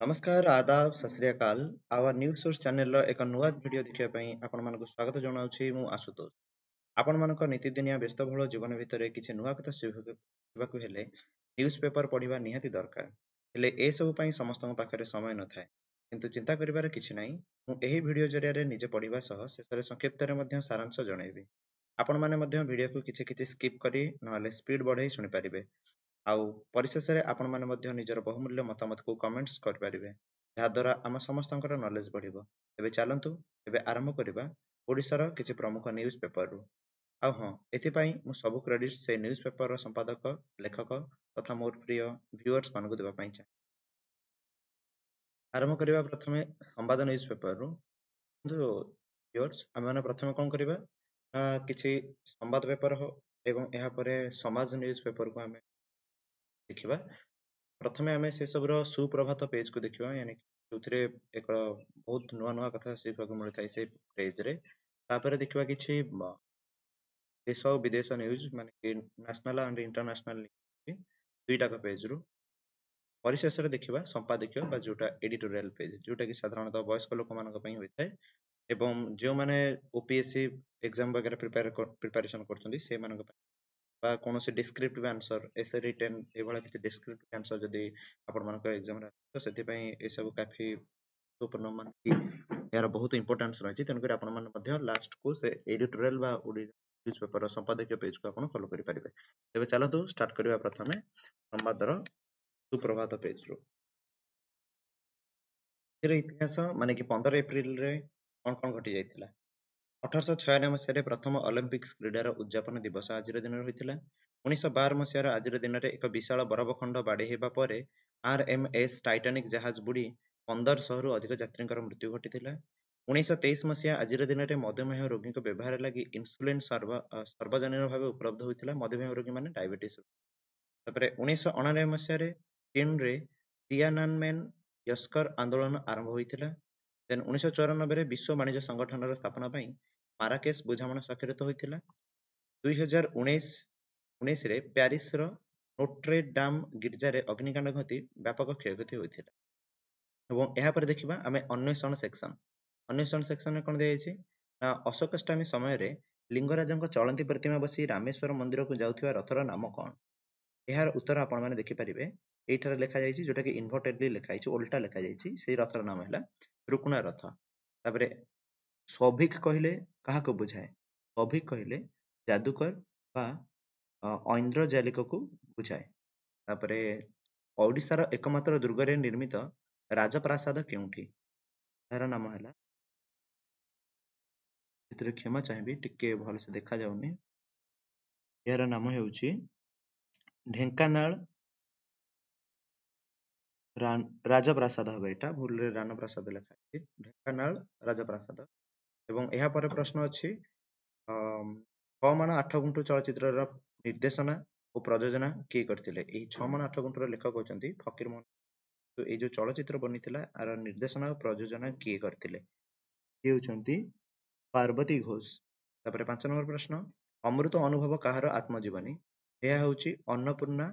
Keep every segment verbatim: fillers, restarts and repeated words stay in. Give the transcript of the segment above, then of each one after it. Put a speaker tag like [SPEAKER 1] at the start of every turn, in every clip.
[SPEAKER 1] ନମସ୍କାର, ଆଦାବ, ସତ Shri ଅକାଲ। Hour news source ଚ୍ୟାନେଲର ଏକ ନୂଆ ଭିଡ଼ିଓ ଦେଖିବା ପାଇଁ ଆପଣମାନଙ୍କୁ ସ୍ୱାଗତ ଜଣାଉଛି ମୁଁ ଆଶୁତୋଷ। ଆପଣମାନଙ୍କ ନୀତିଦିନିଆ ବ୍ୟସ୍ତବହୁଳ ଜୀବନ ଭିତରେ କିଛି ନୂଆ କଥା ଶିଖିବାକୁ ହେଲେ ନ୍ୟୁଜ୍ ପେପର ପଢ଼ିବା ନିହାତି ଦରକାର। ହେଲେ ଏସବୁ ପାଇଁ ସମସ୍ତଙ୍କ ପାଖରେ ସମୟ ନଥାଏ। କିନ୍ତୁ ଚିନ୍ତା କରିବାର କିଛି ନାହିଁ, ମୁଁ ଏହି ଭିଡ଼ିଓ ଜରିଆରେ ନିଜେ ପଢ଼ିବା ସହ ଶେଷରେ ସଂକ୍ଷିପ୍ତରେ ମଧ୍ୟ ସାରାଂଶ ଜଣାଇବି। ଆପଣମାନେ ମଧ୍ୟ ଭିଡ଼ିଓକୁ କିଛି କିଛି ସ୍କିପ୍ କରି ନହେଲେ ସ୍ପିଡ୍ ବଢ଼ାଇ ଶୁଣିପାରିବେ। ଆଉ ପରିଶେଷରେ ଆପଣମାନେ ମଧ୍ୟ ନିଜର ବହୁମୂଲ୍ୟ ମତାମତକୁ କମେଣ୍ଟସ୍ କରିପାରିବେ, ଯାହାଦ୍ୱାରା ଆମ ସମସ୍ତଙ୍କର ନଲେଜ ବଢ଼ିବ। ଏବେ ଚାଲନ୍ତୁ ଏବେ ଆରମ୍ଭ କରିବା ଓଡ଼ିଶାର କିଛି ପ୍ରମୁଖ ନ୍ୟୁଜ୍ ପେପରରୁ। ଆଉ ହଁ, ଏଥିପାଇଁ ମୁଁ ସବୁ କ୍ରେଡିଟ୍ ସେ ନ୍ୟୁଜ୍ ପେପରର ସମ୍ପାଦକ, ଲେଖକ ତଥା ମୋର ପ୍ରିୟ ଭିଉଅର୍ସ ମାନଙ୍କୁ ଦେବା ପାଇଁ ଚାହେଁ। ଆରମ୍ଭ କରିବା ପ୍ରଥମେ ସମ୍ବାଦ ନ୍ୟୁଜ୍ ପେପରରୁ। କିନ୍ତୁ ଭିଉଅର୍ସ, ଆମେମାନେ ପ୍ରଥମେ କ'ଣ କରିବା ନା କିଛି ସମ୍ବାଦ ପେପର ହଉ ଏବଂ ଏହାପରେ ସମାଜ ନ୍ୟୁଜ୍ ପେପରକୁ ଆମେ ଦେଖିବା। ପ୍ରଥମେ ଆମେ ସେସବୁର ସୁପ୍ରଭାତ ପେଜକୁ ଦେଖିବା, ୟାନି ଯେଉଁଥିରେ ଏକ ବହୁତ ନୂଆ ନୂଆ କଥା ଶିଖିବାକୁ ମିଳିଥାଏ ସେ ପେଜରେ। ତାପରେ ଦେଖିବା କିଛି ଦେଶ ଓ ବିଦେଶ ନ୍ୟୁଜ୍, ମାନେ କି ନ୍ୟାସନାଲ ଆଣ୍ଡ ଇଣ୍ଟରନ୍ୟାସନାଲ ନ୍ୟୁଜ୍ ଦୁଇଟାକ ପେଜରୁ। ପରିଶେଷରେ ଦେଖିବା ସମ୍ପାଦକୀୟ ବା ଯେଉଁଟା ଏଡିଟୋରିଆଲ ପେଜ, ଯେଉଁଟାକି ସାଧାରଣତଃ ବୟସ୍କ ଲୋକମାନଙ୍କ ପାଇଁ ହୋଇଥାଏ ଏବଂ ଯେଉଁମାନେ ଓପିଏସସି ଏକ୍ଜାମ ବଗେରା ପ୍ରିପେୟାର ପ୍ରିପାରେସନ କରୁଛନ୍ତି ସେମାନଙ୍କ ପାଇଁ, ବା କୌଣସି ଡିସ୍କ୍ରିପ୍ଟିଭ ଆନ୍ସର, ଏସେ ରିଟେନ୍ ଏଇଭଳିଆ କିଛି ଡିସ୍କ୍ରିପ୍ଟିଭ ଆନ୍ସର ଯଦି ଆପଣମାନଙ୍କ ଏକ୍ଜାମରେ ଆସିବ, ତ ସେଥିପାଇଁ ଏସବୁ କାଫି ଗୁରୁତ୍ୱପୂର୍ଣ୍ଣ, ମାନେ କି ଏହାର ବହୁତ ଇମ୍ପୋର୍ଟାନ୍ସ ରହିଛି। ତେଣୁକରି ଆପଣମାନେ ମଧ୍ୟ ଲାଷ୍ଟକୁ ସେ ଏଡିଟୋରିଆଲ ବା ଓଡ଼ିଶା ନ୍ୟୁଜ୍ ପେପରର ସମ୍ପାଦକୀୟ ପେଜକୁ ଆପଣ ଫଲୋ କରିପାରିବେ। ତେବେ ଚାଲନ୍ତୁ ଷ୍ଟାର୍ଟ କରିବା ପ୍ରଥମେ ସମ୍ବାଦର ସୁପ୍ରଭାତ ପେଜରୁ। ଆଜିର ଇତିହାସ, ମାନେ କି ପନ୍ଦର ଏପ୍ରିଲରେ କ'ଣ କ'ଣ ଘଟି ଯାଇଥିଲା। ଅଠରଶହ ଛୟାନବେ ମସିହାରେ ପ୍ରଥମ ଅଲିମ୍ପିକ୍ସ କ୍ରୀଡ଼ାର ଉଦଯାପନ ଦିବସ ଆଜିର ଦିନରେ ହୋଇଥିଲା। ଉଣେଇଶହ ବାର ମସିହାର ଆଜିର ଦିନରେ ଏକ ବିଶାଳ ବରଫଖଣ୍ଡ ବାଡ଼େଇ ହେବା ପରେ ଆର୍ ଏମ୍ ଏସ୍ ଟାଇଟାନିକ୍ ଜାହାଜ ବୁଡ଼ି ପନ୍ଦରଶହରୁ ଅଧିକ ଯାତ୍ରୀଙ୍କର ମୃତ୍ୟୁ ଘଟିଥିଲା। ଉଣେଇଶହ ତେଇଶ ମସିହା ଆଜିର ଦିନରେ ମଧୁମେହ ରୋଗୀଙ୍କ ବ୍ୟବହାର ଲାଗି ଇନ୍ସୁଲିନ୍ ସର୍ବ ସର୍ବଜନୀନ ଭାବେ ଉପଲବ୍ଧ ହୋଇଥିଲା। ମଧୁମେହ ରୋଗୀମାନେ ଡାଇବେଟିସ୍। ତାପରେ ଉଣେଇଶହ ଅଣାନବେ ମସିହାରେ ଚୀନରେ ତିଆନାନମେନ୍ ୟସ୍କର ଆନ୍ଦୋଳନ ଆରମ୍ଭ ହୋଇଥିଲା। ଦେନ୍ ଉଣେଇଶହ ଚଉରାନବେରେ ବିଶ୍ୱ ବାଣିଜ୍ୟ ସଂଗଠନର ସ୍ଥାପନା ପାଇଁ ମାରାକେଶ ବୁଝାମଣା ସ୍ୱାକ୍ଷରିତ ହୋଇଥିଲା। ଦୁଇ ହଜାର ଉଣେଇଶ ଉଣେଇଶରେ ପ୍ୟାରିସର ନୋଟ୍ରେ ଡାମ୍ ଗିର୍ଜାରେ ଅଗ୍ନିକାଣ୍ଡ ଘଟି ବ୍ୟାପକ କ୍ଷୟକ୍ଷତି ହୋଇଥିଲା। ଏବଂ ଏହାପରେ ଦେଖିବା ଆମେ ଅନ୍ୱେଷଣ ସେକ୍ସନ। ଅନ୍ୱେଷଣ ସେକ୍ସନରେ କ'ଣ ଦିଆଯାଇଛି ନା ଅଶୋକାଷ୍ଟମୀ ସମୟରେ ଲିଙ୍ଗରାଜଙ୍କ ଚଳନ୍ତି ପ୍ରତିମା ବସି ରାମେଶ୍ୱର ମନ୍ଦିରକୁ ଯାଉଥିବା ରଥର ନାମ କ'ଣ? ଏହାର ଉତ୍ତର ଆପଣମାନେ ଦେଖିପାରିବେ ଏଇଠାରେ ଲେଖାଯାଇଛି, ଯୋଉଟାକି ଇନଭର୍ଟେଡଲି ଲେଖାଯାଇଛି, ଓଲଟା ଲେଖାଯାଇଛି। ସେଇ ରଥର ନାମ ହେଲା ରୁକୁଣା ରଥ। ତାପରେ ସୌଭିକ କହିଲେ କାହାକୁ ବୁଝାଏ? ସୌଭିକ କହିଲେ ଯାଦୁକର ବା ଐନ୍ଦ୍ରଜାଲିକକୁ ବୁଝାଏ। ତାପରେ ଓଡ଼ିଶାର ଏକମାତ୍ର ଦୁର୍ଗରେ ନିର୍ମିତ ରାଜପ୍ରାସାଦ କେଉଁଠି? ଏହାର ନାମ ହେଲା, ଏଥିରେ କ୍ଷମା ଚାହିଁବି ଟିକେ ଭଲସେ ଦେଖାଯାଉନି, ଏହାର ନାମ ହେଉଛି ଢେଙ୍କାନାଳ ରାଜପ୍ରାସାଦ ହେବ। ଏଇଟା ଭୁଲରେ ରାନପ୍ରାସାଦ ଲେଖା ହେଇଛି, ଢେଙ୍କାନାଳ ରାଜପ୍ରାସାଦ। ଏବଂ ଏହା ପରେ ପ୍ରଶ୍ନ ଅଛି, ଛଅ ମାଣ ଆଠ ଗୁଣ୍ଠ ଚଳଚ୍ଚିତ୍ରର ନିର୍ଦ୍ଦେଶନା ଓ ପ୍ରଯୋଜନା କିଏ କରିଥିଲେ? ଏହି ଛଅ ମାଣ ଆଠ ଗୁଣ୍ଠର ଲେଖକ ହେଉଛନ୍ତି ଫକୀର ମୋହନ। ଏଇ ଯୋଉ ଚଳଚ୍ଚିତ୍ର ବନିଥିଲା ଆର ନିର୍ଦ୍ଦେଶନା ଓ ପ୍ରଯୋଜନା କିଏ କରିଥିଲେ? ଇଏ ହେଉଛନ୍ତି ପାର୍ବତୀ ଘୋଷ। ତାପରେ ପାଞ୍ଚ ନମ୍ବର ପ୍ରଶ୍ନ, ଅମୃତ ଅନୁଭବ କାହାର ଆତ୍ମଜୀବନୀ? ଏହା ହେଉଛି ଅନ୍ନପୂର୍ଣ୍ଣା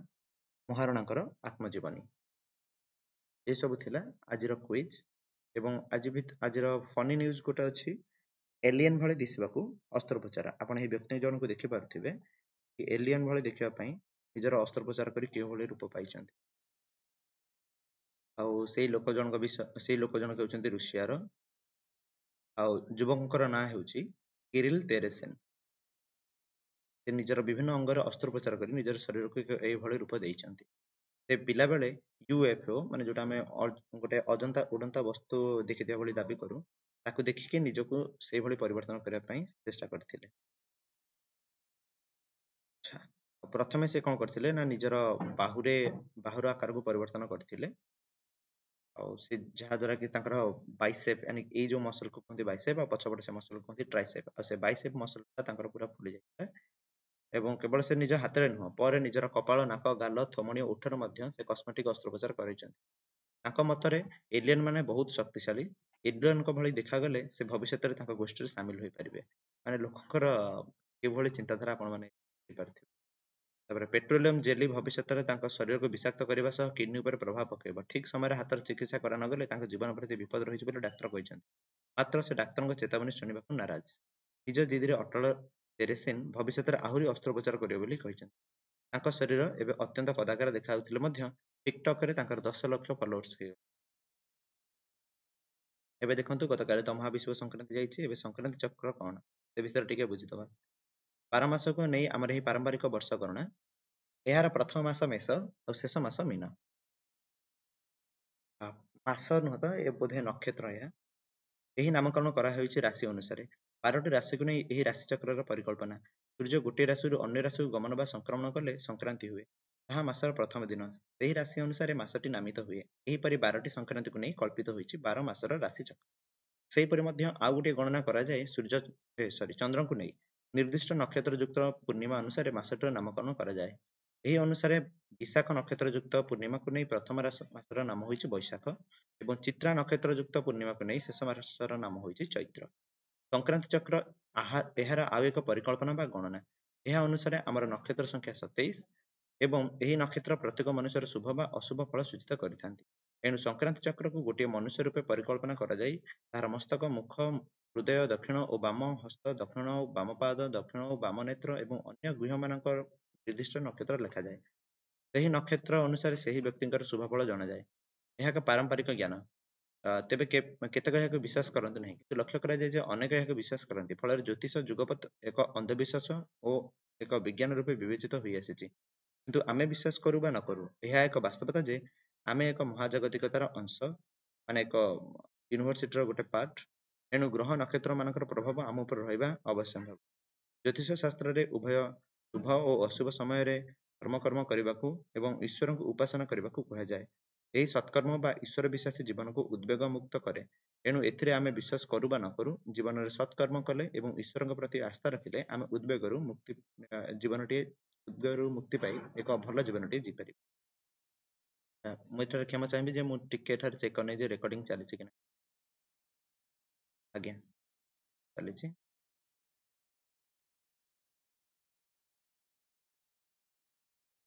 [SPEAKER 1] ମହାରଣାଙ୍କର ଆତ୍ମଜୀବନୀ। ଏସବୁ ଥିଲା ଆଜିର କୁଇଜ୍। ଏବଂ ଆଜି ବି ଆଜିର ଫନି ନ୍ୟୁଜ୍ ଗୋଟେ ଅଛି, ଏଲିଏନ୍ ଭଳି ଦିଶିବାକୁ ଅସ୍ତ୍ରୋପଚାର। ଆପଣ ଏହି ବ୍ୟକ୍ତି ଜଣଙ୍କୁ ଦେଖିପାରୁଥିବେ କି ଏଲିଏନ୍ ଭଳି ଦେଖିବା ପାଇଁ ନିଜର ଅସ୍ତ୍ରୋପଚାର କରି କେଉଁଭଳି ରୂପ ପାଇଛନ୍ତି। ଆଉ ସେଇ ଲୋକ ଜଣଙ୍କ ବିଷୟ, ସେଇ ଲୋକ ଜଣକ ହେଉଛନ୍ତି ରୁଷିଆର, ଆଉ ଯୁବକଙ୍କର ନାଁ ହେଉଛି କିରିଲ ତେରେସେନ୍। ସେ ନିଜର ବିଭିନ୍ନ ଅଙ୍ଗରେ ଅସ୍ତ୍ରୋପଚାର କରି ନିଜର ଶରୀରକୁ ଏକ ଏଇଭଳି ରୂପ ଦେଇଛନ୍ତି। ସେ ପିଲାବେଳେ ୟୁଏଫଓ, ମାନେ ଯୋଉଟା ଆମେ ଗୋଟେ ଅଜନ୍ତା ଉଡ଼ନ୍ତା ବସ୍ତୁ ଦେଖିଥିବା ଭଳି ଦାବି କରୁ, ତାକୁ ଦେଖିକି ନିଜକୁ ସେଇଭଳି ପରିବର୍ତ୍ତନ କରିବା ପାଇଁ ଚେଷ୍ଟା କରିଥିଲେ। ଆଚ୍ଛା, ପ୍ରଥମେ ସେ କ'ଣ କରିଥିଲେ ନା ନିଜର ବାହୁରେ ବାହୁର ଆକାରକୁ ପରିବର୍ତ୍ତନ କରିଥିଲେ। ଆଉ ସେ ଯାହାଦ୍ୱାରା କି ତାଙ୍କର ବାଇସେପ୍, ୟାନି ଏଇ ଯୋଉ ମସଲକୁ କୁହନ୍ତି ବାଇସେପ୍, ଆଉ ପଛପଟେ ସେ ମସଲକୁ କୁହନ୍ତି ଟ୍ରାଇସେପ୍, ଆଉ ସେ ବାଇସେପ୍ ମସଲଟା ତାଙ୍କର ପୁରା ଫୁଲି ଯାଇଥିଲା। ଏବଂ କେବଳ ସେ ନିଜ ହାତରେ ନୁହଁ, ପରେ ନିଜର କପାଳ, ନାକ, ଗାଲ, ଥୋମଣି ଓ ଓଠରେ ମଧ୍ୟ ସେ କସ୍ମେଟିକ୍ ଅସ୍ତ୍ରୋପଚାର କରାଇଛନ୍ତି। ତାଙ୍କ ମତରେ ଏଲିଏନ୍ ମାନେ ବହୁତ ଶକ୍ତିଶାଳୀ, ଏଲିଏନ୍ଙ୍କ ଭଳି ଦେଖାଗଲେ ସେ ଭବିଷ୍ୟତରେ ତାଙ୍କ ଗୋଷ୍ଠୀରେ ସାମିଲ ହୋଇପାରିବେ। ମାନେ ଲୋକଙ୍କର କିଭଳି ଚିନ୍ତାଧାରା ଆପଣମାନେ ଦେଖିପାରୁଥିବେ। ତାପରେ ପେଟ୍ରୋଲିୟମ ଜେଲି ଭବିଷ୍ୟତରେ ତାଙ୍କ ଶରୀରକୁ ବିଷାକ୍ତ କରିବା ସହ କିଡନୀ ଉପରେ ପ୍ରଭାବ ପକାଇବ। ଠିକ ସମୟରେ ହାତର ଚିକିତ୍ସା କରା ନଗଲେ ତାଙ୍କ ଜୀବନ ପ୍ରତି ବିପଦ ରହିଛି ବୋଲି ଡାକ୍ତର କହିଛନ୍ତି। ମାତ୍ର ସେ ଡାକ୍ତରଙ୍କ ଚେତାବନୀ ଶୁଣିବାକୁ ନାରାଜ। ନିଜ ଜିଦିରେ ଅଟଳ ଟେରେସିନ୍ ଭବିଷ୍ୟତରେ ଆହୁରି ଅସ୍ତ୍ରୋପଚାର କରିବେ ବୋଲି କହିଛନ୍ତି। ତାଙ୍କ ଶରୀର ଏବେ ଅତ୍ୟନ୍ତ କଦାକାର ଦେଖାଯାଉଥିଲେ ମଧ୍ୟ ଟିକଟକରେ ତାଙ୍କର ଦଶ ଲକ୍ଷ ଫଲୋଅର୍ସ ହେଇଗଲେ। ଏବେ ଦେଖନ୍ତୁ, ଗତକାଲି ତ ମହାବିଷୁବ ସଂକ୍ରାନ୍ତି ଯାଇଛି। ଏବେ ସଂକ୍ରାନ୍ତି ଚକ୍ର କଣ ସେ ବିଷୟରେ ଟିକେ ବୁଝିଦବା। ବାର ମାସକୁ ନେଇ ଆମର ଏହି ପାରମ୍ପରିକ ବର୍ଷ ଗଣନା। ଏହାର ପ୍ରଥମ ମାସ ମେଷ ଆଉ ଶେଷ ମାସ ମୀନ। ମାସ ନୁହଁ ତ ଏ ବୋଧେ ନକ୍ଷତ୍ର ଏହା। ଏହି ନାମକରଣ କରାହେଉଛି ରାଶି ଅନୁସାରେ। ବାରଟି ରାଶିକୁ ନେଇ ଏହି ରାଶି ଚକ୍ରର ପରିକଳ୍ପନା। ସୂର୍ଯ୍ୟ ଗୋଟିଏ ରାଶିରୁ ଅନ୍ୟ ରାଶିକୁ ଗମନ ବା ସଂକ୍ରମଣ କଲେ ସଂକ୍ରାନ୍ତି ହୁଏ। ତାହା ମାସର ପ୍ରଥମ ଦିନ। ସେହି ରାଶି ଅନୁସାରେ ମାସଟି ନାମିତ ହୁଏ। ଏହିପରି ବାରଟି ସଂକ୍ରାନ୍ତିକୁ ନେଇ କଳ୍ପିତ ହୋଇଛି ବାର ମାସର ରାଶି ଚକ୍ର। ସେହିପରି ମଧ୍ୟ ଆଉ ଗୋଟିଏ ଗଣନା କରାଯାଏ ସୂର୍ଯ୍ୟ ସରି ଚନ୍ଦ୍ରଙ୍କୁ ନେଇ। ନିର୍ଦ୍ଦିଷ୍ଟ ନକ୍ଷତ୍ର ଯୁକ୍ତ ପୂର୍ଣ୍ଣିମା ଅନୁସାରେ ମାସଟିର ନାମକରଣ କରାଯାଏ। ଏହି ଅନୁସାରେ ବିଶାଖ ନକ୍ଷତ୍ର ଯୁକ୍ତ ପୂର୍ଣ୍ଣିମାକୁ ନେଇ ପ୍ରଥମ ମାସର ନାମ ହୋଇଛି ବୈଶାଖ ଏବଂ ଚିତ୍ରା ନକ୍ଷତ୍ର ଯୁକ୍ତ ପୂର୍ଣ୍ଣିମାକୁ ନେଇ ଶେଷ ମାସର ନାମ ହୋଇଛି ଚୈତ୍ର। ସଂକ୍ରାନ୍ତି ଚକ୍ର ଏହାର ଆଉ ଏକ ପରିକଳ୍ପନା ବା ଗଣନା। ଏହା ଅନୁସାରେ ଆମର ନକ୍ଷତ୍ର ସଂଖ୍ୟା ସତେଇଶ ଏବଂ ଏହି ନକ୍ଷତ୍ର ପ୍ରତ୍ୟେକ ମନୁଷ୍ୟର ଶୁଭ ବା ଅଶୁଭ ଫଳ ସୂଚିତ କରିଥାନ୍ତି। ଏଣୁ ସଂକ୍ରାନ୍ତି ଚକ୍ରକୁ ଗୋଟିଏ ମନୁଷ୍ୟ ରୂପେ ପରିକଳ୍ପନା କରାଯାଇ ତାହାର ମସ୍ତକ, ମୁଖ, ହୃଦୟ, ଦକ୍ଷିଣ ଓ ବାମ ହସ୍ତ, ଦକ୍ଷିଣ ଓ ବାମ ପାଦ, ଦକ୍ଷିଣ ଓ ବାମ ନେତ୍ର ଏବଂ ଅନ୍ୟ ଗୃହମାନଙ୍କର ନିର୍ଦ୍ଦିଷ୍ଟ ନକ୍ଷତ୍ର ଲେଖାଯାଏ। ସେହି ନକ୍ଷତ୍ର ଅନୁସାରେ ସେହି ବ୍ୟକ୍ତିଙ୍କର ଶୁଭ ଫଳ ଜଣାଯାଏ। ଏହା ଏକ ପାରମ୍ପରିକ ଜ୍ଞାନ। ତେବେ କେତେକ ଏହାକୁ ବିଶ୍ୱାସ କରନ୍ତି ନାହିଁ, କିନ୍ତୁ ଲକ୍ଷ୍ୟ କରାଯାଏ ଯେ ଅନେକ ଏହାକୁ ବିଶ୍ୱାସ କରନ୍ତି। ଫଳରେ ଜ୍ୟୋତିଷ ଯୁଗପଥ ଏକ ଅନ୍ଧବିଶ୍ୱାସ ଓ ଏକ ବିଜ୍ଞାନ ରୂପେ ବିବେଚିତ ହୋଇଆସିଛି। କିନ୍ତୁ ଆମେ ବିଶ୍ୱାସ କରୁ ବା ନ କରୁ, ଏହା ଏକ ବାସ୍ତବତା ଯେ ଆମେ ଏକ ମହାଜାଗତିକତାର ଅଂଶ, ମାନେ ଏକ ୟୁନିଭର୍ସିଟିର ଗୋଟେ ପାର୍ଟ। ଏଣୁ ଗ୍ରହ ନକ୍ଷତ୍ର ମାନଙ୍କର ପ୍ରଭାବ ଆମ ଉପରେ ରହିବା ଅବଶ୍ୟମ୍ଭାବୀ। ଜ୍ୟୋତିଷ ଶାସ୍ତ୍ରରେ ଉଭୟ ଶୁଭ ଓ ଅଶୁଭ ସମୟରେ ଧର୍ମକର୍ମ କରିବାକୁ ଏବଂ ଈଶ୍ୱରଙ୍କୁ ଉପାସନା କରିବାକୁ କୁହାଯାଏ। ଏହି ସତ୍କର୍ମ ବା ଈଶ୍ୱର ବିଶ୍ୱାସୀ ଜୀବନକୁ ଉଦ୍ବେଗ ମୁକ୍ତ କରେ। ଏଣୁ ଏଥିରେ ଆମେ ବିଶ୍ୱାସ କରୁ ବା ନ କରୁ, ଜୀବନରେ ସତ୍କର୍ମ କଲେ ଏବଂ ଈଶ୍ୱରଙ୍କ ପ୍ରତି ଆସ୍ଥା ରଖିଲେ ଆମେ ଉଦ୍ବେଗରୁ ମୁକ୍ତି ଜୀବନଟିଏ ଉଦ୍ବେଗରୁ ମୁକ୍ତି ପାଇ ଏକ ଭଲ ଜୀବନଟିଏ ଜିପାରିବା। ମୁଁ ଏଠାରେ କ୍ଷମା ଚାହିଁବି ଯେ ମୁଁ ଟିକେ ଏଠାରେ ଚେକ୍ କରିନେଇ ଯେ ରେକର୍ଡିଂ ଚାଲିଛି କି ନାହିଁ। ଆଜ୍ଞା, ଚାଲିଛି।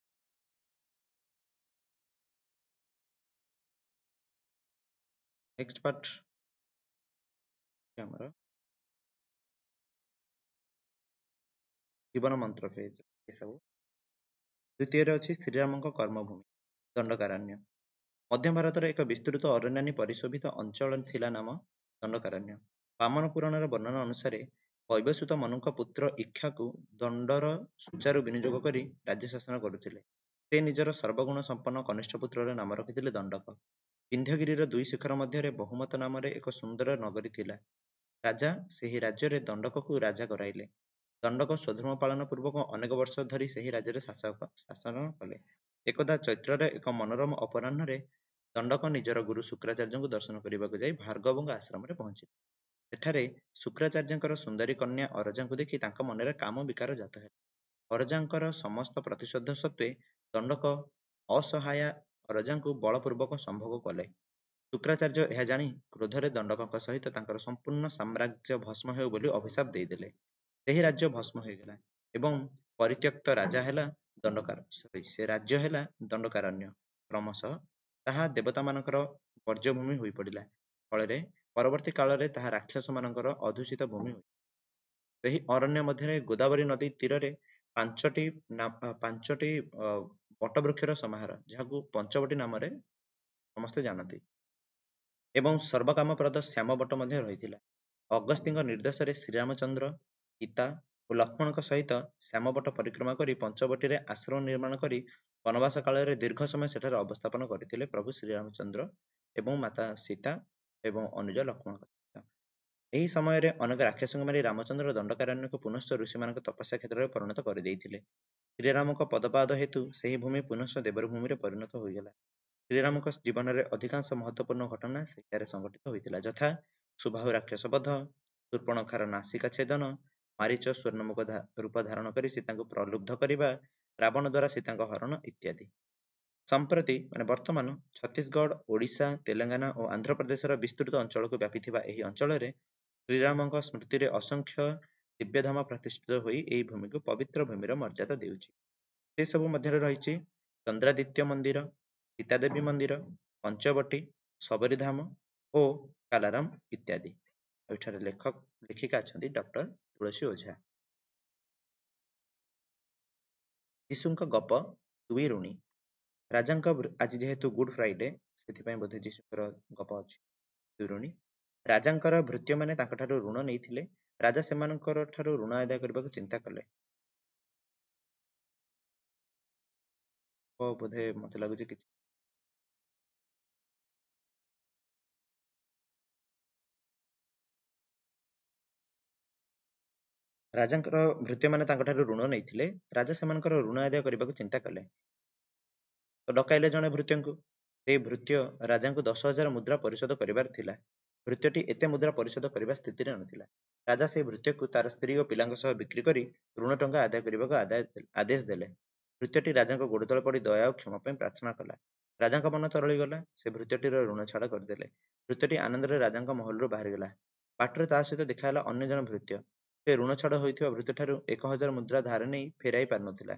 [SPEAKER 1] ନେକ୍ସଟ ପାର୍ଟ ଆମର ଜୀବନ ମନ୍ତ୍ର ପେଜ ଏସବୁ। ଦ୍ୱିତୀୟରେ ଅଛି ଶ୍ରୀରାମଙ୍କ କର୍ମଭୂମି ଦଣ୍ଡକାରଣ୍ୟ। ମଧ୍ୟ ଭାରତର ଏକ ବିସ୍ତୃତ ଅରଣ୍ୟାନୀ ପରିଶୋଭିତ ଅଞ୍ଚଳ ଥିଲା ନାମ ଦଣ୍ଡକାରଣ୍ୟ। ବାମନ ପୁରାଣର ବର୍ଣ୍ଣନା ଅନୁସାରେ ବୈବସ୍ୱତ ମନୁଙ୍କ ପୁତ୍ର ଇକ୍ଷାକୁ ଦଣ୍ଡର ସୁଚାରୁ ବିନିଯୋଗ କରି ରାଜ୍ୟ ଶାସନ କରୁଥିଲେ। ସେ ନିଜର ସର୍ବଗୁଣ ସମ୍ପନ୍ନ କନିଷ୍ଠ ପୁତ୍ରର ନାମ ରଖିଥିଲେ ଦଣ୍ଡକ। ବିନ୍ଧ୍ୟଗିରିର ଦୁଇ ଶିଖର ମଧ୍ୟରେ ବହୁମତ ନାମରେ ଏକ ସୁନ୍ଦର ନଗରୀ ଥିଲା। ରାଜା ସେହି ରାଜ୍ୟରେ ଦଣ୍ଡକକୁ ରାଜା କରାଇଲେ। ଦଣ୍ଡକ ସ୍ୱଧର୍ମ ପାଳନ ପୂର୍ବକ ଅନେକ ବର୍ଷ ଧରି ସେହି ରାଜ୍ୟରେ ଶାସକ ଶାସନ କଲେ। ଏକଦା ଚୈତ୍ରର ଏକ ମନୋରମ ଅପରାହ୍ନରେ ଦଣ୍ଡକ ନିଜର ଗୁରୁ ଶୁକ୍ରାଚାର୍ଯ୍ୟଙ୍କୁ ଦର୍ଶନ କରିବାକୁ ଯାଇ ଭାର୍ଗବଙ୍କ ଆଶ୍ରମରେ ପହଞ୍ଚିଲେ। ସେଠାରେ ଶୁକ୍ରାଚାର୍ଯ୍ୟଙ୍କର ସୁନ୍ଦରୀ କନ୍ୟା ଅରଜାଙ୍କୁ ଦେଖି ତାଙ୍କ ମନରେ କାମ ବିକାର ଜାତ ହେଲା। ଅରଜାଙ୍କର ସମସ୍ତ ପ୍ରତିଶୋଧ ସତ୍ତ୍ୱେ ଦଣ୍ଡକ ଅସହାୟା ଅରଜାଙ୍କୁ ବଳପୂର୍ବକ ସମ୍ଭୋଗ କଲେ। ଶୁକ୍ରାଚାର୍ଯ୍ୟ ଏହା ଜାଣି କ୍ରୋଧରେ ଦଣ୍ଡକଙ୍କ ସହିତ ତାଙ୍କର ସମ୍ପୂର୍ଣ୍ଣ ସାମ୍ରାଜ୍ୟ ଭସ୍ମ ହେଉ ବୋଲି ଅଭିଶାପ ଦେଇଦେଲେ। ସେହି ରାଜ୍ୟ ଭସ୍ମ ହୋଇଗଲା ଏବଂ ପରିତ୍ୟକ୍ତ ରାଜା ହେଲା ଦଣ୍ଡକାର ସରି ସେ ରାଜ୍ୟ ହେଲା ଦଣ୍ଡକାରଣ୍ୟ। କ୍ରମଶଃ ତାହା ଦେବତାମାନଙ୍କର ବର୍ଜ୍ୟଭୂମି ହୋଇପଡ଼ିଲା। ଫଳରେ ପରବର୍ତ୍ତୀ କାଳରେ ତାହା ରାକ୍ଷସମାନଙ୍କର ଅଧୂଷିତ ଭୂମି ହୋଇ ସେହି ଅରଣ୍ୟ ମଧ୍ୟରେ ଗୋଦାବରୀ ନଦୀ ତୀରରେ ପାଞ୍ଚଟି ପାଞ୍ଚଟି ବଟବୃକ୍ଷର ସମାହାର, ଯାହାକୁ ପଞ୍ଚବଟୀ ନାମରେ ସମସ୍ତେ ଜାଣନ୍ତି, ଏବଂ ସର୍ବକାମପ୍ରଦ ଶ୍ୟାମ ବଟ ମଧ୍ୟ ରହିଥିଲା। ଅଗସ୍ତିଙ୍କ ନିର୍ଦ୍ଦେଶରେ ଶ୍ରୀରାମଚନ୍ଦ୍ର, ସୀତା ଓ ଲକ୍ଷ୍ମଣଙ୍କ ସହିତ ଶ୍ୟାମବଟ ପରିକ୍ରମା କରି ପଞ୍ଚବଟୀରେ ଆଶ୍ରମ ନିର୍ମାଣ କରି ବନବାସ କାଳରେ ଦୀର୍ଘ ସମୟ ସେଠାରେ ଅବସ୍ଥାପନ କରିଥିଲେ ପ୍ରଭୁ ଶ୍ରୀରାମଚନ୍ଦ୍ର ଏବଂ ମାତା ସୀତା ଏବଂ ଅନୁଜ ଲକ୍ଷ୍ମଣଙ୍କ ସହିତ। ଏହି ସମୟରେ ଅନେକ ରାକ୍ଷସଙ୍କୁ ମାରି ରାମଚନ୍ଦ୍ର ଦଣ୍ଡକାରଣ୍ୟକୁ ପୁନଶ୍ଚ ଋଷିମାନଙ୍କ ତପସ୍ୟା କ୍ଷେତ୍ରରେ ପରିଣତ କରିଦେଇଥିଲେ। ଶ୍ରୀରାମଙ୍କ ପଦପାଦ ହେତୁ ସେହି ଭୂମି ପୁନଶ୍ଚ ଦେବର ଭୂମିରେ ପରିଣତ ହୋଇଗଲା। ଶ୍ରୀରାମଙ୍କ ଜୀବନରେ ଅଧିକାଂଶ ମହତ୍ୱପୂର୍ଣ୍ଣ ଘଟଣା ସେଠାରେ ସଂଘଟିତ ହୋଇଥିଲା, ଯଥା ସୁବାହୁ ରାକ୍ଷସ ବଧ, ଶୂର୍ପଣଖାର ନାସିକା ଛେଦନ, ମାରୀଚ ସ୍ୱର୍ଣ୍ଣମୁଖ ରୂପ ଧାରଣ କରି ସୀତାଙ୍କୁ ପ୍ରଲୁବ୍ଧ କରିବା, ରାବଣ ଦ୍ୱାରା ସୀତାଙ୍କ ହରଣ ଇତ୍ୟାଦି। ସମ୍ପ୍ରତି ମାନେ ବର୍ତ୍ତମାନ ଛତିଶଗଡ଼, ଓଡ଼ିଶା, ତେଲେଙ୍ଗାନା ଓ ଆନ୍ଧ୍ରପ୍ରଦେଶର ବିସ୍ତୃତ ଅଞ୍ଚଳକୁ ବ୍ୟାପିଥିବା ଏହି ଅଞ୍ଚଳରେ ଶ୍ରୀରାମଙ୍କ ସ୍ମୃତିରେ ଅସଂଖ୍ୟ ଦିବ୍ୟଧାମ ପ୍ରତିଷ୍ଠିତ ହୋଇ ଏହି ଭୂମିକୁ ପବିତ୍ର ଭୂମିର ମର୍ଯ୍ୟାଦା ଦେଉଛି। ସେସବୁ ମଧ୍ୟରେ ରହିଛି ଚନ୍ଦ୍ରାଦିତ୍ୟ ମନ୍ଦିର, ସୀତାଦେବୀ ମନ୍ଦିର, ପଞ୍ଚବଟୀ, ସବରୀଧାମ ଓ କାଲାରାମ ଇତ୍ୟାଦି। ଆଉ ଏଠାରେ ଲେଖକ ଲେଖିକା ଅଛନ୍ତି ଡକ୍ଟର ତୁଳସୀ ଓଝା। ଯୀଶୁଙ୍କ ଗପ ଦୁଇ ଋଣୀ। ରାଜାଙ୍କ ଆଜି ଯେହେତୁ ଗୁଡ୍ ଫ୍ରାଇଡେ, ସେଥିପାଇଁ ବୋଧେ ଯୀଶୁଙ୍କର ଗପ ଅଛି ଦୁଇ ଋଣୀ। ରାଜାଙ୍କର ଭୃତ୍ୟମାନେ ତାଙ୍କଠାରୁ ଋଣ ନେଇଥିଲେ। ରାଜା ସେମାନଙ୍କର ଠାରୁ ଋଣ ଆଦାୟ କରିବାକୁ ଚିନ୍ତା କଲେ। ବୋଧେ ମତେ ଲାଗୁଛି କିଛି ରାଜାଙ୍କର ଭୃତ୍ୟମାନେ ତାଙ୍କଠାରୁ ଋଣ ନେଇଥିଲେ। ରାଜା ସେମାନଙ୍କର ଋଣ ଆଦାୟ କରିବାକୁ ଚିନ୍ତା କଲେ। ତ ଡକାଇଲେ ଜଣେ ଭୃତ୍ୟଙ୍କୁ। ସେଇ ଭୃତ୍ୟ ରାଜାଙ୍କୁ ଦଶ ହଜାର ମୁଦ୍ରା ପରିଶୋଧ କରିବାର ଥିଲା। ଭୃତ୍ୟଟି ଏତେ ମୁଦ୍ରା ପରିଶୋଧ କରିବା ସ୍ଥିତିରେ ନଥିଲା। ରାଜା ସେଇ ଭୃତ୍ୟକୁ ତାର ସ୍ତ୍ରୀ ଓ ପିଲାଙ୍କ ସହ ବିକ୍ରି କରି ଋଣ ଟଙ୍କା ଆଦାୟ କରିବାକୁ ଆଦାୟ ଆଦେଶ ଦେଲେ। ଭୃତ୍ୟଟି ରାଜାଙ୍କ ଗୋଡ଼ ତଳେ ପଡ଼ି ଦୟା ଓ କ୍ଷମା ପାଇଁ ପ୍ରାର୍ଥନା କଲା। ରାଜାଙ୍କ ମନ ତରଳିଗଲା। ସେ ଭୃତ୍ୟଟିର ଋଣ ଛାଡ଼ କରିଦେଲେ। ଭୃତ୍ୟଟି ଆନନ୍ଦରେ ରାଜାଙ୍କ ମହଲରୁ ବାହାରିଗଲା। ବାଟରେ ତା ସହିତ ଦେଖାହେଲା ଅନ୍ୟ ଜଣେ ଭୃତ୍ୟ। ସେ ଋଣ ଛାଡ଼ ହୋଇଥିବା ଭୃତ୍ୟଠାରୁ ଏକ ହଜାର ମୁଦ୍ରା ଧାର ନେଇ ଫେରାଇ ପାରିନଥିଲା।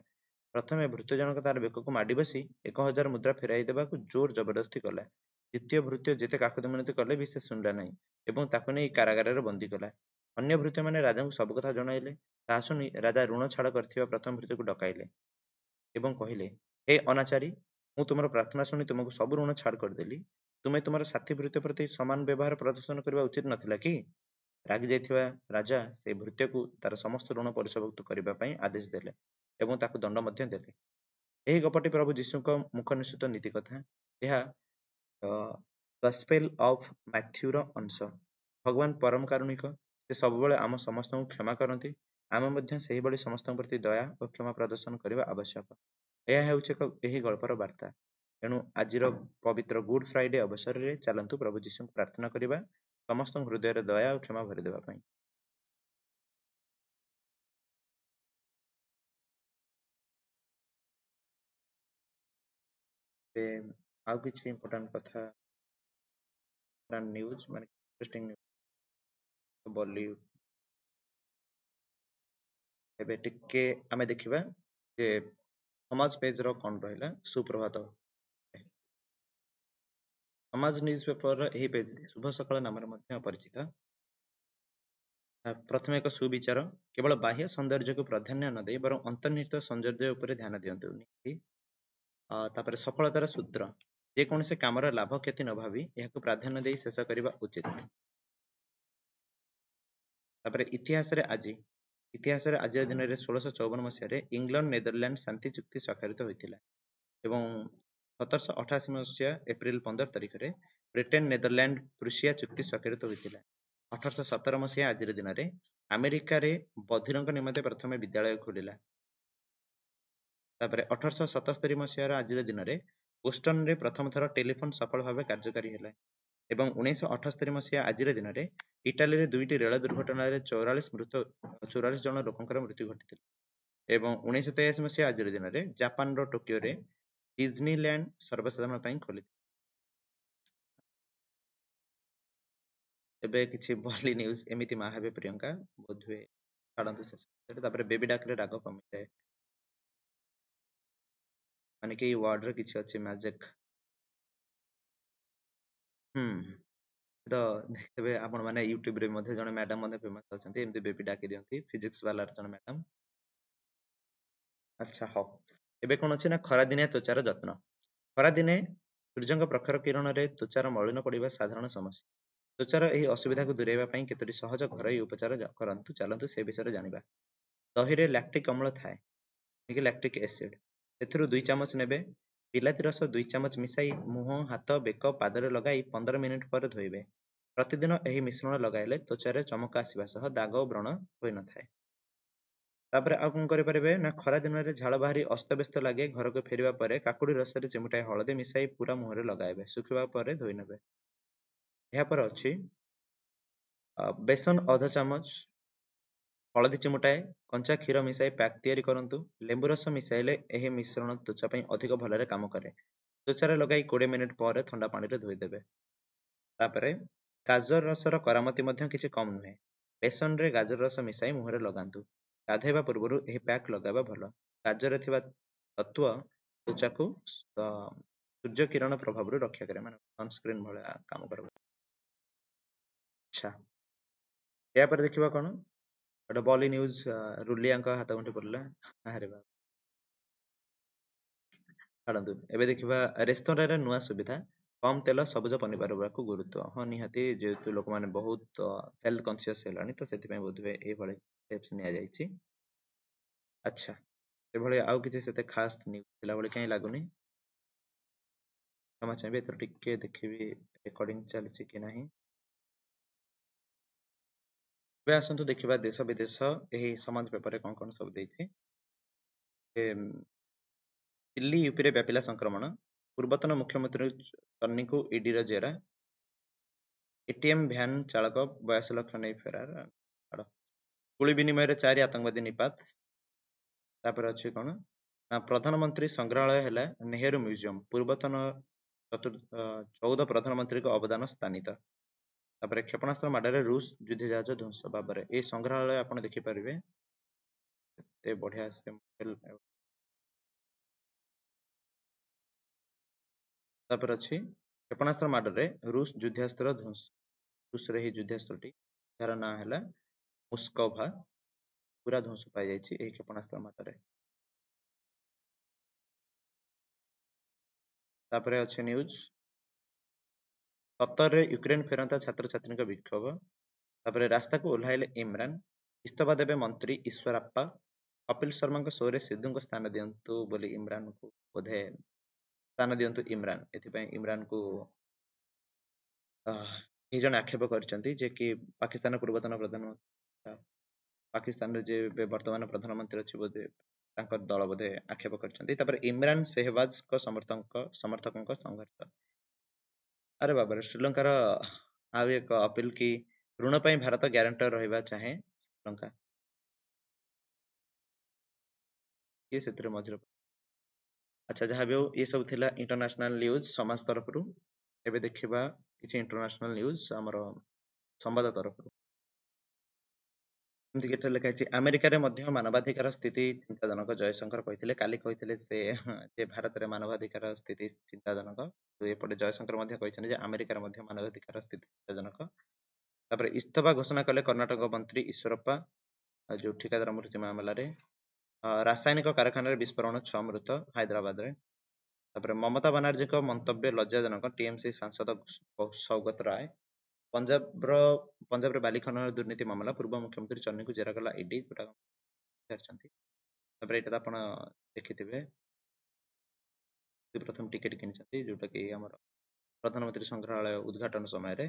[SPEAKER 1] ପ୍ରଥମେ ଭୃତ୍ୟ ଜଣକ ତାର ବେକକୁ ମାଡ଼ି ବସି ଏକ ହଜାର ମୁଦ୍ରା ଫେରାଇ ଦେବାକୁ ଜୋର ଜବରଦସ୍ତି କଲା। ଦ୍ୱିତୀୟ ଭୃତ୍ୟ ଯେତେ କାକୁତି ମିନତି କଲେ ବି ସେ ଶୁଣିଲା ନାହିଁ ଏବଂ ତାକୁ ନେଇ କାରାଗାରରେ ବନ୍ଦୀ କଲା। ଅନ୍ୟ ଭୃତ୍ୟମାନେ ରାଜାଙ୍କୁ ସବୁ କଥା ଜଣାଇଲେ। ତାହା ଶୁଣି ରାଜା ଋଣ ଛାଡ଼ କରିଥିବା ପ୍ରଥମ ଭୃତ୍ୟକୁ ଡକାଇଲେ ଏବଂ କହିଲେ, ହେ ଅନାଚାରୀ, ମୁଁ ତୁମର ପ୍ରାର୍ଥନା ଶୁଣି ତୁମକୁ ସବୁ ଋଣ ଛାଡ଼ କରିଦେଲି। ତୁମେ ତୁମର ସାଥୀ ଭୃତ୍ୟ ପ୍ରତି ସମାନ ବ୍ୟବହାର ପ୍ରଦର୍ଶନ କରିବା ଉଚିତ ନଥିଲା କି? ରାଗି ଯାଇଥିବା ରାଜା ସେଇ ଭୃତ୍ୟକୁ ତାର ସମସ୍ତ ଋଣ ପରିଶୋଧ କରିବା ପାଇଁ ଆଦେଶ ଦେଲେ ଏବଂ ତାକୁ ଦଣ୍ଡ ମଧ୍ୟ ଦେଲେ। ଏହି ଗପଟି ପ୍ରଭୁ ଯୀଶୁଙ୍କ ମୁଖ ନିଃସୃତ ନୀତି କଥା। ଏହା ଗସ୍ପେଲ ଅଫ୍ ମାଥ୍ୟୁର ଅଂଶ। ଭଗବାନ ପରମ କାରୁଣିକ। ସେ ସବୁବେଳେ ଆମ ସମସ୍ତଙ୍କୁ କ୍ଷମା କରନ୍ତି। ଆମେ ମଧ୍ୟ ସେହିଭଳି ସମସ୍ତଙ୍କ ପ୍ରତି ଦୟା ଓ କ୍ଷମା ପ୍ରଦର୍ଶନ କରିବା ଆବଶ୍ୟକ। ଏହା ହେଉଛି ଏକ ଏହି ଗଳ୍ପର ବାର୍ତ୍ତା। ତେଣୁ ଆଜିର ପବିତ୍ର ଗୁଡ୍ ଫ୍ରାଇଡେ ଅବସରରେ ଚାଲନ୍ତୁ ପ୍ରଭୁ ଯୀଶୁଙ୍କୁ ପ୍ରାର୍ଥନା କରିବା ସମସ୍ତଙ୍କ ହୃଦୟରେ ଦୟା ଓ କ୍ଷମା ଭରିଦେବା ପାଇଁ। ଆଉ କିଛି ଇମ୍ପୋର୍ଟାଣ୍ଟ କଥା, ନ୍ୟୁଜ୍ ମାନେ ଇଣ୍ଟରେଷ୍ଟିଂ ନ୍ୟୁଜ୍ ବଲିଉଡ। ଏବେ ଟିକେ ଆମେ ଦେଖିବା ଯେ ସମାଜ ପେଜର କଣ ରହିଲା। ସୁପ୍ରଭାତ ସମାଜ ନ୍ୟୁଜ୍ ପେପରର ଏହି ପେଜ ଶୁଭ ସକାଳ ନାମରେ ମଧ୍ୟ ପରିଚିତ। ପ୍ରଥମେ ଏକ ସୁବିଚାର, କେବଳ ବାହ୍ୟ ସୌନ୍ଦର୍ଯ୍ୟକୁ ପ୍ରାଧାନ୍ୟ ନ ଦେଇ ବରଂ ଅନ୍ତର୍ନିହିତ ସୌନ୍ଦର୍ଯ୍ୟ ଉପରେ ଧ୍ୟାନ ଦିଅନ୍ତୁ। ତାପରେ ସଫଳତାର ସୂତ୍ର, ଯେକୌଣସି କାମର ଲାଭ କ୍ଷତି ନ ଭାବି ଏହାକୁ ପ୍ରାଧାନ୍ୟ ଦେଇ ଶେଷ କରିବା ଉଚିତ। ତାପରେ ଇତିହାସରେ ଆଜି, ଇତିହାସରେ ଆଜିର ଦିନରେ ଷୋଳଶହ ଚଉବନ ମସିହାରେ ଇଂଲଣ୍ଡ ନେଦରଲ୍ୟାଣ୍ଡ ଶାନ୍ତି ଚୁକ୍ତି ସ୍ୱାକ୍ଷରିତ ହୋଇଥିଲା ଏବଂ ସତରଶହ ଅଠାଅଶୀ ମସିହା ଏପ୍ରିଲ ପନ୍ଦର ତାରିଖରେ ବ୍ରିଟେନ ନେଦରଲ୍ୟାଣ୍ଡ ପ୍ରୁସିଆ ଚୁକ୍ତି ସ୍ୱାକ୍ଷରିତ ହୋଇଥିଲା। ଅଠରଶହ ସତର ମସିହା ଆଜିର ଦିନରେ ଆମେରିକାରେ ବଧିରଙ୍କ ନିମନ୍ତେ ପ୍ରଥମେ ବିଦ୍ୟାଳୟ ଖୋଲିଲା। ତାପରେ ଅଠରଶହ ସତସ୍ତରୀ ମସିହାର ଆଜିର ଦିନରେ ବୋଷ୍ଟନରେ ପ୍ରଥମ ଥର ଟେଲିଫୋନ ସଫଳ ଭାବେ କାର୍ଯ୍ୟକାରୀ ହେଲା ଏବଂ ଉଣେଇଶହ ଅଠସ୍ତରୀ ମସିହା ଆଜିର ଦିନରେ ଇଟାଲୀରେ ଦୁଇଟି ରେଳ ଦୁର୍ଘଟଣାରେ ଚଉରାଳିଶ ମୃତ ଚଉରାଳିଶ ଜଣ ଲୋକଙ୍କର ମୃତ୍ୟୁ ଘଟିଥିଲା ଏବଂ ଉଣେଇଶହ ତେୟାଅଶୀ ମସିହା ଆଜିର ଦିନରେ ଜାପାନର ଟୋକିଓରେ ଡିଜନିଲ୍ୟାଣ୍ଡ ସର୍ବସାଧାରଣ ପାଇଁ ଖୋଲିଥିଲା। ଏବେ କିଛି ବଲି ନ୍ୟୁଜ୍, ଏମିତି ମା ହେବେ ପ୍ରିୟଙ୍କା ବୋଧହୁଏ, ଛାଡ଼ନ୍ତୁ ଶେଷ। ତାପରେ ବେବି ଡାକରେ ରାଗ କମିଯାଏ, ମାନେ କି ୱାର୍ଡରେ କିଛି ଅଛି ମ୍ୟାଜିକ। ହୁଁ, ତ ଦେଖିଥିବେ ଆପଣମାନେ ୟୁଟ୍ୟୁବରେ ମଧ୍ୟ ଜଣେ ମ୍ୟାଡାମ ମଧ୍ୟ ଫେମସ ଅଛନ୍ତି, ଏମିତି ବେବି ଡାକି ଦିଅନ୍ତି, ଫିଜିକ୍ସ ବାଲାର ଜଣେ ମ୍ୟାଡାମ। ଆଚ୍ଛା ହଉ, ଏବେ କଣ ଅଛି ନା ଖରାଦିନିଆ ତ୍ୱଚାର ଯତ୍ନ। ଖରାଦିନେ ସୂର୍ଯ୍ୟଙ୍କ ପ୍ରଖର କିରଣରେ ତ୍ୱଚାର ମଳିନ ପଡ଼ିବା ସାଧାରଣ ସମସ୍ୟା। ତ୍ୱଚାର ଏହି ଅସୁବିଧାକୁ ଦୂରେଇବା ପାଇଁ କେତୋଟି ସହଜ ଘରୋଇ ଉପଚାର କରନ୍ତୁ। ଚାଲନ୍ତୁ ସେ ବିଷୟରେ ଜାଣିବା। ଦହିରେ ଲାକ୍ଟିକ ଅମ୍ଳ ଥାଏ, ଲାକ୍ଟିକ ଏସିଡ। ସେଥିରୁ ଦୁଇ ଚାମଚ ନେବେ। ବିଲାତି ରସ ଦୁଇ ଚାମଚ ମିଶାଇ ମୁହଁ, ହାତ, ବେକ, ପାଦରେ ଲଗାଇ ପନ୍ଦର ମିନିଟ ପରେ ଧୋଇବେ। ପ୍ରତିଦିନ ଏହି ମିଶ୍ରଣ ଲଗାଇଲେ ତ୍ୱଚାରେ ଚମକ ଆସିବା ସହ ଦାଗ ଓ ବ୍ରଣ ହୋଇନଥାଏ। ତାପରେ ଆଉ କଣ କରିପାରିବେ ନା ଖରା ଦିନରେ ଝାଳ ବାହାରି ଅସ୍ତବ୍ୟସ୍ତ ଲାଗେ। ଘରକୁ ଫେରିବା ପରେ କାକୁଡି ରସରେ ଚିମୁଟାଏ ହଳଦୀ ମିଶାଇ ପୁରା ମୁହଁରେ ଲଗାଇବେ। ଶୁଖିବା ପରେ ଧୋଇ ନେବେ। ଏହାପରେ ଅଛି ବେସନ ଅଧ ଚାମଚ, ହଳଦୀ ଚିମୁଟାଏ, କଞ୍ଚା କ୍ଷୀର ମିଶାଇ ପ୍ୟାକ୍ ତିଆରି କରନ୍ତୁ। ଲେମ୍ବୁ ରସ ମିଶାଇଲେ ଏହି ମିଶ୍ରଣ ତ୍ୱଚା ପାଇଁ ଅଧିକ ଭଲରେ କାମ କରେ। ତ୍ୱଚାରେ ଲଗାଇ କୋଡ଼ିଏ ମିନିଟ୍ ପରେ ଥଣ୍ଡା ପାଣିରେ ଧୋଇଦେବେ। ତାପରେ ଗାଜର ରସର କରାମତି ମଧ୍ୟ କିଛି କମ୍ ନୁହେଁ। ବେସନରେ ଗାଜର ରସ ମିଶାଇ ମୁହଁରେ ଲଗାନ୍ତୁ। ଗାଧୋଇବା ପୂର୍ବରୁ ଏହି ପ୍ୟାକ୍ ଲଗାଇବା ଭଲ। ଗାଜରରେ ଥିବା ତତ୍ତ୍ୱ ତ୍ୱଚାକୁ ସୂର୍ଯ୍ୟ କିରଣ ପ୍ରଭାବରୁ ରକ୍ଷା କରେ, ମାନେ ସନସ୍କ୍ରିନ୍ ଭଳିଆ କାମ କରେ। ଆଚ୍ଛା, ଏହାପରେ ଦେଖିବା କଣ ଗୋଟେ ବଲି ନ୍ୟୁଜ, ରୁଲିଆଙ୍କ ହାତ ଗଣ୍ଠି ପଡିଲା। ଆରେ ବାବା, ଛାଡ଼ନ୍ତୁ। ଏବେ ଦେଖିବା ରେସ୍ତୋରାଁରେ ନୂଆ ସୁବିଧା, କମ ତେଲ, ସବୁଜ ପନିପରିବାକୁ ଗୁରୁତ୍ୱ। ହଁ ନିହାତି, ଯେହେତୁ ଲୋକମାନେ ବହୁତ ହେଲ୍ଥ କନସିୟସ୍ ହେଲାଣି, ତ ସେଥିପାଇଁ ବୋଧହୁଏ ଏଇଭଳି ଷ୍ଟେପ୍ସ ନିଆଯାଇଛି। ଆଚ୍ଛା, ସେଭଳି ଆଉ କିଛି ସେତେ ଖାସ୍ ନ୍ୟୁଜ୍ ଥିଲା ଭଳି କାହିଁ ଲାଗୁନି। କ୍ଷମା ଚାହିଁବି, ଏଥର ଟିକେ ଦେଖିବି ରେକର୍ଡିଂ ଚାଲିଛି କି ନାହିଁ। ଏବେ ଆସନ୍ତୁ ଦେଖିବା ଦେଶ ବିଦେଶ ଏହି ସମାଜ ପେପରରେ କଣ କଣ ସବୁ ଦେଇଛି। ଦିଲ୍ଲୀ ୟୁପିରେ ବ୍ୟାପିଲା ସଂକ୍ରମଣ, ପୂର୍ବତନ ମୁଖ୍ୟମନ୍ତ୍ରୀ ଚନ୍ନିଙ୍କୁ ଇଡିର ଜେରା, ଏଟିଏମ୍ ଭ୍ୟାନ୍ ଚାଳକ ବୟାଅଶୀ ଲକ୍ଷ ନେଇ ଫେରାର, ଗୁଳି ବିନିମୟରେ ଚାରି ଆତଙ୍କବାଦୀ ନିପାତ। ତାପରେ ଅଛି କଣ ନା ପ୍ରଧାନମନ୍ତ୍ରୀ ସଂଗ୍ରହାଳୟ ହେଲା ନେହେରୁ ମ୍ୟୁଜିୟମ, ପୂର୍ବତନ ଚଉଦ ପ୍ରଧାନମନ୍ତ୍ରୀଙ୍କ ଅବଦାନ ସ୍ଥାନିତ। ତାପରେ କ୍ଷେପଣାସ୍ତ୍ର ମାଡ଼ରେ ରୁଷ ଯୁଦ୍ଧ ଜାହାଜ ଧ୍ୱଂସ। ଭାବରେ ଏଇ ସଂଗ୍ରହାଳୟ ଆପଣ ଦେଖିପାରିବେ, ଏତେ ବଢିଆ ସେ ମଡେଲ। ତାପରେ ଅଛି କ୍ଷେପଣାସ୍ତ୍ର ମାଡ଼ରେ ରୁଷ ଯୁଦ୍ଧାସ୍ତ୍ର ଧ୍ୱଂସ, ରୁଷର ଏହି ଯୁଦ୍ଧାସ୍ତ୍ରଟି ଯାହାର ନାଁ ହେଲା ମୁସ୍କୋଭା, ପୁରା ଧ୍ୱଂସ ପାଇଯାଇଛି ଏହି କ୍ଷେପଣାସ୍ତ୍ର ମାଡ଼ରେ। ତାପରେ ଅଛି ନ୍ୟୁଜ ସତରରେ ୟୁକ୍ରେନ ଫେରନ୍ତା ଛାତ୍ରଛାତ୍ରୀଙ୍କ ବିକ୍ଷୋଭ। ତାପରେ ରାସ୍ତାକୁ ଓହ୍ଲାଇଲେ ଇମ୍ରାନ, ଇସ୍ତଫା ଦେବେ ମନ୍ତ୍ରୀ ଈଶ୍ୱରାପ୍ପା, କପିଲ ଶର୍ମାଙ୍କ ଶୋରେ ସିଦ୍ଧୁଙ୍କ ସ୍ଥାନ ଦିଅନ୍ତୁ ବୋଲି ଇମ୍ରାନକୁ ବୋଧେ ସ୍ଥାନ ଦିଅନ୍ତୁ ଇମ୍ରାନ, ଏଥିପାଇଁ ଇମ୍ରାନକୁ କେହି ଜଣେ ଆକ୍ଷେପ କରିଛନ୍ତି ଯେ କି ପାକିସ୍ତାନ ପୂର୍ବତନ ପ୍ରଧାନମନ୍ତ୍ରୀ, ପାକିସ୍ତାନରେ ଯେ ଏବେ ବର୍ତ୍ତମାନ ପ୍ରଧାନମନ୍ତ୍ରୀ ଅଛି ବୋଧେ ତାଙ୍କ ଦଳ ବୋଧେ ଆକ୍ଷେପ କରିଛନ୍ତି। ତାପରେ ଇମ୍ରାନ ସେହବାଜଙ୍କ ସମର୍ଥକ ସମର୍ଥକଙ୍କ ସଂଘର୍ଷ। ଆରେ ବାବାରେ, ଶ୍ରୀଲଙ୍କାର ଆଉ ଏକ ଅପିଲ କି ଋଣ ପାଇଁ ଭାରତ ଗ୍ୟାରେଣ୍ଟର ରହିବା ଚାହେଁ ଶ୍ରୀଲଙ୍କା, କିଏ ସେଥିରେ ମଝିରେ। ଆଚ୍ଛା, ଯାହା ବି ହଉ ଏ ସବୁ ଥିଲା ଇଣ୍ଟରନ୍ୟାସନାଲ ନ୍ୟୁଜ ସମାଜ ତରଫରୁ। ଏବେ ଦେଖିବା କିଛି ଇଣ୍ଟରନ୍ୟାସନାଲ ନ୍ୟୁଜ ଆମର ସମ୍ବାଦ ତରଫରୁ। ଯେମିତିକି ଏଠାରେ ଲେଖା ହେଇଛି, ଆମେରିକାରେ ମଧ୍ୟ ମାନବାଧିକାର ସ୍ଥିତି ଚିନ୍ତାଜନକ, ଜୟଶଙ୍କର କହିଥିଲେ। କାଲି କହିଥିଲେ ସେ ଯେ ଭାରତରେ ମାନବାଧିକାର ସ୍ଥିତି ଚିନ୍ତାଜନକ, ତ ଏପଟେ ଜୟଶଙ୍କର ମଧ୍ୟ କହିଛନ୍ତି ଯେ ଆମେରିକାରେ ମଧ୍ୟ ମାନବାଧିକାର ସ୍ଥିତି ଚିନ୍ତାଜନକ। ତାପରେ ଇସ୍ତଫା ଘୋଷଣା କଲେ କର୍ଣ୍ଣାଟକ ମନ୍ତ୍ରୀ ଈଶ୍ୱରପ୍ପା, ଯୋଉ ଠିକାଦାର ମୃତ୍ୟୁ ମାମଲାରେ। ରାସାୟନିକ କାରଖାନାରେ ବିସ୍ଫୋରଣ, ଛଅ ମୃତ ହାଇଦ୍ରାବାଦରେ। ତାପରେ ମମତା ବାନାର୍ଜୀଙ୍କ ମନ୍ତବ୍ୟ ଲଜ୍ଜାଜନକ, ଟିଏମସି ସାଂସଦ ସୌଗତ ରାୟ। ପଞ୍ଜାବର ପଞ୍ଜାବରେ ବାଲି ଖନନ ଦୁର୍ନୀତି ମାମଲା, ପୂର୍ବ ମୁଖ୍ୟମନ୍ତ୍ରୀ ଚନ୍ନିଙ୍କୁ ଜେରା କଲା ଇଡି, ଯୋଉଟା ପଚାରିଛନ୍ତି। ତାପରେ ଏଇଟା ତ ଆପଣ ଦେଖିଥିବେ, ପ୍ରଥମ ଟିକେଟ କିଣିଛନ୍ତି ଯୋଉଟା କି ଆମର ପ୍ରଧାନମନ୍ତ୍ରୀ ସଂଗ୍ରହାଳୟ ଉଦ୍ଘାଟନ ସମୟରେ।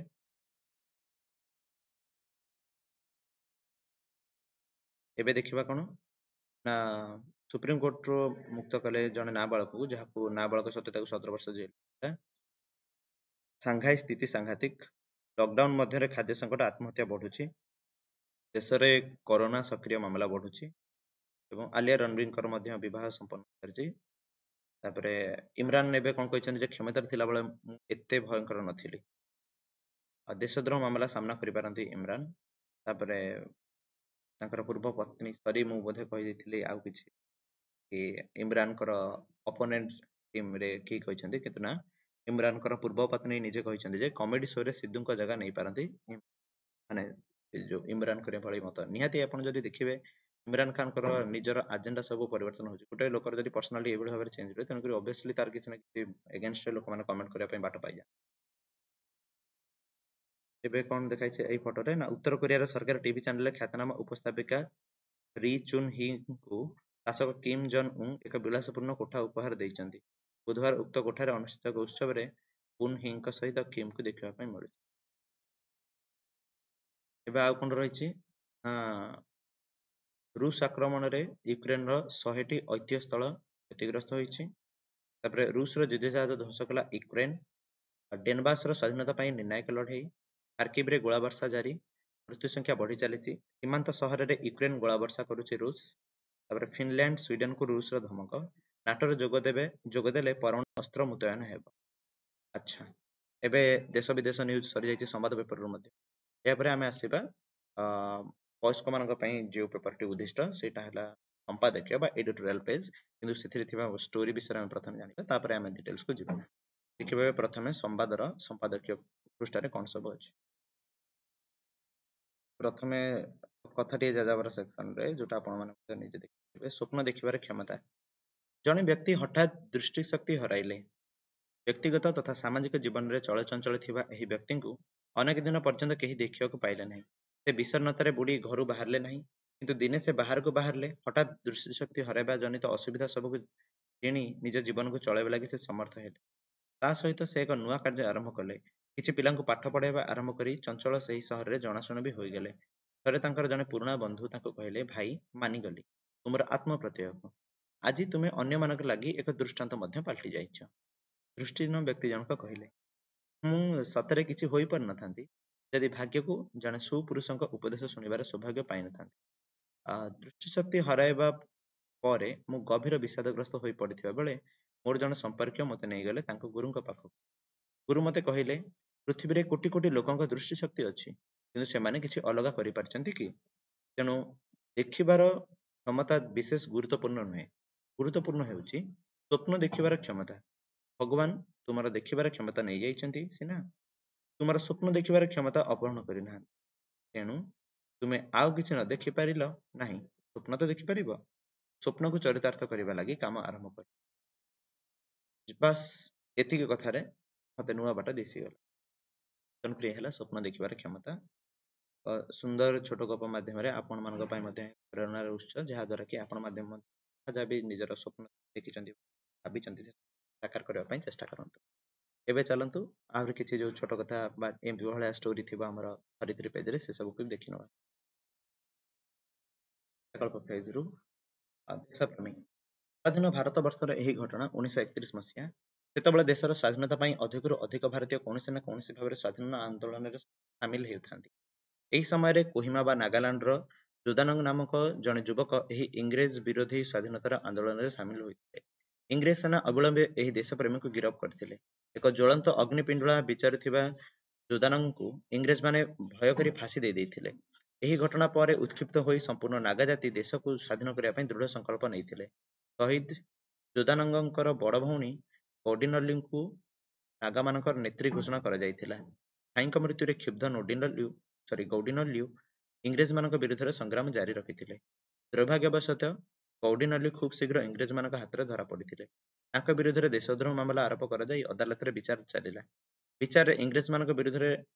[SPEAKER 1] ଏବେ ଦେଖିବା କଣ ନା ସୁପ୍ରିମକୋର୍ଟରୁ ମୁକ୍ତ କଲେ ଜଣେ ନାବାଳକକୁ, ଯାହାକୁ ନାବାଳକ ସତ୍ତ୍ୱେ ତାକୁ ସତର ବର୍ଷ ଜେଲ। ସାଂଘାଇ ସ୍ଥିତି ସାଂଘାତିକ, ଲକଡାଉନ ମଧ୍ୟରେ ଖାଦ୍ୟ ସଙ୍କଟ, ଆତ୍ମହତ୍ୟା ବଢୁଛି, ଦେଶରେ କରୋନା ସକ୍ରିୟ ମାମଲା ବଢୁଛି, ଏବଂ ଆଲିଆ ରଣବୀରଙ୍କର ମଧ୍ୟ ବିବାହ ସମ୍ପନ୍ନ କରିଛି। ତାପରେ ଇମ୍ରାନ ଏବେ କଣ କହିଛନ୍ତି ଯେ କ୍ଷମତାରେ ଥିଲାବେଳେ ମୁଁ ଏତେ ଭୟଙ୍କର ନଥିଲି। ଆଉ ଦେଶଦ୍ରୋହ ମାମଲା ସାମ୍ନା କରିପାରନ୍ତି ଇମ୍ରାନ। ତାପରେ ତାଙ୍କର ପୂର୍ବ ପତ୍ନୀ, ସରି ମୁଁ ବୋଧେ କହିଦେଇଥିଲି ଆଉ କିଛି କି ଇମ୍ରାନଙ୍କର ଅପୋନେଣ୍ଟ ଟିମରେ କିଏ କହିଛନ୍ତି, କିନ୍ତୁ ନା, ଇମ୍ରାନଙ୍କର ପୂର୍ବ ପତ୍ନୀ ନିଜେ କହିଛନ୍ତି ଯେ କମେଡି ଶୋରେ ସିଦ୍ଧୁଙ୍କ ଜାଗା ନେଇପାରନ୍ତି, ମାନେ ଯୋଉ ଇମ୍ରାନଙ୍କର ଭଳି ମତ। ନିହାତି ଆପଣ ଯଦି ଦେଖିବେ ଇମ୍ରାନ ଖାନଙ୍କର ନିଜର ଆଜେଣ୍ଡା ସବୁ ପରିବର୍ତ୍ତନ ହଉଛି। ଗୋଟେ ଲୋକର ଯଦି ପର୍ସନାଲିଟି ଏଇଭଳି ଭାବରେ ଚେଞ୍ଜ ହୁଏ, ତେଣୁକରି ଅବଭିୟସଲି ତାର କିଛି ନା କିଛି ଏଗେନଷ୍ଟରେ ଲୋକମାନେ କମେଣ୍ଟ କରିବା ପାଇଁ ବାଟ ପାଇଯାନ୍ତି। ଏବେ କଣ ଦେଖାଇଛି ଏଇ ଫଟୋରେ ନା ଉତ୍ତର କୋରିଆର ସରକାର ଟିଭି ଚ୍ୟାନେଲରେ ଖ୍ୟାତନାମା ଉପସ୍ଥାପିକା ରି ଚୁନ୍ ହିଙ୍କୁ ଶାସକ କିମ୍ ଜନ୍ ଉନ୍ ଏକ ବିଳାସପୂର୍ଣ୍ଣ କୋଠା ଉପହାର ଦେଇଛନ୍ତି। ବୁଧବାର ଉକ୍ତ କୋଠାରେ ଅନୁଷ୍ଠିତ ଏକ ଉତ୍ସବରେ କୁନ୍ ହିଙ୍କ ସହିତ କିମ୍କୁ ଦେଖିବା ପାଇଁ ମିଳୁଛି। ଏବେ ଆଉ କଣ ରହିଛି ନା ରୁଷ ଆକ୍ରମଣରେ ୟୁକ୍ରେନର ଶହେଟି ଐତିହ୍ୟ ସ୍ଥଳ କ୍ଷତିଗ୍ରସ୍ତ ହୋଇଛି। ତାପରେ ରୁଷର ଯୁଦ୍ଧଜାହାଜ ଧ୍ୱଂସ କଲା ୟୁକ୍ରେନ। ଡେନବାସର ସ୍ୱାଧୀନତା ପାଇଁ ନିର୍ଣ୍ଣାୟକ ଲଢେଇ। ଖାର୍କିଭରେ ଗୋଳାବର୍ଷା ଜାରି, ମୃତ୍ୟୁ ସଂଖ୍ୟା ବଢି ଚାଲିଛି। ସୀମାନ୍ତ ସହରରେ ୟୁକ୍ରେନ ଗୋଳାବର୍ଷା କରୁଛି ରୁଷ। ତାପରେ ଫିନଲ୍ୟାଣ୍ଡ ସ୍ୱିଡେନକୁ ରୁଷର ଧମକ, ନାଟୋରେ ଯୋଗ ଦେବେ ଯୋଗ ଦେଲେ ପରମାଣୁ ଅସ୍ତ୍ର ମୁତୟନ ହେବ। ଆଚ୍ଛା, ଏବେ ଦେଶ ବିଦେଶ ନ୍ୟୁଜ ସରିଯାଇଛି ସମ୍ବାଦ ପେପରରୁ ମଧ୍ୟ। ଏହାପରେ ଆମେ ଆସିବା ଅ ବୟସ୍କମାନଙ୍କ ପାଇଁ ଯେଉଁ ପେପରଟି ଉଦ୍ଦିଷ୍ଟ, ସେଇଟା ହେଲା ସମ୍ପାଦକୀୟ ବା ଏଡିଟୋରିଆଲ ପେଜ୍, କିନ୍ତୁ ସେଥିରେ ଥିବା ଷ୍ଟୋରି ବିଷୟରେ ଆମେ ପ୍ରଥମେ ଜାଣିବା, ତାପରେ ଆମେ ଡିଟେଲ୍ସକୁ ଯିବା। ଦେଖିବା ପ୍ରଥମେ ସମ୍ବାଦର ସମ୍ପାଦକୀୟ ପୃଷ୍ଠାରେ କ'ଣ ସବୁ ଅଛି। ପ୍ରଥମେ କଥାଟିଏ ଯାଯାବର ସେକ୍ସନରେ, ଯୋଉଟା ଆପଣମାନେ ମଧ୍ୟ ନିଜେ ଦେଖିଥିବେ, ସ୍ୱପ୍ନ ଦେଖିବାର କ୍ଷମତା। ଜଣେ ବ୍ୟକ୍ତି ହଠାତ୍ ଦୃଷ୍ଟିଶକ୍ତି ହରାଇଲେ। ବ୍ୟକ୍ତିଗତ ତଥା ସାମାଜିକ ଜୀବନରେ ଚଳଚଞ୍ଚଳ ଥିବା ଏହି ବ୍ୟକ୍ତିଙ୍କୁ ଅନେକ ଦିନ ପର୍ଯ୍ୟନ୍ତ କେହି ଦେଖିବାକୁ ପାଇଲେ ନାହିଁ। ସେ ବିଷଣ୍ଣତାରେ ବୁଡ଼ି ଘରୁ ବାହାରିଲେ ନାହିଁ। କିନ୍ତୁ ଦିନେ ସେ ବାହାରକୁ ବାହାରିଲେ। ହଠାତ୍ ଦୃଷ୍ଟିଶକ୍ତି ହରାଇବା ଜନିତ ଅସୁବିଧା ସବୁକୁ ଜିଣି ନିଜ ଜୀବନକୁ ଚଳାଇବା ଲାଗି ସେ ସମର୍ଥ ହେଲେ। ତା ସହିତ ସେ ଏକ ନୂଆ କାର୍ଯ୍ୟ ଆରମ୍ଭ କଲେ। କିଛି ପିଲାଙ୍କୁ ପାଠ ପଢ଼ାଇବା ଆରମ୍ଭ କରି ଚଞ୍ଚଳ ସେହି ସହରରେ ଜଣାଶୁଣା ବି ହୋଇଗଲେ। ଥରେ ତାଙ୍କର ଜଣେ ପୁରୁଣା ବନ୍ଧୁ ତାଙ୍କୁ କହିଲେ, ଭାଇ, ମାନିଗଲି ତୁମର ଆତ୍ମପ୍ରତ୍ୟୟକୁ। ଆଜି ତୁମେ ଅନ୍ୟମାନଙ୍କ ଲାଗି ଏକ ଦୃଷ୍ଟାନ୍ତ ମଧ୍ୟ ପାଲଟି ଯାଇଛ। ଦୃଷ୍ଟିହୀନ ବ୍ୟକ୍ତି ଜଣକ କହିଲେ, ମୁଁ ସତରେ କିଛି ହୋଇପାରିନଥାନ୍ତି ଯଦି ଭାଗ୍ୟକୁ ଜଣେ ସୁପୁରୁଷଙ୍କ ଉପଦେଶ ଶୁଣିବାର ସୌଭାଗ୍ୟ ପାଇନଥାନ୍ତି। ଦୃଷ୍ଟିଶକ୍ତି ହରାଇବା ପରେ ମୁଁ ଗଭୀର ବିଷାଦଗ୍ରସ୍ତ ହୋଇ ପଡ଼ିଥିବା ବେଳେ ମୋର ଜଣେ ସମ୍ପର୍କୀୟ ମୋତେ ନେଇଗଲେ ତାଙ୍କ ଗୁରୁଙ୍କ ପାଖକୁ। ଗୁରୁ ମୋତେ କହିଲେ, ପୃଥିବୀରେ କୋଟି କୋଟି ଲୋକଙ୍କ ଦୃଷ୍ଟିଶକ୍ତି ଅଛି, କିନ୍ତୁ ସେମାନେ କିଛି ଅଲଗା କରିପାରିଛନ୍ତି କି? ତେଣୁ ଦେଖିବାର କ୍ଷମତା ବିଶେଷ ଗୁରୁତ୍ୱପୂର୍ଣ୍ଣ ନୁହେଁ। ଗୁରୁତ୍ୱପୂର୍ଣ୍ଣ ହେଉଛି ସ୍ୱପ୍ନ ଦେଖିବାର କ୍ଷମତା। ଭଗବାନ ତୁମର ଦେଖିବାର କ୍ଷମତା ନେଇଯାଇଛନ୍ତି ସିନା, ତୁମର ସ୍ୱପ୍ନ ଦେଖିବାର କ୍ଷମତା ଅପହରଣ କରିନାହାନ୍ତି। ତେଣୁ ତୁମେ ଆଉ କିଛି ନ ଦେଖିପାରିଲ ନାହିଁ, ସ୍ୱପ୍ନ ତ ଦେଖିପାରିବ। ସ୍ୱପ୍ନକୁ ଚରିତାର୍ଥ କରିବା ଲାଗି କାମ ଆରମ୍ଭ କର। ବାସ୍, ଏତିକି କଥାରେ ମତେ ନୂଆ ବାଟ ଦିଶିଗଲା। ତେଣୁକରି ହେଲା ସ୍ୱପ୍ନ ଦେଖିବାର କ୍ଷମତା। ସୁନ୍ଦର ଛୋଟ ଗପ ମାଧ୍ୟମରେ ଆପଣମାନଙ୍କ ପାଇଁ ମଧ୍ୟ ପ୍ରେରଣାର ଉତ୍ସ, ଯାହାଦ୍ୱାରା କି ଆପଣ ମାଧ୍ୟମ ଯାହା ବି ନିଜର ସ୍ୱପ୍ନ ଦେଖିଛନ୍ତି, ଭାବିଛନ୍ତି, ସାକାର କରିବା ପାଇଁ ଚେଷ୍ଟା କରନ୍ତୁ। ଏବେ ଚାଲନ୍ତୁ ଆହୁରି କିଛି ଯୋଉ ଛୋଟ କଥା ବା ଏମିତି ଭଳିଆ ଷ୍ଟୋରି ଥିବ ଆମର ଧରିତ୍ରୀ ପେଜରେ, ସେ ସବୁକୁ ଦେଖିନେବା। ପ୍ରକଳ୍ପ ପେଜରୁ ଦେଶପ୍ରେମୀ। ସ୍ୱାଧୀନ ଭାରତ ବର୍ଷର ଏହି ଘଟଣା ଉଣେଇଶହ ଏକତିରିଶ ମସିହା। ସେତେବେଳେ ଦେଶର ସ୍ୱାଧୀନତା ପାଇଁ ଅଧିକରୁ ଅଧିକ ଭାରତୀୟ କୌଣସି ନା କୌଣସି ଭାବରେ ସ୍ୱାଧୀନ ଆନ୍ଦୋଳନରେ ସାମିଲ ହେଉଥାନ୍ତି। ଏହି ସମୟରେ କୋହିମା ବା ନାଗାଲାଣ୍ଡର ଯୋଦାନଙ୍ଗ ନାମକ ଜଣେ ଯୁବକ ଏହି ଇଂରେଜ ବିରୋଧୀ ସ୍ୱାଧୀନତାର ଆନ୍ଦୋଳନରେ ସାମିଲ ହୋଇଥିଲେ। ଇଂରେଜ ସେନା ଅବିଳମ୍ବେ ଏହି ଦେଶପ୍ରେମୀଙ୍କୁ ଗିରଫ କରିଥିଲେ। ଏକ ଜ୍ୱଳନ୍ତ ଅଗ୍ନିପିଣ୍ଡୁଳା ବିଚାରୁଥିବା ଯୋଦାନଙ୍ଗଙ୍କୁ ଇଂରେଜମାନେ ଭୟ କରି ଫାଶୀ ଦେଇ ଦେଇଥିଲେ। ଏହି ଘଟଣା ପରେ ଉତ୍କ୍ଷିପ୍ତ ହୋଇ ସମ୍ପୂର୍ଣ୍ଣ ନାଗା ଜାତି ଦେଶକୁ ସ୍ୱାଧୀନ କରିବା ପାଇଁ ଦୃଢ଼ ସଂକଳ୍ପ ନେଇଥିଲେ। ଶହୀଦ ଯୋଦାନଙ୍ଗଙ୍କର ବଡ଼ ଭଉଣୀ ଗୌଡିନଲ୍ଲୁଙ୍କୁ ନାଗାମାନଙ୍କର ନେତ୍ରୀ ଘୋଷଣା କରାଯାଇଥିଲା। ଭାଇଙ୍କ ମୃତ୍ୟୁରେ କ୍ଷୁବ୍ଧ ନୋଡିନଲ୍ଲୁ ସରି ଗୌଡିନଲ୍ଲୁ ଇଂରେଜମାନଙ୍କ ବିରୁଦ୍ଧରେ ସଂଗ୍ରାମ ଜାରି ରଖିଥିଲେ। ଦୁର୍ଭାଗ୍ୟବଶତଃ ଗୌଡିନଲ୍ଲୁ ଖୁବ୍ ଶୀଘ୍ର ଇଂରେଜମାନଙ୍କ ହାତରେ ଧରା ପଡ଼ିଥିଲେ। ତାଙ୍କ ବିରୁଦ୍ଧରେ ଦେଶଦ୍ରୋହ ମାମଲା ଆରୋପ କରାଯାଇ ଅଦାଲତରେ ବିଚାର ଚାଲିଲା। ବିଚାରରେ ଇଂରେଜମାନଙ୍କ ବିରୁଦ୍ଧରେ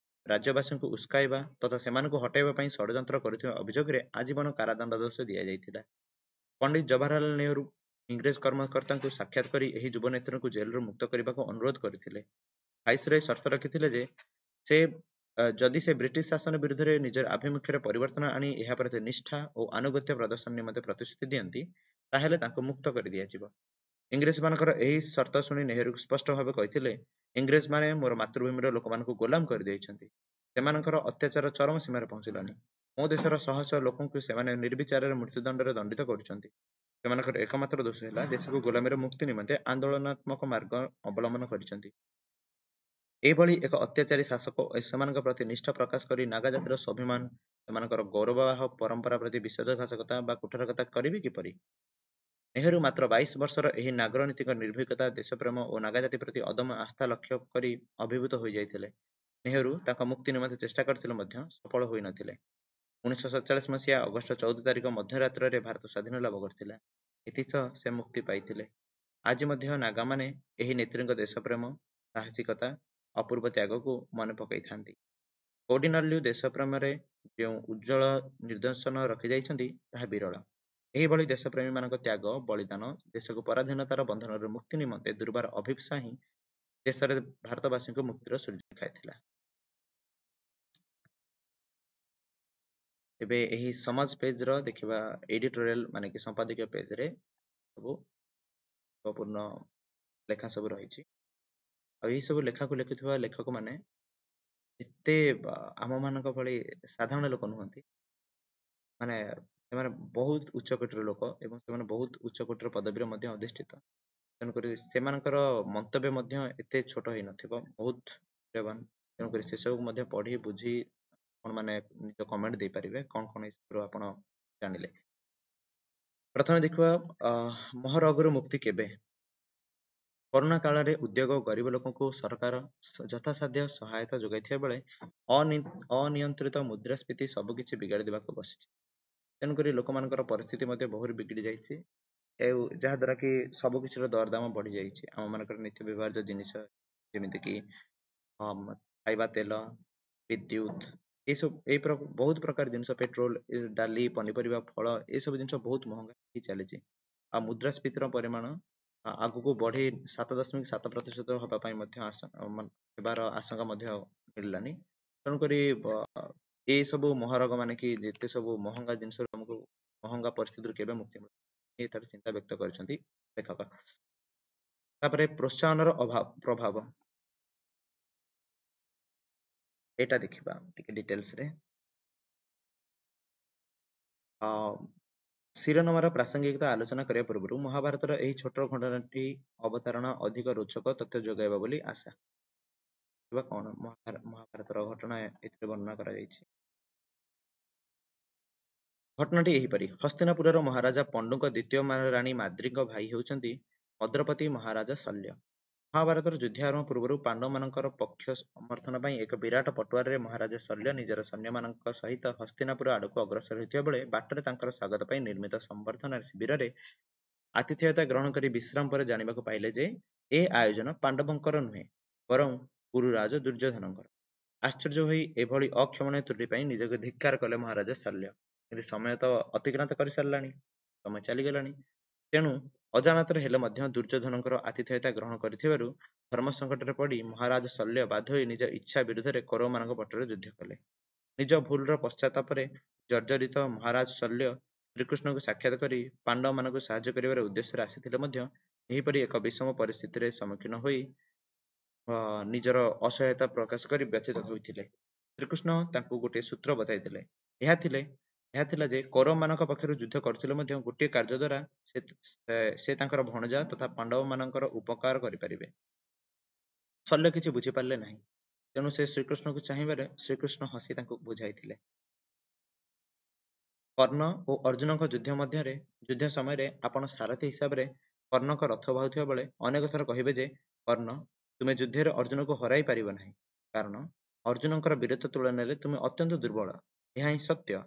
[SPEAKER 1] ରାଜ୍ୟବାସୀଙ୍କୁ ଉସ୍କାଇବା ତଥା ସେମାନଙ୍କୁ ହଟାଇବା ପାଇଁ ଷଡ଼ଯନ୍ତ୍ର କରୁଥିବା ଅଭିଯୋଗରେ ଆଜୀବନ କାରାଦଣ୍ଡାଦେଶ ଦିଆଯାଇଥିଲା। ପଣ୍ଡିତ ଜବାହରଲାଲ ନେହେରୁ ଇଂରେଜ କର୍ମକର୍ତ୍ତାଙ୍କୁ ସାକ୍ଷାତ କରି ଏହି ଯୁବନେତ୍ରୀଙ୍କୁ ଜେଲରୁ ମୁକ୍ତ କରିବାକୁ ଅନୁରୋଧ କରିଥିଲେ। ଭାଇସରୟ ସର୍ତ୍ତ ରଖିଥିଲେ ଯେ ସେ ଯଦି ସେ ବ୍ରିଟିଶ ଶାସନ ବିରୁଦ୍ଧରେ ନିଜର ଆଭିମୁଖ୍ୟରେ ପରିବର୍ତ୍ତନ ଆଣି ଏହା ପ୍ରତି ନିଷ୍ଠା ଓ ଆନୁଗତ୍ୟ ପ୍ରଦର୍ଶନ ନିମନ୍ତେ ପ୍ରତିଶ୍ରୁତି ଦିଅନ୍ତି, ତାହେଲେ ତାଙ୍କୁ ମୁକ୍ତ କରିଦିଆଯିବ। ଇଂରେଜମାନଙ୍କର ଏହି ସର୍ତ୍ତ ଶୁଣି ନେହେରୁ ସ୍ପଷ୍ଟ ଭାବେ କହିଥିଲେ, ଇଂରେଜମାନେ ମୋର ମାତୃଭୂମିର ଲୋକମାନଙ୍କୁ ଗୋଲାମ କରିଦେଇଛନ୍ତି। ସେମାନଙ୍କର ଅତ୍ୟାଚାର ଚରମ ସୀମାରେ ପହଞ୍ଚିଲାଣି। ମୋ ଦେଶର ଶହ ଶହ ଲୋକଙ୍କୁ ସେମାନେ ନିର୍ବିଚାରରେ ମୃତ୍ୟୁଦଣ୍ଡରେ ଦଣ୍ଡିତ କରୁଛନ୍ତି। ସେମାନଙ୍କର ଏକମାତ୍ର ଦୋଷ ହେଲା ଦେଶକୁ ଗୋଲାମୀର ମୁକ୍ତି ନିମନ୍ତେ ଆନ୍ଦୋଳନାତ୍ମକ ମାର୍ଗ ଅବଲମ୍ବନ କରିଛନ୍ତି। ଏହିଭଳି ଏକ ଅତ୍ୟାଚାରୀ ଶାସକ ଓ ସେମାନଙ୍କ ପ୍ରତି ନିଷ୍ଠା ପ୍ରକାଶ କରି ନାଗା ଜାତିର ସ୍ୱାଭିମାନ, ସେମାନଙ୍କର ଗୌରବାହ ପରମ୍ପରା ପ୍ରତି ବିଶ୍ୱାସଘାତକତା ବା କୁଠାରକତା କରିବେ କିପରି? ନେହେରୁ ମାତ୍ର ବାଇଶ ବର୍ଷର ଏହି ନାଗରନୀତିଙ୍କ ନିର୍ଭୀକତା, ଦେଶପ୍ରେମ ଓ ନାଗା ଜାତି ପ୍ରତି ଅଦମ୍ୟ ଆସ୍ଥା ଲକ୍ଷ୍ୟ କରି ଅଭିଭୂତ ହୋଇଯାଇଥିଲେ। ନେହେରୁ ତାଙ୍କ ମୁକ୍ତି ନିମନ୍ତେ ଚେଷ୍ଟା କରିଥିଲେ ମଧ୍ୟ ସଫଳ ହୋଇନଥିଲେ। ଉଣେଇଶହ ସତଚାଳିଶ ମସିହା ଅଗଷ୍ଟ ଚଉଦ ତାରିଖ ମଧ୍ୟରାତ୍ରରେ ଭାରତ ସ୍ୱାଧୀନ ଲାଭ କରିଥିଲା। ଏଥିସହ ସେ ମୁକ୍ତି ପାଇଥିଲେ। ଆଜି ମଧ୍ୟ ନାଗାମାନେ ଏହି ନେତ୍ରୀଙ୍କ ଦେଶପ୍ରେମ, ସାହସିକତା, ଅପୂର୍ବ ତ୍ୟାଗକୁ ମନେ ପକାଇଥାନ୍ତି। କୌଡିନଲ୍ୟୁ ଦେଶପ୍ରେମରେ ଯେଉଁ ଉଜ୍ଜ୍ୱଳ ନିଦର୍ଶନ ରଖିଯାଇଛନ୍ତି, ତାହା ବିରଳ। ଏହିଭଳି ଦେଶପ୍ରେମୀମାନଙ୍କ ତ୍ୟାଗ, ବଳିଦାନ, ଦେଶକୁ ପରାଧୀନତାର ବନ୍ଧନରୁ ମୁକ୍ତି ନିମନ୍ତେ ଦୁର୍ବାର ଅଭୀପ୍ସା ହିଁ ଦେଶରେ ଭାରତବାସୀଙ୍କୁ ମୁକ୍ତିର ସୂର୍ଯ୍ୟ ଦେଖାଇଥିଲା। ଏବେ ଏହି ସମାଜ ପେଜର ଦେଖିବା ଏଡିଟୋରିଆଲ, ମାନେ କି ସମ୍ପାଦକୀୟ ପେଜରେ ସବୁ ଗୁରୁତ୍ୱପୂର୍ଣ୍ଣ ଲେଖା ସବୁ ରହିଛି। ଆଉ ଏହି ସବୁ ଲେଖାକୁ ଲେଖୁଥିବା ଲେଖକମାନେ ଏତେ ଆମମାନଙ୍କ ଭଳି ସାଧାରଣ ଲୋକ ନୁହନ୍ତି, ମାନେ ସେମାନେ ବହୁତ ଉଚ୍ଚ କୋଟିର ଲୋକ ଏବଂ ସେମାନେ ବହୁତ ଉଚ୍ଚ କୋଟିର ପଦବୀରେ ମଧ୍ୟ ଅଧିଷ୍ଠିତ। ତେଣୁକରି ସେମାନଙ୍କର ମନ୍ତବ୍ୟ ମଧ୍ୟ ଏତେ ଛୋଟ ହେଇନଥିବ, ବହୁତ ମୂଲ୍ୟବାନ। ତେଣୁକରି ସେସବୁକୁ ମଧ୍ୟ ପଢ଼ି ବୁଝି ଆପଣମାନେ ନିଜ କମେଣ୍ଟ ଦେଇପାରିବେ, କ'ଣ କ'ଣ ଏସବୁରୁ ଆପଣ ଜାଣିଲେ। ପ୍ରଥମେ ଦେଖିବା ମହରଗରୁ ମୁକ୍ତି କେବେ? କରୋନା କାଳରେ ଉଦ୍ୟୋଗ ଓ ଗରିବ ଲୋକଙ୍କୁ ସରକାର ଯଥାସାଧ୍ୟ ସହାୟତା ଯୋଗାଇଥିବା ବେଳେ ଅନିୟନ୍ତ୍ରିତ ମୁଦ୍ରାସ୍ଫୀତି ସବୁକିଛି ବିଗାଡ଼ି ଦେବାକୁ ବସିଛି। ତେଣୁକରି ଲୋକମାନଙ୍କର ପରିସ୍ଥିତି ମଧ୍ୟ ବହୁତ ବିଗିଡ଼ି ଯାଇଛି, ଆଉ ଯାହାଦ୍ୱାରା କି ସବୁକିଛିର ଦରଦାମ ବଢ଼ିଯାଇଛି। ଆମମାନଙ୍କର ନିତ୍ୟ ବ୍ୟବହାର୍ଯ୍ୟ ଜିନିଷ ଯେମିତିକି ଖାଇବା ତେଲ, ବିଦ୍ୟୁତ, ଏସବୁ ଏଇ ବହୁତ ପ୍ରକାର ଜିନିଷ, ପେଟ୍ରୋଲ, ଡାଲି, ପନିପରିବା, ଫଳ, ଏସବୁ ଜିନିଷ ବହୁତ ମହଙ୍ଗା ହେଇ ଚାଲିଛି। ଆଉ ମୁଦ୍ରାସ୍ଫୀତିର ପରିମାଣ ଆଗକୁ ବଢ଼ି ସାତ ଦଶମିକ ସାତ ପ୍ରତିଶତ ହେବା ପାଇଁ ମଧ୍ୟ ହେବାର ଆଶଙ୍କା ମଧ୍ୟ ମିଳିଲାନି। ତେଣୁକରି ଏସବୁ ମହାରୋଗ ମାନେ କି ଯେତେ ସବୁ ମହଙ୍ଗା ଜିନିଷ, ଆମକୁ ମହଙ୍ଗା ପରିସ୍ଥିତିରୁ କେବେ ମୁକ୍ତି ମିଳିବ, ତାର ଚିନ୍ତା ବ୍ୟକ୍ତ କରିଛନ୍ତି ଲେଖକ। ତାପରେ ପ୍ରୋତ୍ସାହନର ଅଭାବ ପ୍ରଭାବ, ଏଇଟା ଦେଖିବା ଟିକେ ଡିଟେଲ୍ସରେ। ଶିରୋନାମାର ପ୍ରାସଙ୍ଗିକତା ଆଲୋଚନା କରିବା ପୂର୍ବରୁ ମହାଭାରତର ଏହି ଛୋଟ ଘଟଣାଟି ଅବତାରଣା ଅଧିକ ରୋଚକ ତଥ୍ୟ ଯୋଗାଇବ ବୋଲି ଆଶା। କଣ ମହାଭାରତର ଘଟଣା ଏଥିରେ ବର୍ଣ୍ଣନା କରାଯାଇଛି। ଘଟଣାଟି ଏହିପରି: ହସ୍ତିନାପୁରର ମହାରାଜା ପଣ୍ଡୁଙ୍କ ଦ୍ୱିତୀୟ ରାଣୀ ମାଦ୍ରୀଙ୍କ ଭାଇ ହେଉଛନ୍ତି ମଦ୍ରପତି ମହାରାଜା ଶଲ୍ୟ। ମହାଭାରତର ଯୁଦ୍ଧ ଆରମ୍ଭ ପୂର୍ବରୁ ପାଣ୍ଡବମାନଙ୍କର ପକ୍ଷ ସମର୍ଥନ ପାଇଁ ଏକ ବିରାଟ ପଟୁଆରରେ ମହାରାଜା ଶଲ୍ୟ ନିଜର ସୈନ୍ୟମାନଙ୍କ ସହିତ ହସ୍ତିନାପୁର ଆଡ଼କୁ ଅଗ୍ରସର ହେଉଥିବା ବେଳେ ବାଟରେ ତାଙ୍କର ସ୍ୱାଗତ ପାଇଁ ନିର୍ମିତ ସମ୍ବର୍ଦ୍ଧନା ଶିବିରରେ ଆତିଥେୟତା ଗ୍ରହଣ କରି ବିଶ୍ରାମ ପରେ ଜାଣିବାକୁ ପାଇଲେ ଯେ ଏ ଆୟୋଜନ ପାଣ୍ଡବଙ୍କର ନୁହେଁ, ବରଂ ଗୁରୁରାଜ ଦୁର୍ଯ୍ୟୋଧନଙ୍କର। ଆଶ୍ଚର୍ଯ୍ୟ ହୋଇ ଏଭଳି ଅକ୍ଷମଣୀୟ ତ୍ରୁଟି ପାଇଁ ନିଜକୁ ଧିକ୍କାର କଲେ ମହାରାଜା ଶଲ୍ୟ। କିନ୍ତୁ ସମୟ ତ ଅତିକ୍ରାନ୍ତ କରିସାରିଲାଣି, ସମୟ ଚାଲିଗଲାଣି। ତେଣୁ ଅଜାଣତରେ ହେଲେ ମଧ୍ୟ ଦୁର୍ଯ୍ୟୋଧନଙ୍କର ଆତିଥେୟତା ଗ୍ରହଣ କରିଥିବାରୁ ଧର୍ମ ସଙ୍କଟରେ ପଡ଼ି ମହାରାଜ ଶଲ୍ୟ ବାଧ୍ୟ ହୋଇ ନିଜ ଇଚ୍ଛା ବିରୁଦ୍ଧରେ କୌରବମାନଙ୍କ ପଟରେ ଯୁଦ୍ଧ କଲେ। ନିଜ ଭୁଲର ପଶ୍ଚାତାପରେ ଜର୍ଜରିତ ମହାରାଜ ଶଲ୍ୟ ଶ୍ରୀକୃଷ୍ଣଙ୍କୁ ସାକ୍ଷାତ କରି ପାଣ୍ଡବମାନଙ୍କୁ ସାହାଯ୍ୟ କରିବାର ଉଦ୍ଦେଶ୍ୟରେ ଆସିଥିଲେ ମଧ୍ୟ ଏହିପରି ଏକ ବିଷମ ପରିସ୍ଥିତିରେ ସମ୍ମୁଖୀନ ହୋଇ ନିଜର ଅସହାୟତା ପ୍ରକାଶ କରି ବ୍ୟଥିତ ହୋଇଥିଲେ। ଶ୍ରୀକୃଷ୍ଣ ତାଙ୍କୁ ଗୋଟିଏ ସୂତ୍ର ବତାଇଥିଲେ। ଏହା ଥିଲେ ଏହା ଥିଲା ଯେ କୌରବମାନଙ୍କ ପକ୍ଷରୁ ଯୁଦ୍ଧ କରୁଥିଲେ ମଧ୍ୟ ଗୋଟିଏ କାର୍ଯ୍ୟ ଦ୍ୱାରା ସେ ସେ ତାଙ୍କର ଭଣଜା ତଥା ପାଣ୍ଡବମାନଙ୍କର ଉପକାର କରିପାରିବେ। ଶଲ୍ୟ କିଛି ବୁଝିପାରିଲେ ନାହିଁ। ତେଣୁ ସେ ଶ୍ରୀକୃଷ୍ଣଙ୍କୁ ଚାହିଁବାରେ ଶ୍ରୀକୃଷ୍ଣ ହସି ତାଙ୍କୁ ବୁଝାଇଥିଲେ। କର୍ଣ୍ଣ ଓ ଅର୍ଜୁନଙ୍କ ଯୁଦ୍ଧ ମଧ୍ୟରେ ଯୁଦ୍ଧ ସମୟରେ ଆପଣ ସାରଥୀ ହିସାବରେ କର୍ଣ୍ଣଙ୍କ ରଥ ବାହୁଥିବା ବେଳେ ଅନେକ ଥର କହିବେ ଯେ କର୍ଣ୍ଣ, ତୁମେ ଯୁଦ୍ଧରେ ଅର୍ଜୁନକୁ ହରାଇ ପାରିବ ନାହିଁ, କାରଣ ଅର୍ଜୁନଙ୍କର ବୀରତ୍ୱ ତୁଳନାରେ ତୁମେ ଅତ୍ୟନ୍ତ ଦୁର୍ବଳ। ଏହା ହିଁ ସତ୍ୟ।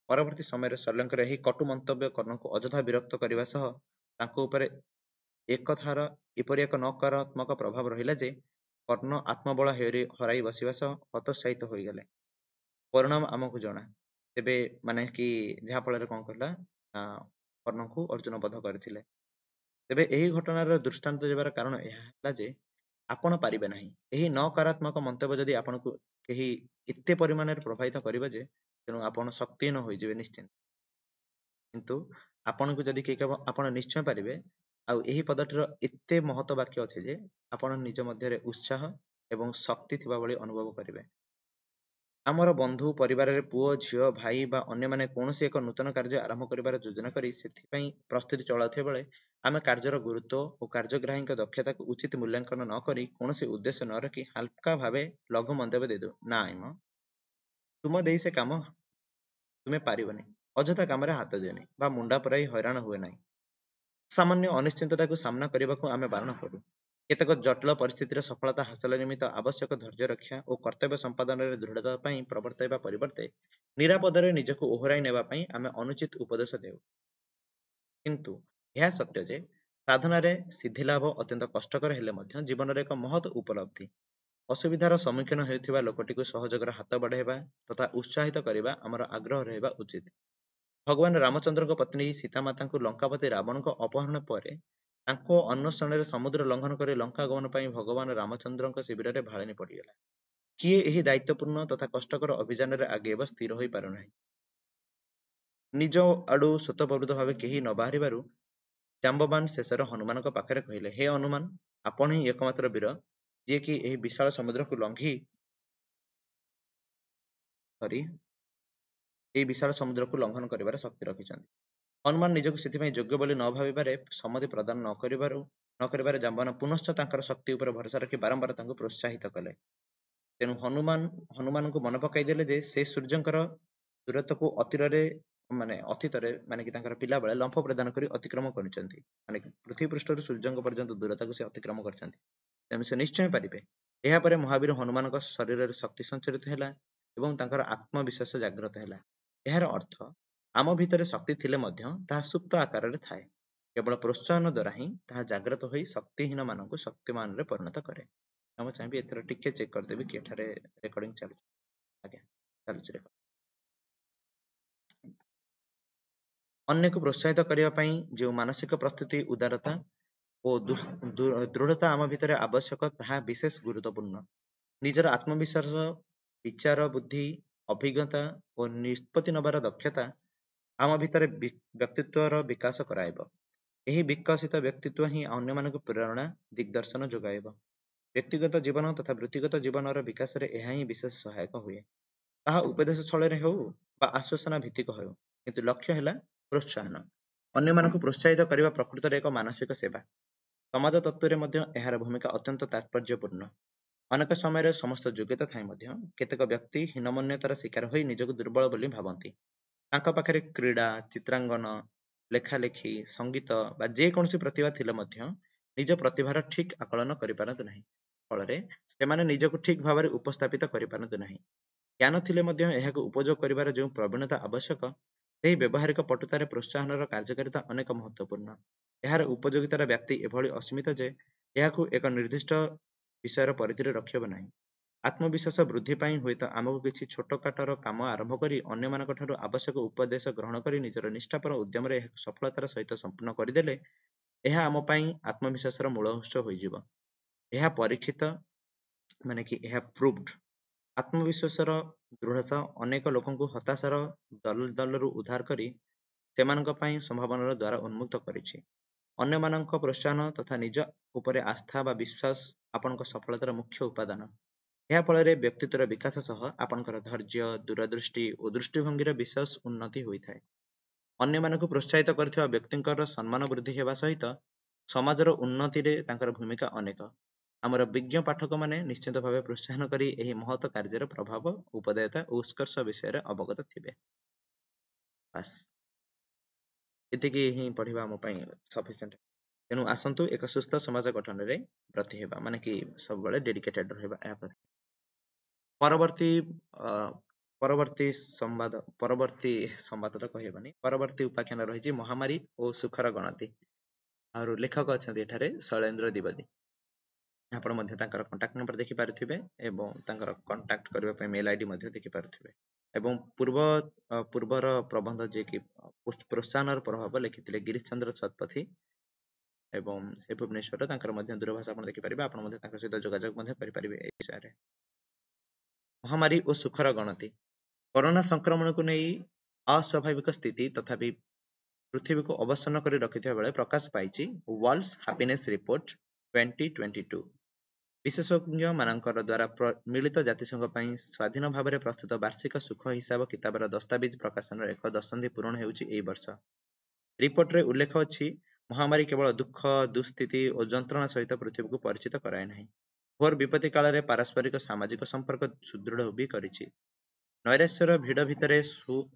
[SPEAKER 1] ପରବର୍ତ୍ତୀ ସମୟରେ ଶଲ୍ୟଙ୍କର ଏହି କଟୁ ମନ୍ତବ୍ୟ କର୍ଣ୍ଣଙ୍କୁ ଅଯଥା ବିରକ୍ତ କରିବା ସହ ତାଙ୍କ ଉପରେ ଏକଥାର ଏପରି ଏକ ନକାରାତ୍ମକ ପ୍ରଭାବ ରହିଲା ଯେ କର୍ଣ୍ଣ ଆତ୍ମବଳ ହରାଇ ବସିବା ସହ ହତୋତ୍ସାହିତ ହୋଇଗଲେ। ପରିଣାମ ଆମକୁ ଜଣା। ତେବେ ମାନେ କି ଯାହା ଫଳରେ କଣ କଲା, କର୍ଣ୍ଣଙ୍କୁ ଅର୍ଜୁନ ବଧ କରିଥିଲେ। ତେବେ ଏହି ଘଟଣାର ଦୃଷ୍ଟାନ୍ତ ଦେବାର କାରଣ ଏହା ହେଲା ଯେ ଆପଣ ପାରିବେ ନାହିଁ, ଏହି ନକାରାତ୍ମକ ମନ୍ତବ୍ୟ ଯଦି ଆପଣଙ୍କୁ କେହି ଏତେ ପରିମାଣରେ ପ୍ରଭାବିତ କରିବ ଯେ ତେଣୁ ଆପଣ ଶକ୍ତିହୀନ ହୋଇଯିବେ ନିଶ୍ଚିନ୍ତ। କିନ୍ତୁ ଆପଣଙ୍କୁ ଯଦି କେହି କହିବ ଆପଣ ନିଶ୍ଚୟ ପାରିବେ, ଆଉ ଏହି ପଦଟିର ଏତେ ମହତ୍ଵ ବାକ୍ୟ ଅଛି ଯେ ଆପଣ ନିଜ ମଧ୍ୟରେ ଉତ୍ସାହ ଏବଂ ଶକ୍ତି ଥିବା ଭଳି ଅନୁଭବ କରିବେ। ଆମର ବନ୍ଧୁ, ପରିବାରରେ ପୁଅ, ଝିଅ, ଭାଇ ବା ଅନ୍ୟମାନେ କୌଣସି ଏକ ନୂତନ କାର୍ଯ୍ୟ ଆରମ୍ଭ କରିବାର ଯୋଜନା କରି ସେଥିପାଇଁ ପ୍ରସ୍ତୁତି ଚଳାଉଥିବା ବେଳେ ଆମେ କାର୍ଯ୍ୟର ଗୁରୁତ୍ୱ ଓ କାର୍ଯ୍ୟଗ୍ରାହୀଙ୍କ ଦକ୍ଷତାକୁ ଉଚିତ ମୂଲ୍ୟାଙ୍କନ ନ କରି କୌଣସି ଉଦ୍ଦେଶ୍ୟ ନ ରଖି ହାଲକା ଭାବେ ଲଘୁ ମନ୍ତବ୍ୟ ଦେଇଦେଉ, ନାଇଁ ମ, ତୁମ ଦେଇ ସେ କାମ ତୁମେ ପାରିବନି, ଅଯଥା କାମରେ ହାତ ଦିଅନି ବା ମୁଣ୍ଡା ପୁରାଇ ହଇରାଣ ହୁଏ ନାହିଁ। ସାମାନ୍ୟ ଅନିଶ୍ଚିତତାକୁ ସାମ୍ନା କରିବାକୁ ଆମେ ବାରଣ କରୁ। କେତେକ ଜଟିଳ ପରିସ୍ଥିତିର ସଫଳତା ହାସଲ ନିମିତ୍ତ ଆବଶ୍ୟକ ଧୈର୍ଯ୍ୟ ରକ୍ଷା ଓ କର୍ତ୍ତବ୍ୟ ସମ୍ପାଦନରେ ଦୃଢ଼ତା ପାଇଁ ପ୍ରବର୍ତ୍ତାଇବା ପରିବର୍ତ୍ତେ ନିରାପଦରେ ନିଜକୁ ଓହରାଇ ନେବା ପାଇଁ ଆମେ ଅନୁଚିତ ଉପଦେଶ ଦେଉ। କିନ୍ତୁ ଏହା ସତ୍ୟ ଯେ ସାଧନାରେ ସିଦ୍ଧିଲାଭ ଅତ୍ୟନ୍ତ କଷ୍ଟକର ହେଲେ ମଧ୍ୟ ଜୀବନରେ ଏକ ମହତ ଉପଲବ୍ଧି। ଅସୁବିଧାର ସମ୍ମୁଖୀନ ହେଉଥିବା ଲୋକଟିକୁ ସହଯୋଗର ହାତ ବଢ଼ାଇବା ତଥା ଉତ୍ସାହିତ କରିବା ଆମର ଆଗ୍ରହ ରହିବା ଉଚିତ। ଭଗବାନ ରାମଚନ୍ଦ୍ରଙ୍କ ପତ୍ନୀ ସୀତାମାତାଙ୍କୁ ଲଙ୍କାପତି ରାବଣଙ୍କ ଅପହରଣ ପରେ ତାଙ୍କ ଅନ୍ୱେଷଣରେ ସମୁଦ୍ର ଲଙ୍ଘନ କରି ଲଙ୍କା ଗମନ ପାଇଁ ଭଗବାନ ରାମଚନ୍ଦ୍ରଙ୍କ ଶିବିରରେ ଭାଳେଣି ପଡ଼ିଗଲା। କିଏ ଏହି ଦାୟିତ୍ୱପୂର୍ଣ୍ଣ ତଥା କଷ୍ଟକର ଅଭିଯାନରେ ଆଗେଇବ ସ୍ଥିର ହୋଇପାରୁନାହିଁ। ନିଜ ଆଡୁ ସ୍ୱତଃପ୍ରବୃତ୍ତ ଭାବେ କେହି ନ ବାହାରିବାରୁ ଜାମ୍ବବାନ ଶେଷରେ ହନୁମାନଙ୍କ ପାଖରେ କହିଲେ, ହେ ହନୁମାନ, ଆପଣ ହିଁ ଏକମାତ୍ର ବୀର ଯିଏକି ଏହି ବିଶାଳ ସମୁଦ୍ରକୁ ଲଙ୍ଘି ସରି ଏହି ବିଶାଳ ସମୁଦ୍ରକୁ ଲଙ୍ଘନ କରିବାର ଶକ୍ତି ରଖିଛନ୍ତି। ହନୁମାନ ନିଜକୁ ସେଥିପାଇଁ ଯୋଗ୍ୟ ବୋଲି ନ ଭାବିବାରେ ସମ୍ମତି ପ୍ରଦାନ ନ କରିବାରୁ ନ କରିବାରେ ଜାମ୍ବବାନ ପୁନଶ୍ଚ ତାଙ୍କର ଶକ୍ତି ଉପରେ ଭରସା ରଖି ବାରମ୍ବାର ତାଙ୍କୁ ପ୍ରୋତ୍ସାହିତ କଲେ। ତେଣୁ ହନୁମାନ ହନୁମାନଙ୍କୁ ମନେ ପକାଇ ଦେଲେ ଯେ ସେ ସୂର୍ଯ୍ୟଙ୍କର ଦୂରତ୍ୱକୁ ଅତିରରେ ମାନେ ଅତୀତରେ ମାନେ କି ତାଙ୍କର ପିଲାବେଳେ ଲମ୍ଫ ପ୍ରଦାନ କରି ଅତିକ୍ରମ କରିଛନ୍ତି, ମାନେ ପୃଥିବୀ ପୃଷ୍ଠରୁ ସୂର୍ଯ୍ୟଙ୍କ ପର୍ଯ୍ୟନ୍ତ ଦୂରତାକୁ ସେ ଅତିକ୍ରମ କରିଛନ୍ତି, ତେଣୁ ସେ ନିଶ୍ଚୟ ପାରିବେ। ଏହାପରେ ମହାବୀର ହନୁମାନଙ୍କ ଶରୀରରେ ଶକ୍ତି ସଞ୍ଚରିତ ହେଲା ଏବଂ ତାଙ୍କର ଆତ୍ମବିଶ୍ୱାସ ଜାଗ୍ରତ ହେଲା। ଏହାର ଅର୍ଥ ଆମ ଭିତରେ ଶକ୍ତି ଥିଲେ ମଧ୍ୟ ତାହା ସୁପ୍ତ ଆକାରରେ ଥାଏ। କେବଳ ପ୍ରୋତ୍ସାହନ ଦ୍ୱାରା ହିଁ ତାହା ଜାଗ୍ରତ ହୋଇ ଶକ୍ତିହୀନ ମାନଙ୍କୁ ଶକ୍ତିମାନରେ ପରିଣତ କରେ। ମୁଁ ଚାହିଁବି ଏଥର ଟିକେ ଚେକ୍ କରିଦେବି କି ଏଠାରେ ରେକର୍ଡିଂ ଚାଲୁଛି। ଆଜ୍ଞା, ଚାଲୁଛି ରେକର୍ଡ। ଅନ୍ୟକୁ ପ୍ରୋତ୍ସାହିତ କରିବା ପାଇଁ ଯେଉଁ ମାନସିକ ପ୍ରସ୍ତୁତି, ଉଦାରତା ଓ ଦୃଢ଼ତା ଆମ ଭିତରେ ଆବଶ୍ୟକ, ତାହା ବିଶେଷ ଗୁରୁତ୍ୱପୂର୍ଣ୍ଣ। ନିଜର ଆତ୍ମବିଶ୍ୱାସ, ବିଚାର ବୁଦ୍ଧି, ଅଭିଜ୍ଞତା ଓ ନିଷ୍ପତ୍ତି ନେବାର ଦକ୍ଷତା ଆମ ଭିତରେ ବ୍ୟକ୍ତିତ୍ୱର ବିକାଶ କରାଇବ। ଏହି ବିକଶିତ ବ୍ୟକ୍ତିତ୍ୱ ହିଁ ଅନ୍ୟମାନଙ୍କୁ ପ୍ରେରଣା, ଦିଗ୍ଦର୍ଶନ ଯୋଗାଇବ। ବ୍ୟକ୍ତିଗତ ଜୀବନ ତଥା ବୃତ୍ତିଗତ ଜୀବନର ବିକାଶରେ ଏହା ହିଁ ବିଶେଷ ସହାୟକ ହୁଏ। ତାହା ଉପଦେଶ ଛଳରେ ହେଉ ବା ଆଶ୍ୱାସନା ଭିତ୍ତିକ ହେଉ, କିନ୍ତୁ ଲକ୍ଷ୍ୟ ହେଲା ପ୍ରୋତ୍ସାହନ। ଅନ୍ୟମାନଙ୍କୁ ପ୍ରୋତ୍ସାହିତ କରିବା ପ୍ରକୃତରେ ଏକ ମାନସିକ ସେବା। ସମାଜ ତତ୍ତ୍ୱରେ ମଧ୍ୟ ଏହାର ଭୂମିକା ଅତ୍ୟନ୍ତ ତାତ୍ପର୍ଯ୍ୟପୂର୍ଣ୍ଣ। ଅନେକ ସମୟରେ ସମସ୍ତ ଯୋଗ୍ୟତା ଥାଇ ମଧ୍ୟ କେତେକ ବ୍ୟକ୍ତି ହୀନମନ୍ୟତାର ଶିକାର ହୋଇ ନିଜକୁ ଦୁର୍ବଳ ବୋଲି ଭାବନ୍ତି। ତାଙ୍କ ପାଖରେ କ୍ରୀଡ଼ା, ଚିତ୍ରାଙ୍କନ, ଲେଖାଲେଖି, ସଙ୍ଗୀତ ବା ଯେକୌଣସି ପ୍ରତିଭା ଥିଲେ ମଧ୍ୟ ନିଜ ପ୍ରତିଭାର ଠିକ୍ ଆକଳନ କରିପାରନ୍ତି ନାହିଁ। ଫଳରେ ସେମାନେ ନିଜକୁ ଠିକ୍ ଭାବରେ ଉପସ୍ଥାପିତ କରିପାରନ୍ତି ନାହିଁ। ଜ୍ଞାନ ଥିଲେ ମଧ୍ୟ ଏହାକୁ ଉପଯୋଗ କରିବାର ଯେଉଁ ପ୍ରବୀଣତା ଆବଶ୍ୟକ, ସେହି ବ୍ୟବହାରିକ ପଟୁତାରେ ପ୍ରୋତ୍ସାହନର କାର୍ଯ୍ୟକାରିତା ଅନେକ ମହତ୍ତ୍ୱପୂର୍ଣ୍ଣ। ଏହାର ଉପଯୋଗିତାର ବ୍ୟାପ୍ତି ଏଭଳି ଅସୀମିତ ଯେ ଏହାକୁ ଏକ ନିର୍ଦ୍ଦିଷ୍ଟ ବିଷୟର ପରିଧିରେ ରଖିହେବ ନାହିଁ। ଆତ୍ମବିଶ୍ୱାସ ବୃଦ୍ଧି ପାଇଁ ହୁଏତ ଆମକୁ କିଛି ଛୋଟକାଟର କାମ ଆରମ୍ଭ କରି ଅନ୍ୟମାନଙ୍କ ଠାରୁ ଆବଶ୍ୟକ ଉପଦେଶ ଗ୍ରହଣ କରି ନିଜର ନିଷ୍ଠାପର ଉଦ୍ୟମରେ ଏହାକୁ ସଫଳତାର ସହିତ ସମ୍ପୂର୍ଣ୍ଣ କରିଦେଲେ ଏହା ଆମ ପାଇଁ ଆତ୍ମବିଶ୍ୱାସର ମୂଳ ଉତ୍ସ ହୋଇଯିବ। ଏହା ପରୀକ୍ଷିତ, ମାନେ କି ଏହା ପ୍ରୁଭଡ। ଆତ୍ମବିଶ୍ୱାସର ଦୃଢ଼ତା ଅନେକ ଲୋକଙ୍କୁ ହତାଶାର ଦଲଦଲରୁ ଉଦ୍ଧାର କରି ସେମାନଙ୍କ ପାଇଁ ସମ୍ଭାବନାର ଦ୍ୱାର ଉନ୍ମୁକ୍ତ କରିଛି। ଅନ୍ୟମାନଙ୍କ ପ୍ରୋତ୍ସାହନ ତଥା ନିଜ ଉପରେ ଆସ୍ଥା ବା ବିଶ୍ୱାସ ଆପଣଙ୍କ ସଫଳତାର ମୁଖ୍ୟ ଉପାଦାନ। ଏହା ଫଳରେ ବ୍ୟକ୍ତିତ୍ୱର ବିକାଶ ସହ ଆପଣଙ୍କର ଧୈର୍ଯ୍ୟ, ଦୂରଦୃଷ୍ଟି ଓ ଦୃଷ୍ଟିଭଙ୍ଗୀର ବିଶେଷ ଉନ୍ନତି ହୋଇଥାଏ। ଅନ୍ୟମାନଙ୍କୁ ପ୍ରୋତ୍ସାହିତ କରିଥିବା ବ୍ୟକ୍ତିଙ୍କର ସମ୍ମାନ ବୃଦ୍ଧି ହେବା ସହିତ ସମାଜର ଉନ୍ନତିରେ ତାଙ୍କର ଭୂମିକା ଅନେକ। ଆମର ବିଜ୍ଞ ପାଠକମାନେ ନିଶ୍ଚିତ ଭାବେ ପ୍ରୋତ୍ସାହନ କରି ଏହି ମହତ କାର୍ଯ୍ୟର ପ୍ରଭାବ, ଉପଦେୟତା ଓ ଉତ୍କର୍ଷ ବିଷୟରେ ଅବଗତ ଥିବେ। ବାସ୍, ଏତିକି ହିଁ ପଢିବା ଆମ ପାଇଁ ସଫିସିଏଣ୍ଟ। ତେଣୁ ଆସନ୍ତୁ ଏକ ସୁସ୍ଥ ସମାଜ ଗଠନରେ ବ୍ରତୀ ହେବା, ମାନେ କି ସବୁବେଳେ ଡେଡିକେଟେଡ ରହିବା ଏହା ପ୍ରତି। ପରବର୍ତ୍ତୀ ପରବର୍ତ୍ତୀ ସମ୍ବାଦ ପରବର୍ତ୍ତୀ ସମ୍ବାଦ ତ କହିହେବନି, ପରବର୍ତ୍ତୀ ଉପାଖ୍ୟାନ ରହିଛି ମହାମାରୀ ଓ ସୁଖର ଗଣତି। ଆଉ ଲେଖକ ଅଛନ୍ତି ଏଠାରେ ଶୈଳେନ୍ଦ୍ର ଦ୍ୱିବେଦୀ। ଆପଣ ମଧ୍ୟ ତାଙ୍କର କଣ୍ଟାକ୍ଟ ନମ୍ବର ଦେଖିପାରୁଥିବେ ଏବଂ ତାଙ୍କର କଣ୍ଟାକ୍ଟ କରିବା ପାଇଁ ମେଲ୍ ଆଇଡି ମଧ୍ୟ ଦେଖିପାରୁଥିବେ। ଏବଂ ପୂର୍ବ ପୂର୍ବର ପ୍ରବନ୍ଧ ଯିଏକି ପ୍ରୋତ୍ସାହନର ପ୍ରଭାବ ଲେଖିଥିଲେ ଗିରୀଶ ଚନ୍ଦ୍ର ଶତପଥୀ ଏବଂ ସେ ଭୁବନେଶ୍ୱର, ତାଙ୍କର ମଧ୍ୟ ଦୂରଭାଷ ଆପଣ ଦେଖିପାରିବେ। ଆପଣ ମଧ୍ୟ ତାଙ୍କ ସହିତ ଯୋଗାଯୋଗ ମଧ୍ୟ କରିପାରିବେ ଏ ବିଷୟରେ। ମହାମାରୀ ଓ ସୁଖର ଗଣତି। କରୋନା ସଂକ୍ରମଣକୁ ନେଇ ଅସ୍ୱାଭାବିକ ସ୍ଥିତି ତଥାପି ପୃଥିବୀକୁ ଅବସନ୍ନ କରି ରଖିଥିବା ବେଳେ ପ୍ରକାଶ ପାଇଛି world's happiness report twenty twenty two. ବିଶେଷଜ୍ଞ ମାନଙ୍କର ଦ୍ୱାରା ମିଳିତ ଜାତିସଂଘ ପାଇଁ ସ୍ୱାଧୀନ ଭାବରେ ପ୍ରସ୍ତୁତ ବାର୍ଷିକ ସୁଖ ହିସାବ କିତାବର ଦସ୍ତାବିଜ ପ୍ରକାଶନର ଏକ ଦଶନ୍ଧି ପୂରଣ ହେଉଛି ଏହି ବର୍ଷ। ରିପୋର୍ଟରେ ଉଲ୍ଲେଖ ଅଛି, ମହାମାରୀ କେବଳ ଦୁଃଖ, ଦୁଃସ୍ଥିତି ଓ ଯନ୍ତ୍ରଣା ସହିତ ପୃଥିବୀକୁ ପରିଚିତ କରାଏ ନାହିଁ, ଘୋର ବିପତ୍ତି କାଳରେ ପାରସ୍ପରିକ ସାମାଜିକ ସମ୍ପର୍କ ସୁଦୃଢ଼ ବି କରିଛି। ନୈରାଶ୍ୟର ଭିଡ଼ ଭିତରେ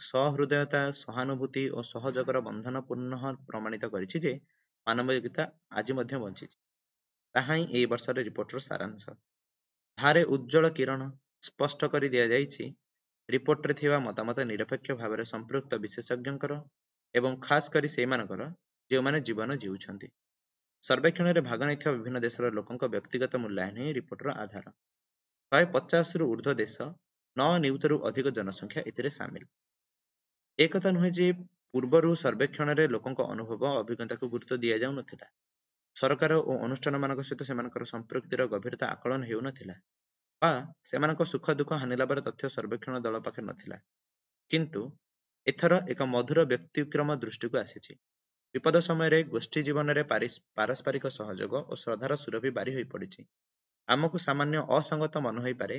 [SPEAKER 1] ସହୃଦୟତା, ସହାନୁଭୂତି ଓ ସହଯୋଗର ବନ୍ଧନ ପୁନଃ ପ୍ରମାଣିତ କରିଛି ଯେ ମାନବିକତା ଆଜି ମଧ୍ୟ ବଞ୍ଚିଛି। ତାହା ହିଁ ଏହି ବର୍ଷର ରିପୋର୍ଟର ସାରାଂଶ। ଧାରେ ଉଜ୍ଜ୍ୱଳ କିରଣ ସ୍ପଷ୍ଟ କରି ଦିଆଯାଇଛି, ରିପୋର୍ଟରେ ଥିବା ମତାମତ ନିରପେକ୍ଷ ଭାବରେ ସମ୍ପୃକ୍ତ ବିଶେଷଜ୍ଞଙ୍କର ଏବଂ ଖାସ କରି ସେଇମାନଙ୍କର ଯେଉଁମାନେ ଜୀବନ ଜିଉଛନ୍ତି। ସର୍ବେକ୍ଷଣରେ ଭାଗ ନେଇଥିବା ବିଭିନ୍ନ ଦେଶର ଲୋକଙ୍କ ବ୍ୟକ୍ତିଗତ ମୂଲ୍ୟାୟନ ହିଁ ରିପୋର୍ଟର ଆଧାର। ଶହେ ପଚାଶରୁ ଉର୍ଦ୍ଧ୍ୱ ଦେଶ, ନଅ ନିୟୁତରୁ ଅଧିକ ଜନସଂଖ୍ୟା ଏଥିରେ ସାମିଲ। ଏକଥା ନୁହେଁ ଯେ ପୂର୍ବରୁ ସର୍ବେକ୍ଷଣରେ ଲୋକଙ୍କ ଅନୁଭବ ଅଭିଜ୍ଞତାକୁ ଗୁରୁତ୍ୱ ଦିଆଯାଉନଥିଲା, ସରକାର ଓ ଅନୁଷ୍ଠାନମାନଙ୍କ ସହିତ ସେମାନଙ୍କର ସମ୍ପୃକ୍ତିର ଗଭୀରତା ଆକଳନ ହେଉନଥିଲା ବା ସେମାନଙ୍କ ସୁଖ ଦୁଃଖ ହାନିଲାଭର ତଥ୍ୟ ସର୍ବେକ୍ଷଣ ଦଳ ପାଖରେ ନଥିଲା। କିନ୍ତୁ ଏଥର ଏକ ମଧୁର ବ୍ୟତିକ୍ରମ ଦୃଷ୍ଟିକୁ ଆସିଛି। ବିପଦ ସମୟରେ ଗୋଷ୍ଠୀ ଜୀବନରେ ପାରସ୍ପରିକ ସହଯୋଗ ଓ ଶ୍ରଦ୍ଧାର ସୁରଭି ବାରି ହୋଇପଡ଼ିଛି। ଆମକୁ ସାମାନ୍ୟ ଅସଙ୍ଗତ ମନେ ହୋଇପାରେ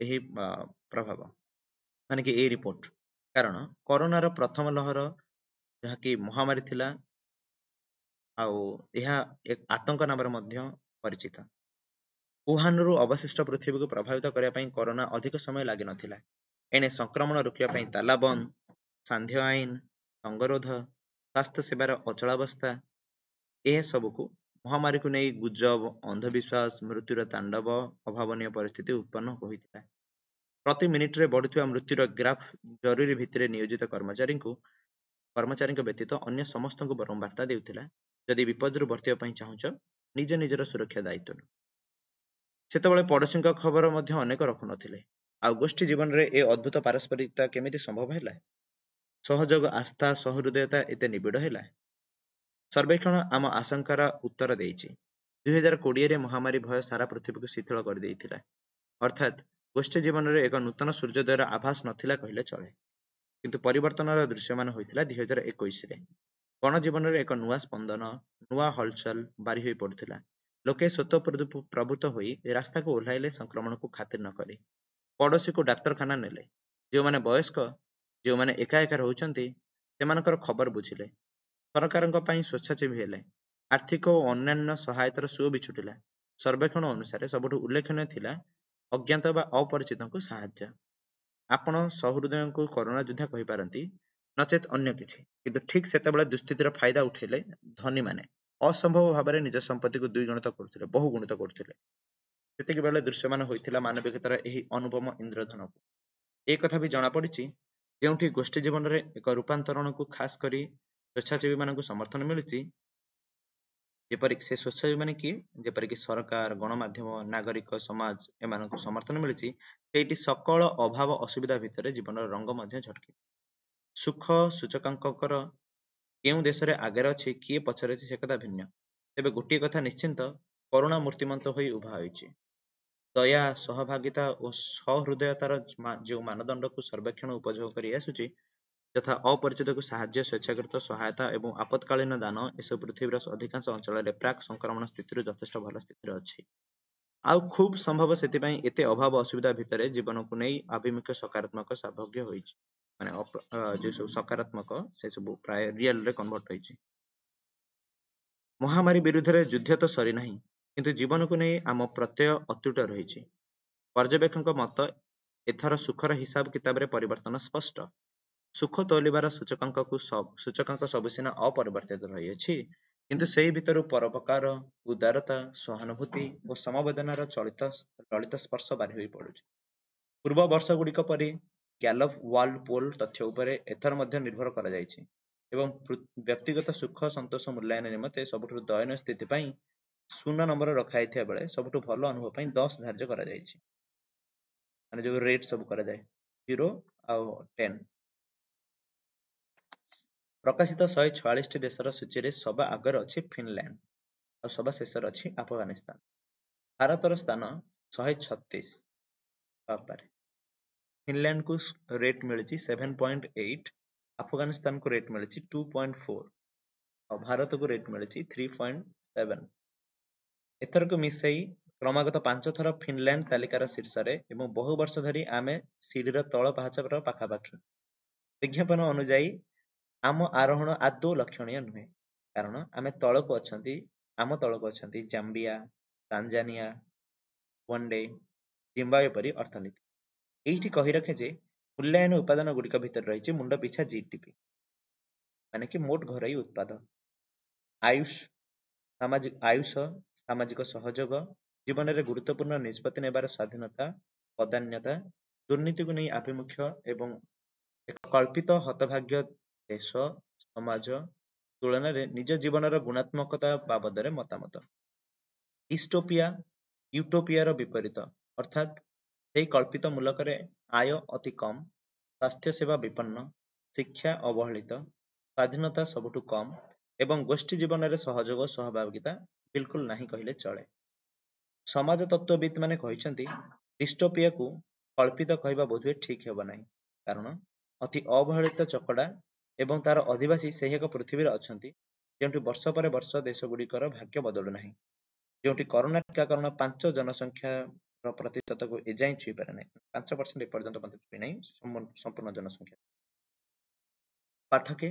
[SPEAKER 1] ଏହି ପ୍ରଭାବ, ମାନେ କି ଏହି ରିପୋର୍ଟ, କାରଣ କରୋନାର ପ୍ରଥମ ଲହର ଯାହାକି ମହାମାରୀ ଥିଲା ଆଉ ଏହା ଆତଙ୍କ ନାମରେ ମଧ୍ୟ ପରିଚିତ। ଉହାନରୁ ଅବଶିଷ୍ଟ ପୃଥିବୀକୁ ପ୍ରଭାବିତ କରିବା ପାଇଁ କରୋନା ଅଧିକ ସମୟ ଲାଗିନଥିଲା। ଏଣେ ସଂକ୍ରମଣ ରୋକିବା ପାଇଁ ତାଲାବନ୍ଦ, ସାନ୍ଧ୍ୟ ଆଇନ, ସଙ୍ଗରୋଧ, ସ୍ୱାସ୍ଥ୍ୟ ସେବାର ଅଚଳାବସ୍ଥା, ଏସବୁକୁ ମହାମାରୀକୁ ନେଇ ଗୁଜବ, ଅନ୍ଧବିଶ୍ୱାସ, ମୃତ୍ୟୁର ତାଣ୍ଡବ, ଅଭାବନୀୟ ପରିସ୍ଥିତି ଉତ୍ପନ୍ନ ହୋଇଥିଲା। ପ୍ରତି ମିନିଟରେ ବଢୁଥିବା ମୃତ୍ୟୁର ଗ୍ରାଫ ଜରୁରୀ ଭିତ୍ତିରେ ନିୟୋଜିତ କର୍ମଚାରୀଙ୍କୁ କର୍ମଚାରୀଙ୍କ ବ୍ୟତୀତ ଅନ୍ୟ ସମସ୍ତଙ୍କୁ ବରଂ ବାର୍ତ୍ତା ଦେଉଥିଲା, ଯଦି ବିପଦରୁ ବର୍ତ୍ତିବା ପାଇଁ ଚାହୁଁଛ, ନିଜ ନିଜର ସୁରକ୍ଷା ଦାୟିତ୍ୱ ନିଅ। ସେତେବେଳେ ପଡ଼ୋଶୀଙ୍କ ଖବର ମଧ୍ୟ ଅନେକ ରଖୁନଥିଲେ। ଆଉ ଗୋଷ୍ଠୀ ଜୀବନରେ ଏ ଅଦ୍ଭୁତ ପାରସ୍ପରିକତା କେମିତି ସମ୍ଭବ ହେଲା? ସହଯୋଗ, ଆସ୍ଥା, ସହୃଦୟତା ଏତେ ନିବିଡ଼ ହେଲା? ସର୍ବେକ୍ଷଣ ଆମ ଆଶଙ୍କାର ଉତ୍ତର ଦେଇଛି। ଦୁଇ ହଜାର କୋଡ଼ିଏରେ ମହାମାରୀ ଭୟ ସାରା ପୃଥିବୀକୁ ଶିଥିଳ କରିଦେଇଥିଲା। ଅର୍ଥାତ୍ ଗୋଷ୍ଠୀ ଜୀବନରେ ଏକ ନୂତନ ସୂର୍ଯ୍ୟୋଦୟର ଆଭାସ ନଥିଲା କହିଲେ ଚଳେ। କିନ୍ତୁ ପରିବର୍ତ୍ତନର ଦୃଶ୍ୟମାନ ହୋଇଥିଲା ଦୁଇ ହଜାର ଏକୋଇଶରେ। ଗଣଜୀବନରେ ଏକ ନୂଆ ସ୍ପନ୍ଦନ, ନୂଆ ହଲଚଲ ବାରି ହୋଇ ପଡୁଥିଲା। ଲୋକେ ସ୍ୱତଃ ପ୍ରବୃତ୍ତ ହୋଇ ରାସ୍ତାକୁ ଓହ୍ଲାଇଲେ, ସଂକ୍ରମଣକୁ ଖାତିର ନ କରି। ପଡ଼ୋଶୀକୁ ଡାକ୍ତରଖାନା ନେଲେ। ଯେଉଁମାନେ ବୟସ୍କ, ଯେଉଁମାନେ ଏକା ଏକା ରହୁଛନ୍ତି, ସେମାନଙ୍କର ଖବର ବୁଝିଲେ। ସରକାରଙ୍କ ପାଇଁ ସ୍ୱେଚ୍ଛାସେବୀ ହେଲେ। ଆର୍ଥିକ ଓ ଅନ୍ୟାନ୍ୟ ସହାୟତାର ସୁଅ ବିଛୁଟିଲା। ସର୍ବେକ୍ଷଣ ଅନୁସାରେ ସବୁଠୁ ଉଲ୍ଲେଖନୀୟ ଥିଲା ଅଜ୍ଞାତ ବା ଅପରିଚିତଙ୍କୁ ସାହାଯ୍ୟ। ଆପଣ ସହୃଦୟଙ୍କୁ କରୋନା ଯୋଦ୍ଧା କହିପାରନ୍ତି, ନଚେତ୍ ଅନ୍ୟ କିଛି। କିନ୍ତୁ ଠିକ୍ ସେତେବେଳେ ଦୁଃସ୍ଥିତିର ଫାଇଦା ଉଠେଇଲେ ଧନୀମାନେ। ଅସମ୍ଭବ ଭାବରେ ନିଜ ସମ୍ପତ୍ତିକୁ ଦ୍ୱିଗୁଣିତ କରୁଥିଲେ, ବହୁଗୁଣିତ କରୁଥିଲେ। ସେତିକି ବେଳେ ଦୃଶ୍ୟମାନ ହୋଇଥିଲା ମାନବିକତାର ଏହି ଅନୁପମ ଇନ୍ଦ୍ରଧନୁ। ଏ କଥା ବି ଜଣାପଡ଼ିଛି, ଯେଉଁଠି ଗୋଷ୍ଠୀ ଜୀବନରେ ଏକ ରୂପାନ୍ତରଣକୁ ଖାସ କରି ସ୍ୱେଚ୍ଛାସେବୀମାନଙ୍କୁ ସମର୍ଥନ ମିଳୁଛି, ଯେପରିକି ସେ ସ୍ୱେଚ୍ଛାସେବୀମାନେ କିଏ, ଯେପରିକି ସରକାର, ଗଣମାଧ୍ୟମ, ନାଗରିକ ସମାଜ, ଏମାନଙ୍କୁ ସମର୍ଥନ ମିଳିଛି, ସେଇଠି ସକଳ ଅଭାବ ଅସୁବିଧା ଭିତରେ ଜୀବନର ରଙ୍ଗ ମଧ୍ୟ ଝଟକେ। ସୁଖ ସୂଚକାଙ୍କର କେଉଁ ଦେଶରେ ଆଗରେ ଅଛି, କିଏ ପଛରେ ଅଛି, ସେ କଥା ଭିନ୍ନ। ତେବେ ଗୋଟିଏ କଥା ନିଶ୍ଚିନ୍ତ, କରୁଣା ମୂର୍ତ୍ତିମନ୍ତ ହୋଇ ଉଭା ହୋଇଛି। ଦୟା, ସହଭାଗିତା ଓ ସହୃଦୟତାର ଯେଉଁ ମାନଦଣ୍ଡକୁ ସର୍ବେକ୍ଷଣ ଉପଯୋଗ କରି ଆସୁଛି, ଯଥା ଅପରିଚିତକୁ ସାହାଯ୍ୟ, ସ୍ୱେଚ୍ଛାକୃତ ସହାୟତା ଏବଂ ଆପତ୍କାଳୀନ ଦାନ, ଏସବୁ ପୃଥିବୀର ଅଧିକାଂଶ ଅଞ୍ଚଳରେ ପ୍ରାକ୍ ସଂକ୍ରମଣ ସ୍ଥିତିରୁ ଯଥେଷ୍ଟ ଭଲ ସ୍ଥିତିରେ ଅଛି। ଆଉ ଖୁବ୍ ସମ୍ଭବ ସେଥିପାଇଁ ଏତେ ଅଭାବ ଅସୁବିଧା ଭିତରେ ଜୀବନକୁ ନେଇ ଆଭିମୁଖ୍ୟ ସକାରାତ୍ମକ ସାଭଗ୍ୟ ହୋଇଛି। ମାନେ ଯେଉଁ ସବୁ ସକାରାତ୍ମକ, ସେ ସବୁ ପ୍ରାୟ ରିଏଲରେ କନଭର୍ଟ ହୋଇଛି। ମହାମାରୀ ବିରୁଦ୍ଧରେ ଯୁଦ୍ଧ ତ ସରିନାହିଁ, କିନ୍ତୁ ଜୀବନକୁ ନେଇ ଆମ ପ୍ରତ୍ୟୟ ଅତୁଟ ରହିଛି। ପର୍ଯ୍ୟବେକ୍ଷକଙ୍କ ମତ, ଏଥର ସୁଖର ହିସାବ କିତାବରେ ପରିବର୍ତ୍ତନ ସ୍ପଷ୍ଟ। ସୁଖ ତୋଲିବାର ସୂଚକାଙ୍କକୁ ସୂଚକାଙ୍କ ସବୁ ସିନା ଅପରିବର୍ତ୍ତିତ ରହିଅଛି, କିନ୍ତୁ ସେଇ ଭିତରୁ ପରୋପକାର, ଉଦାରତା, ସହାନୁଭୂତି ଓ ସମବେଦନାର ଚଳିତ ଲଳିତ ସ୍ପର୍ଶ ବାରି ହୋଇ ପଡୁଛି। ପୂର୍ବ ବର୍ଷଗୁଡ଼ିକ ପରି ଗ୍ୟାଲପ ୱାର୍ଲଡ ପୋଲ ତଥ୍ୟ ଉପରେ ଏଥର ମଧ୍ୟ ନିର୍ଭର କରାଯାଇଛି ଏବଂ ବ୍ୟକ୍ତିଗତ ସୁଖ ସନ୍ତୋଷ ମୂଲ୍ୟାୟନ ନିମନ୍ତେ ସବୁଠୁ ଦୟନୀୟ ସ୍ଥିତି ପାଇଁ ଶୂନ ନମ୍ବର ରଖାଯାଇଥିବା ବେଳେ ସବୁଠୁ ଭଲ ଅନୁଭବ ପାଇଁ ଦଶ ଧାର୍ଯ୍ୟ କରାଯାଇଛି। ମାନେ ଯୋଉ ରେଟ୍ ସବୁ କରାଯାଏ, ଜିରୋ ଆଉ ଟେନ୍। ପ୍ରକାଶିତ ଶହେ ଛୟାଳିଶଟି ଦେଶର ସୂଚୀରେ ସବା ଆଗରେ ଅଛି ଫିନଲ୍ୟାଣ୍ଡ ଆଉ ସବା ଶେଷରେ ଅଛି ଆଫଗାନିସ୍ତାନ। ଭାରତର ସ୍ଥାନ ଶହେ ଛତିଶ। ବାବାରେ, ଫିନଲ୍ୟାଣ୍ଡକୁ ରେଟ୍ ମିଳିଛି ସେଭେନ ପଏଣ୍ଟ ଏଇଟ, ଆଫଗାନିସ୍ତାନକୁ ରେଟ୍ ମିଳିଛି ଟୁ ପଏଣ୍ଟ ଫୋର ଆଉ ଭାରତକୁ ରେଟ୍ ମିଳିଛି ଥ୍ରୀ ପଏଣ୍ଟ ସେଭେନ। ଏଥରକୁ ମିଶାଇ କ୍ରମାଗତ ପାଞ୍ଚ ଥର ଫିନଲ୍ୟାଣ୍ଡ ତାଲିକାର ଶୀର୍ଷରେ ଏବଂ ବହୁ ବର୍ଷ ଧରି ଆମେ ସିଡ଼ିର ତଳ ପାହାଚର ପାଖାପାଖି। ବିଜ୍ଞାପନ ଅନୁଯାୟୀ ଆମ ଆରୋହଣ ଆଦୌ ଲକ୍ଷଣୀୟ ନୁହେଁ, କାରଣ ଆମେ ତଳକୁ ଅଛନ୍ତି ଆମ ତଳକୁ ଅଛନ୍ତି ଜାମ୍ବିଆ, ତାଞ୍ଜାନିଆ, ୱାଣ୍ଡେ, ଜିମ୍ବାୱେ ପରି ଅର୍ଥନୀତି। ଏଇଠି କହି ରଖେ ଯେ ମୂଲ୍ୟାୟନ ଉପାଦାନ ଗୁଡ଼ିକ ଭିତରେ ରହିଛି ମୁଣ୍ଡ ପିଛା ଜିଡିପି, ମାନେ କି ମୋଟ ଘରୋଇ ଉତ୍ପାଦ, ଆୟୁଷ ସାମାଜିକ ଆୟୁଷ, ସାମାଜିକ ସହଯୋଗ, ଜୀବନରେ ଗୁରୁତ୍ୱପୂର୍ଣ୍ଣ ନିଷ୍ପତ୍ତି ନେବାର ସ୍ୱାଧୀନତା, ବଦାନ୍ୟତା, ଦୁର୍ନୀତିକୁ ନେଇ ଆଭିମୁଖ୍ୟ ଏବଂ ଏକ କଳ୍ପିତ ହତଭାଗ୍ୟ ଦେଶ ସମାଜ ତୁଳନାରେ ନିଜ ଜୀବନର ଗୁଣାତ୍ମକତା ବାବଦରେ ମତାମତ। ଡିଷ୍ଟୋପିଆ ୟୁଟୋପିଆର ବିପରୀତ, ଅର୍ଥାତ୍ ସେହି କଳ୍ପିତ ମୂଲକରେ ଆୟ ଅତି କମ୍, ସ୍ୱାସ୍ଥ୍ୟ ସେବା ବିପନ୍ନ, ଶିକ୍ଷା ଅବହେଳିତ, ସ୍ୱାଧୀନତା ସବୁଠୁ କମ୍ ଏବଂ ଗୋଷ୍ଠୀ ଜୀବନରେ ସହଯୋଗ ସହଭାଗିତା ବିଲକୁଲ ନାହିଁ କହିଲେ ଚଳେ। ସମାଜ ତତ୍ତ୍ୱବିତ୍ ମାନେ କହିଛନ୍ତି, ଡିଷ୍ଟୋପିଆକୁ କଳ୍ପିତ କହିବା ବୋଧହୁଏ ଠିକ୍ ହେବ ନାହିଁ, କାରଣ ଅତି ଅବହେଳିତ ଚକଡ଼ା ଏବଂ ତାର ଅଧିବାସୀ ସେହି ଏକ ପୃଥିବୀରେ ଅଛନ୍ତି ଯେଉଁଠି ବର୍ଷ ପରେ ବର୍ଷ ଦେଶଗୁଡ଼ିକର ଭାଗ୍ୟ ବଦଳୁ ନାହିଁ, ଯେଉଁଠି କରୋନା ଟିକାକରଣ ପାଞ୍ଚ ଜନସଂଖ୍ୟାର ପ୍ରତିଶତକୁ ଏଯାଏଁ ଛୁଇଁପାରେ ନାହିଁ, ପାଞ୍ଚ ପରସେଣ୍ଟ ଏପର୍ଯ୍ୟନ୍ତ ମଧ୍ୟ ଛୁଇଁ ନାହିଁ ସମ୍ପୂର୍ଣ୍ଣ ଜନସଂଖ୍ୟା। ପାଠକେ,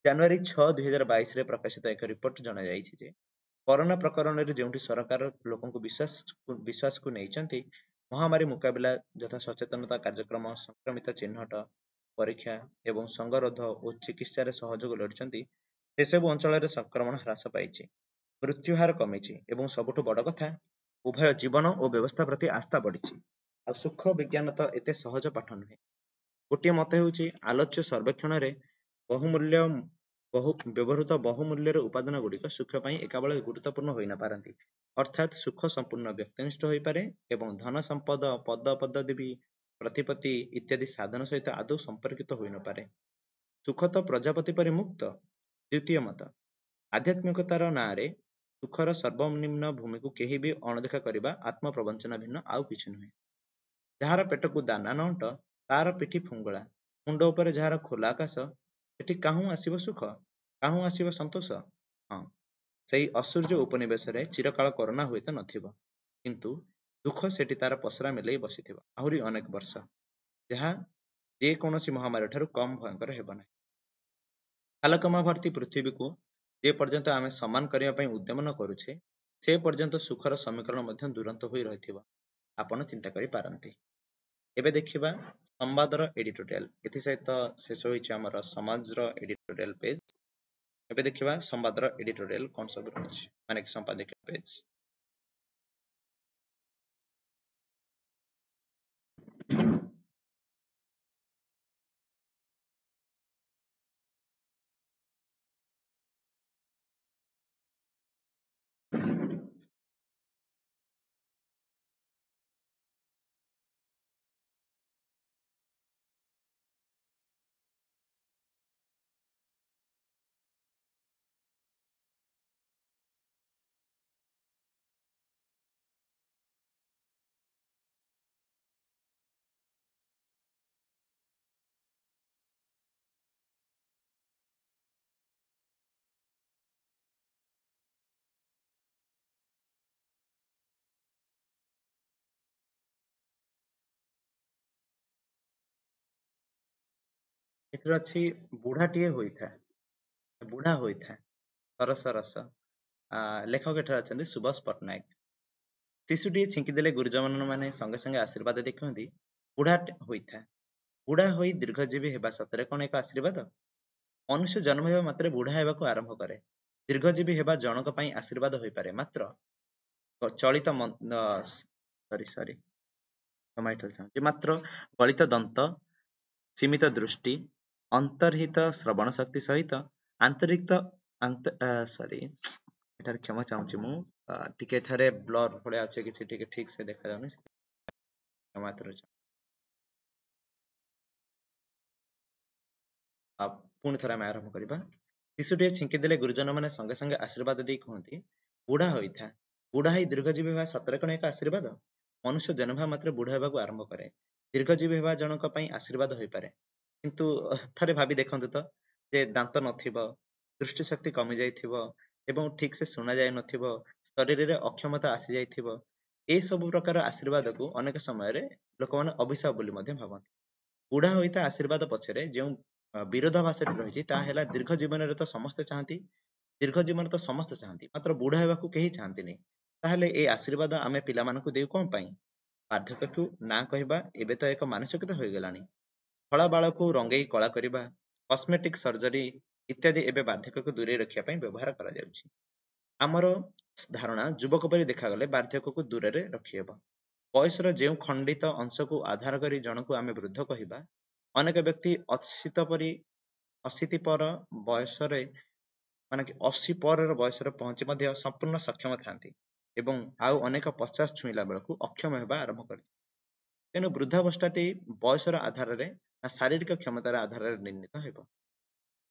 [SPEAKER 1] ଜାନୁଆରୀ ଛଅ ଦୁଇ ହଜାର ବାଇଶରେ ପ୍ରକାଶିତ ଏକ ରିପୋର୍ଟ ଜଣାଯାଇଛି ଯେ କରୋନା ପ୍ରକରଣରେ ଯେଉଁଠି ସରକାର ଲୋକଙ୍କୁ ବିଶ୍ୱାସ ବିଶ୍ୱାସକୁ ନେଇଛନ୍ତି, ମହାମାରୀ ମୁକାବିଲା ଯଥା ସଚେତନତା କାର୍ଯ୍ୟକ୍ରମ, ସଂକ୍ରମିତ ଚିହ୍ନଟ, ପରୀକ୍ଷା ଏବଂ ସଙ୍ଗରୋଧ ଓ ଚିକିତ୍ସାରେ ସହଯୋଗ ଲୋଡ଼ିଛନ୍ତି, ସେସବୁ ଅଞ୍ଚଳରେ ସଂକ୍ରମଣ ହ୍ରାସ ପାଇଛି, ମୃତ୍ୟୁହାର କମିଛି ଏବଂ ସବୁଠୁ ବଡ଼ କଥା, ଉଭୟ ଜୀବନ ଓ ବ୍ୟବସ୍ଥା ପ୍ରତି ଆସ୍ଥା ବଢ଼ିଛି। ଆଉ ସୁଖ ବିଜ୍ଞାନ ତ ଏତେ ସହଜ ପାଠ ନୁହେଁ। ଗୋଟିଏ ମତ ହେଉଛି, ଆଲୋଚ୍ୟ ସର୍ବେକ୍ଷଣରେ ବହୁମୂଲ୍ୟ ବହୁ ବ୍ୟବହୃତ ବହୁମୂଲ୍ୟର ଉପାଦାନ ଗୁଡ଼ିକ ସୁଖ ପାଇଁ ଏକାବେଳେ ଗୁରୁତ୍ୱପୂର୍ଣ୍ଣ ହୋଇନପାରନ୍ତି। ଅର୍ଥାତ୍ ସୁଖ ସମ୍ପୂର୍ଣ୍ଣ ବ୍ୟକ୍ତିନିଷ୍ଠ ହୋଇପାରେ ଏବଂ ଧନ ସମ୍ପଦ, ପଦ ପଦବୀ, ପ୍ରତିପତ୍ତି ଇତ୍ୟାଦି ସାଧନ ସହିତ ଆଦୌ ସମ୍ପର୍କିତ ହୋଇନପାରେ। ସୁଖ ତ ପ୍ରଜାପତି ପରି ମୁକ୍ତ। ଦ୍ୱିତୀୟ ମତ, ଆଧ୍ୟାତ୍ମିକତାର ନାଁରେ ସୁଖର ସର୍ବନିମ୍ନ ଭୂମିକୁ କେହି ବି ଅଣଦେଖା କରିବା ଆତ୍ମପ୍ରବଞ୍ଚନା ଭିନ୍ନ ଆଉ କିଛି ନୁହେଁ। ଯାହାର ପେଟକୁ ଦାନା ନ ଅଣ୍ଟ, ତାର ପିଠି ଫୁଙ୍ଗୁଳା, ମୁଣ୍ଡ ଉପରେ ଯାହାର ଖୋଲା ଆକାଶ, ସେଠି କାହୁଁ ଆସିବ ସୁଖ, କାହୁଁ ଆସିବ ସନ୍ତୋଷ? ହଁ, ସେଇ ଅସୂର୍ଯ୍ୟ ଉପନିବେଶରେ ଚିରକାଳ କରୋନା ହୁଏତ ନଥିବ, କିନ୍ତୁ ଦୁଃଖ ସେଠି ତାର ପସରା ମେଲେଇ ବସିଥିବ ଆହୁରି ଅନେକ ବର୍ଷ, ଯାହା ଯେକୌଣସି ମହାମାରୀ ଠାରୁ କମ୍ ଭୟଙ୍କର ହେବ ନାହିଁ। ଖାଲକମା ଭର୍ତ୍ତି ପୃଥିବୀକୁ ଯେ ପର୍ଯ୍ୟନ୍ତ ଆମେ ସମାନ କରିବା ପାଇଁ ଉଦ୍ୟମ ନ କରୁଛେ, ସେ ପର୍ଯ୍ୟନ୍ତ ସୁଖର ସମୀକରଣ ମଧ୍ୟ ଦୂରନ୍ତ ହୋଇ ରହିଥିବ, ଆପଣ ଚିନ୍ତା କରିପାରନ୍ତି। ଏବେ ଦେଖିବା ସମ୍ବାଦର ଏଡିଟୋରିଆଲ। ଏଥିସହିତ ଶେଷ ହୋଇଛି ଆମର ସମାଜର ଏଡିଟୋରିଆଲ ପେଜ। ଏବେ ଦେଖିବା ସମ୍ବାଦର ଏଡିଟୋରିଆଲ କଣ ସବୁ ରହିଛି, ମାନେ କି ସମ୍ପାଦକୀୟ ପେଜ। ଏଥିରେ ଅଛି ବୁଢାଟିଏ ହୋଇଥା, ବୁଢା ହୋଇଥା, ସରସ ରସ। ଲେଖକ ଏଠାରେ ଅଛନ୍ତି ସୁଭାଷ ପଟ୍ଟନାୟକ। ଶିଶୁଟିଏ ଛିଙ୍କିଦେଲେ ଗୁରୁଜନ ମାନେ ସଙ୍ଗେ ସଙ୍ଗେ ଆଶୀର୍ବାଦ ଦେଖନ୍ତି, ବୁଢା ହୋଇଥା। ବୁଢା ହୋଇ ଦୀର୍ଘଜୀବୀ ହେବା ସତରେ କଣ ଏକ ଆଶୀର୍ବାଦ? ମନୁଷ୍ୟ ଜନ୍ମ ହେବା ମାତ୍ରେ ବୁଢା ହେବାକୁ ଆରମ୍ଭ କରେ। ଦୀର୍ଘଜୀବୀ ହେବା ଜଣକ ପାଇଁ ଆଶୀର୍ବାଦ ହୋଇପାରେ, ମାତ୍ର ଚଳିତ ସରି ସରି ଚାହୁଁଛି ମାତ୍ର ଗଳିତ ଦନ୍ତ, ସୀମିତ ଦୃଷ୍ଟି, ଅନ୍ତର୍ହିତ ଶ୍ରବଣ ଶକ୍ତି ସହିତ ଆନ୍ତରିକ ସରି ଏଠାରେ କ୍ଷମା ଚାହୁଁଛି ମୁଁ, ଟିକେ ଏଠାରେ ବ୍ଲର ଭଳିଆ ଅଛି, କିଛି ଟିକେ ଠିକ ସେ ଦେଖାଯାଉନି, କ୍ଷମା। ପୁଣି ଥରେ ଆମେ ଆରମ୍ଭ କରିବା। ଶିଶୁଟିଏ ଛିଙ୍କିଦେଲେ ଗୁରୁଜନ ମାନେ ସଙ୍ଗେ ସଙ୍ଗେ ଆଶୀର୍ବାଦ ଦେଇ କୁହନ୍ତି, ବୁଢା ହୋଇଥା। ବୁଢା ହୋଇ ଦୀର୍ଘଜୀବୀ ହେବା ସତରେ କଣ ଏକ ଆଶୀର୍ବାଦ? ମନୁଷ୍ୟ ଜନ୍ମ ହେବା ମାତ୍ରେ ବୁଢା ହେବାକୁ ଆରମ୍ଭ କରେ। ଦୀର୍ଘଜୀବୀ ହେବା ଜଣକ ପାଇଁ ଆଶୀର୍ବାଦ ହୋଇପାରେ, କିନ୍ତୁ ଥରେ ଭାବି ଦେଖନ୍ତୁ ତ ଯେ ଦାନ୍ତ ନଥିବ, ଦୃଷ୍ଟି ଶକ୍ତି କମି ଯାଇଥିବ ଏବଂ ଠିକ ସେ ଶୁଣା ଯାଇନଥିବ, ଶରୀରରେ ଅକ୍ଷମତା ଆସିଯାଇଥିବ, ଏସବୁ ପ୍ରକାର ଆଶୀର୍ବାଦକୁ ଅନେକ ସମୟରେ ଲୋକମାନେ ଅଭିଶାପ ବୋଲି ମଧ୍ୟ ଭାବନ୍ତି। ବୁଢା ହୋଇଥା ଆଶୀର୍ବାଦ ପଛରେ ଯେଉଁ ବିରୋଧାଭାସଟି ରହିଛି ତାହା ହେଲା, ଦୀର୍ଘ ଜୀବନରେ ତ ସମସ୍ତେ ଚାହାନ୍ତି, ଦୀର୍ଘ ଜୀବନ ତ ସମସ୍ତେ ଚାହାନ୍ତି, ମାତ୍ର ବୁଢା ହେବାକୁ କେହି ଚାହାନ୍ତିନି। ତାହେଲେ ଏ ଆଶୀର୍ବାଦ ଆମେ ପିଲାମାନଙ୍କୁ ଦେଉ କଣ ପାଇଁ? ବାର୍ଦ୍ଧକ୍ୟକୁ ନା କହିବା ଏବେ ତ ଏକ ମାନସିକତା ହୋଇଗଲାଣି। ଧଳା ବାଳକୁ ରଙ୍ଗେଇ କଳା କରିବା, କସ୍ମେଟିକ ସର୍ଜରୀ ଇତ୍ୟାଦି ଏବେ ବାର୍ଦ୍ଧକ୍ୟକୁ ଦୂରେଇ ରଖିବା ପାଇଁ ବ୍ୟବହାର କରାଯାଉଛି। ଆମର ଧାରଣା ଯୁବକ ପରି ଦେଖାଗଲେ ବାର୍ଦ୍ଧକ୍ୟକୁ ଦୂରରେ ରଖିହେବ। ବୟସର ଯେଉଁ ଖଣ୍ଡିତ ଅଂଶକୁ ଆଧାର କରି ଜଣକୁ ଆମେ ବୃଦ୍ଧ କହିବା, ଅନେକ ବ୍ୟକ୍ତି ଅଶୀତ ପରି ଅଶୀତି ପର ବୟସରେ, ମାନେ କି ଅଶୀ ପରର ବୟସରେ ପହଞ୍ଚି ମଧ୍ୟ ସମ୍ପୂର୍ଣ୍ଣ ସକ୍ଷମ ଥାନ୍ତି ଏବଂ ଆଉ ଅନେକ ପଚାଶ ଛୁଇଁଲା ବେଳକୁ ଅକ୍ଷମ ହେବା ଆରମ୍ଭ କରିଥାନ୍ତି। ତେଣୁ ବୃଦ୍ଧାବସ୍ଥାଟି ବୟସର ଆଧାରରେ ନା ଶାରୀରିକ କ୍ଷମତାର ଆଧାରରେ ନିର୍ଣ୍ଣିତ ହେବ?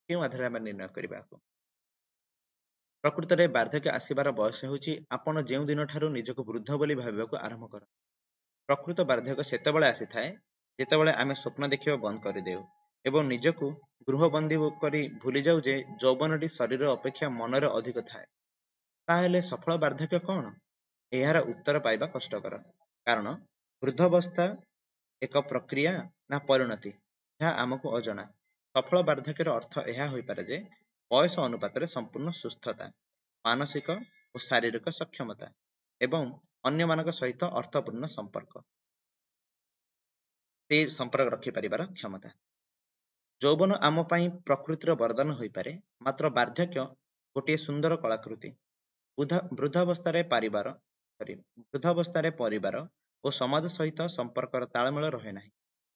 [SPEAKER 1] କେଉଁ ଆଧାରରେ ଆମେ ନିର୍ଣ୍ଣୟ କରିବା? ପ୍ରକୃତରେ ବାର୍ଦ୍ଧକ୍ୟ ଆସିବାର ବୟସ ହେଉଛି ଆପଣ ଯେଉଁ ଦିନଠାରୁ ନିଜକୁ ବୃଦ୍ଧ ବୋଲି ଭାବିବାକୁ ଆରମ୍ଭ କରନ୍ତି। ପ୍ରକୃତ ବାର୍ଦ୍ଧକ୍ୟ ସେତେବେଳେ ଆସିଥାଏ ଯେତେବେଳେ ଆମେ ସ୍ୱପ୍ନ ଦେଖିବା ବନ୍ଦ କରିଦେଉ ଏବଂ ନିଜକୁ ଗୃହବନ୍ଦୀ କରି ଭୁଲିଯାଉ ଯେ ଯୌବନଟି ଶରୀର ଅପେକ୍ଷା ମନରେ ଅଧିକ ଥାଏ। ତାହେଲେ ସଫଳ ବାର୍ଦ୍ଧକ୍ୟ କଣ? ଏହାର ଉତ୍ତର ପାଇବା କଷ୍ଟକର, କାରଣ ବୃଦ୍ଧାବସ୍ଥା ଏକ ପ୍ରକ୍ରିୟା ନା ପରିଣତି, ଯାହା ଆମକୁ ଅଜଣା। ସଫଳ ବାର୍ଦ୍ଧକ୍ୟର ଅର୍ଥ ଏହା ହୋଇପାରେ ଯେ ବୟସ ଅନୁପାତରେ ସମ୍ପୂର୍ଣ୍ଣ ସୁସ୍ଥତା, ମାନସିକ ଓ ଶାରୀରିକ ସକ୍ଷମତା ଏବଂ ଅନ୍ୟମାନଙ୍କ ସହିତ ଅର୍ଥପୂର୍ଣ୍ଣ ସମ୍ପର୍କ, ସେଇ ସମ୍ପର୍କ ରଖିପାରିବାର କ୍ଷମତା। ଯୌବନ ଆମ ପାଇଁ ପ୍ରକୃତିର ବରଦାନ ହୋଇପାରେ, ମାତ୍ର ବାର୍ଦ୍ଧକ୍ୟ ଗୋଟିଏ ସୁନ୍ଦର କଳାକୃତି। ବୃଦ୍ଧାବସ୍ଥାରେ ପାରିବାର ସରି ବୃଦ୍ଧାବସ୍ଥାରେ ପରିବାର ଓ ସମାଜ ସହିତ ସମ୍ପର୍କର ତାଳମେଳ ରହେ ନାହିଁ।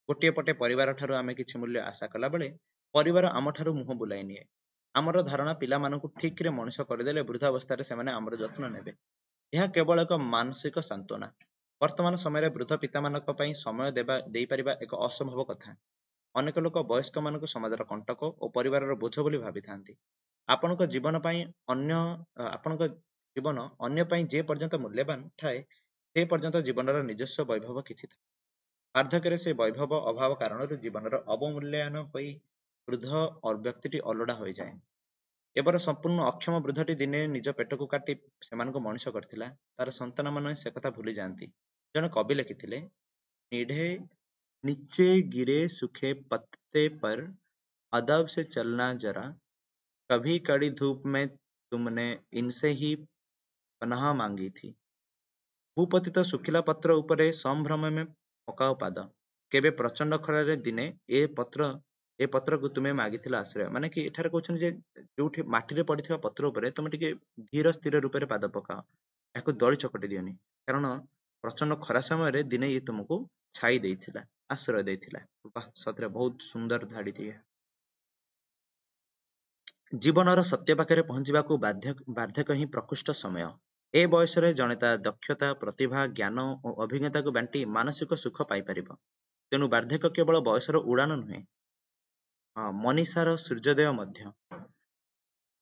[SPEAKER 1] ଗୋଟିଏ ପଟେ ପରିବାର ଠାରୁ ଆମେ କିଛି ମୂଲ୍ୟ ଆଶା କଲାବେଳେ ପରିବାର ଆମଠାରୁ ମୁହଁ ବୁଲାଇ ନିଏ। ଆମର ଧାରଣା ପିଲାମାନଙ୍କୁ ଠିକରେ ମଣିଷ କରିଦେଲେ ବୃଦ୍ଧାବସ୍ଥାରେ ସେମାନେ ଆମର ଯତ୍ନ ନେବେ। ଏହା କେବଳ ଏକ ମାନସିକ ସାନ୍ତ୍ୱନା। ବର୍ତ୍ତମାନ ସମୟରେ ବୃଦ୍ଧ ପିତାମାନଙ୍କ ପାଇଁ ସମୟ ଦେବା ଦେଇପାରିବା ଏକ ଅସମ୍ଭବ କଥା। ଅନେକ ଲୋକ ବୟସ୍କମାନଙ୍କୁ ସମାଜର କଣ୍ଟକ ଓ ପରିବାରର ବୋଝ ବୋଲି ଭାବିଥାନ୍ତି। ଆପଣଙ୍କ ଜୀବନ ପାଇଁ ଅନ୍ୟ ଆପଣଙ୍କ ଜୀବନ ଅନ୍ୟ ପାଇଁ ଯେ ପର୍ଯ୍ୟନ୍ତ ମୂଲ୍ୟବାନ ଥାଏ, ସେ ପର୍ଯ୍ୟନ୍ତ ଜୀବନର ନିଜସ୍ୱ ବୈଭବ କିଛି ଥାଏ। ବାର୍ଦ୍ଧକ୍ୟରେ ସେ ବୈଭବ ଅଭାବ କାରଣରୁ ଜୀବନର ଅବମୂଲ୍ୟାୟନ ହୋଇ ବୃଦ୍ଧ ବ୍ୟକ୍ତିଟି ଅଲୋଡ଼ା ହୋଇଯାଏ। ଏବର ସମ୍ପୂର୍ଣ୍ଣ ଅକ୍ଷମ ବୃଦ୍ଧଟି ଦିନେ ନିଜ ପେଟକୁ କାଟି ସେମାନଙ୍କୁ ମଣିଷ କରିଥିଲା, ତାର ସନ୍ତାନମାନେ ସେ କଥା ଭୁଲି ଯାଆନ୍ତି। ଜଣେ କବି ଲେଖିଥିଲେ, ନିଢେ नीचे गिरे सूखे पत्ते पर अदब से चलना जरा, कभी कड़ी धूप में तुमने इनसे ही पनाह मांगी थी। ଭୂପତିତ ଶୁଖିଲା ପତ୍ର ଉପରେ ସମ୍ଭ୍ରମେ ପକାଅ ପାଦ, କେବେ ପ୍ରଚଣ୍ଡ ଖରାରେ ଦିନେ ଏ ପତ୍ର ଏ ପତ୍ରକୁ ତୁମେ ମାଗିଥିଲ ଆଶ୍ରୟ। ମାନେ କି ଏଠାରେ କହୁଛନ୍ତି ଯେ ଯୋଉଠି ମାଟିରେ ପଡିଥିବା ପତ୍ର ଉପରେ ତୁମେ ଟିକେ ଧୀର ସ୍ଥିର ରୂପରେ ପାଦ ପକାଅ, ଏହାକୁ ଦଳି ଚକଟି ଦିଅନି, କାରଣ ପ୍ରଚଣ୍ଡ ଖରା ସମୟରେ ଦିନେ ଇଏ ତୁମକୁ ଛାଇ ଦେଇଥିଲା, ଆଶ୍ରୟ ଦେଇଥିଲା। ବାহ, ସତରେ ବହୁତ ସୁନ୍ଦର ଧାଡ଼ିଟିଏ। ଜୀବନର ସତ୍ୟ ପାଖରେ ପହଞ୍ଚିବାକୁ ବାର୍ଦ୍ଧକ୍ୟ ହିଁ ପ୍ରକୃଷ୍ଟ ସମୟ। ଏ ବୟସରେ ଜଣେ ତା ଦକ୍ଷତା, ପ୍ରତିଭା, ଜ୍ଞାନ ଓ ଅଭିଜ୍ଞତାକୁ ବାଣ୍ଟି ମାନସିକ ସୁଖ ପାଇପାରିବ। ତେଣୁ ବାର୍ଦ୍ଧକ୍ୟ କେବଳ ବୟସର ଉଡ଼ାଣ ନୁହେଁ, ମନୀଷାର ସୂର୍ଯ୍ୟୋଦୟ ମଧ୍ୟ।